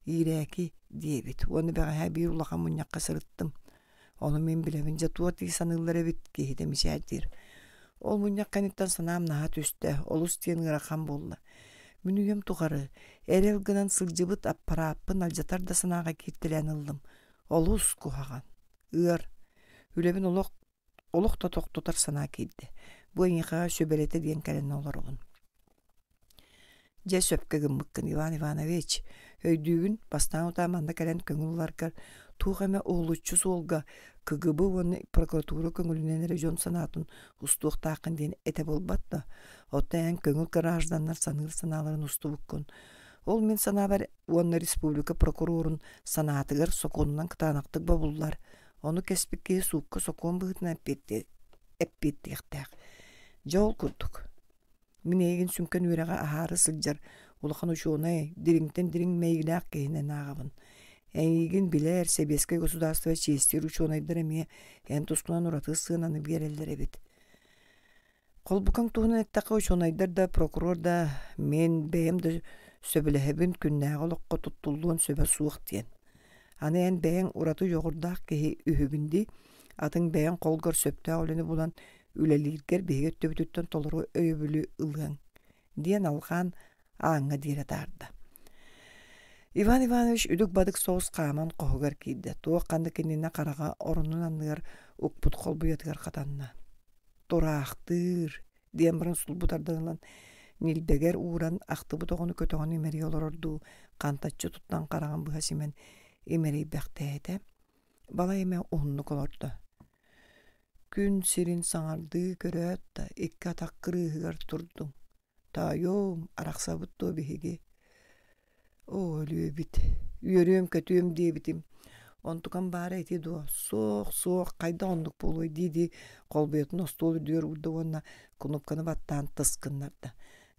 иирээки диэбит. Уонна бэҕэһээ биир улахан мунньахха сырыттым. Ону мин билэбин, дьэ туох дии саныыллар эбит, киһитэ мичээрдиир. Ол мунньах кэнниттэн санаам наһаа түстэ, олус диэн ыарахан буолла. Мин үйэм тухары эрэл гынан сылдьыбыт аппарааппын алдьатар да санааҕа кииртэлээн ыллым. Олус куһаҕан, ыар. Үлэбин олох олох да тохтотор санаа киирдэ. Бу эйиэхэ сүбэлэтэ диэн кэлэн олоробун. Дьэ сөпкө гыммыккын, Иван Иванович. Өйдүүбүн, бастаан утаа манна кэлэн көҥүл ыларгар туох эмэ уһулуччу суолга КГБ уонна прокуратура көҥүлүнэн эрэ дьон санаатын устуохтааххын диэн этэ буолбат да. Оттон эн көҥүл гражданнар саныыр санааларын устубуккун. Ол мин санаабар уонна республика прокурорун санаатыгар сокуонунан кытаанахтык бобуллар. Ону кэспит киһи суукка сокуон быһыытынан эппиэттиэхтээх. Дьэ ол курдук. Мин эйигин сүҥкэн үөрэҕи аһаары сылдьар улахан учуонай, дириҥтэн дириҥ мэйиилээх киһинэн ааҕабын. Эйигин билэр, сэбиэскэй государство чиэстиир учуонайдар эмиэ эн тускунан ураты сыананы биэрэллэр эбит. Холбукаҥ туһунан эттэххэ, учуонайдар да, прокурор да, мин бэйэм да сөбүлэһэбин, күннээҕи олоххо туттуллуон сөбө суох диэн. Аны эн бэйэҥ ураты дьоҕурдаах киһи үһүгүн дии, атын бэйэҥ холгор сөптөөх үлэни булан үлэлииргэр биһиги өттүбүтүттэн толору өйөбүлү ылыаҥ, диэн алҕаан ааҥҥа диэри атаарда. Иван Иванович үдүк-бадык соҕус хааман хоһугар киирдэ. Туох ханнык иннинэ хараҕа оронун анныгар укпут холбуйатыгар хатанна. Тураахтыыр, диэн баран сулбу тардан ылан ньилбэгэр ууран ахтыбыт оҕону көтөҕөн имэрийэ олорордуу хантаччы туттан хараҕын быһа симэн имэрийбэхтээтэ. Балай эмэ уһуннук олордо. Күн сирин саҥардыы көрөөт да икки атах кырыыһыгар турдуҥ. Таайуом, арахсабыт дуо биһиги? Оо, өлүөбүт, үөрүөм-көтүөм диэбитим. Онтукам баара ити дуо? Суох, суох, хайдах оннук буолуой дии-дии холбуйатын остуол үрдүгэр уурда уонна кнопканы баттаан тыс гыннарда.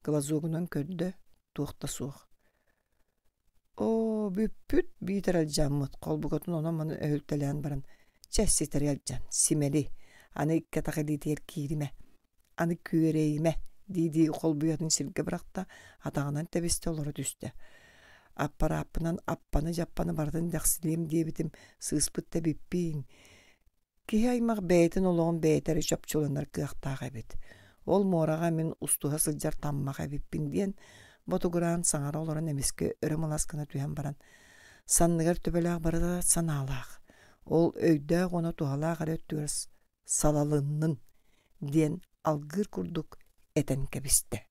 Глазогунан көрдө, туох да суох. Оо, бүппүт, биитэр алдьаммыт, холбукатын онон-манан өһүлтэлээн баран, чэ, ситэри алдьан, симэли, аны икки атах илиитигэр кииримэ, аны күөрэйимэ, дии-дии холбуйатын сиргэ бырахта, атаҕынан тэбистэ олоро түстэ. Аппарааппынан аппаны-дьаппаны барытын дэхсилиэм диэбитим, сыыспыт да эбиппиин. Киһи аймах бэйэтин олоҕун бэйэтэ эрэ чопчуланар кыахтаах эбит. Ол муораҕа мин устуһа сылдьар таммах эбиппин диэн ботугураан саҥара олорон эмискэ өрө малас гына түһэн баран, санныгар төбөлөөх барыта санаалаах, ол өйдөөх уонна туһалаах эрэ өттүгэр салалыннын диэн алгыыр курдук этэн кэбистэ.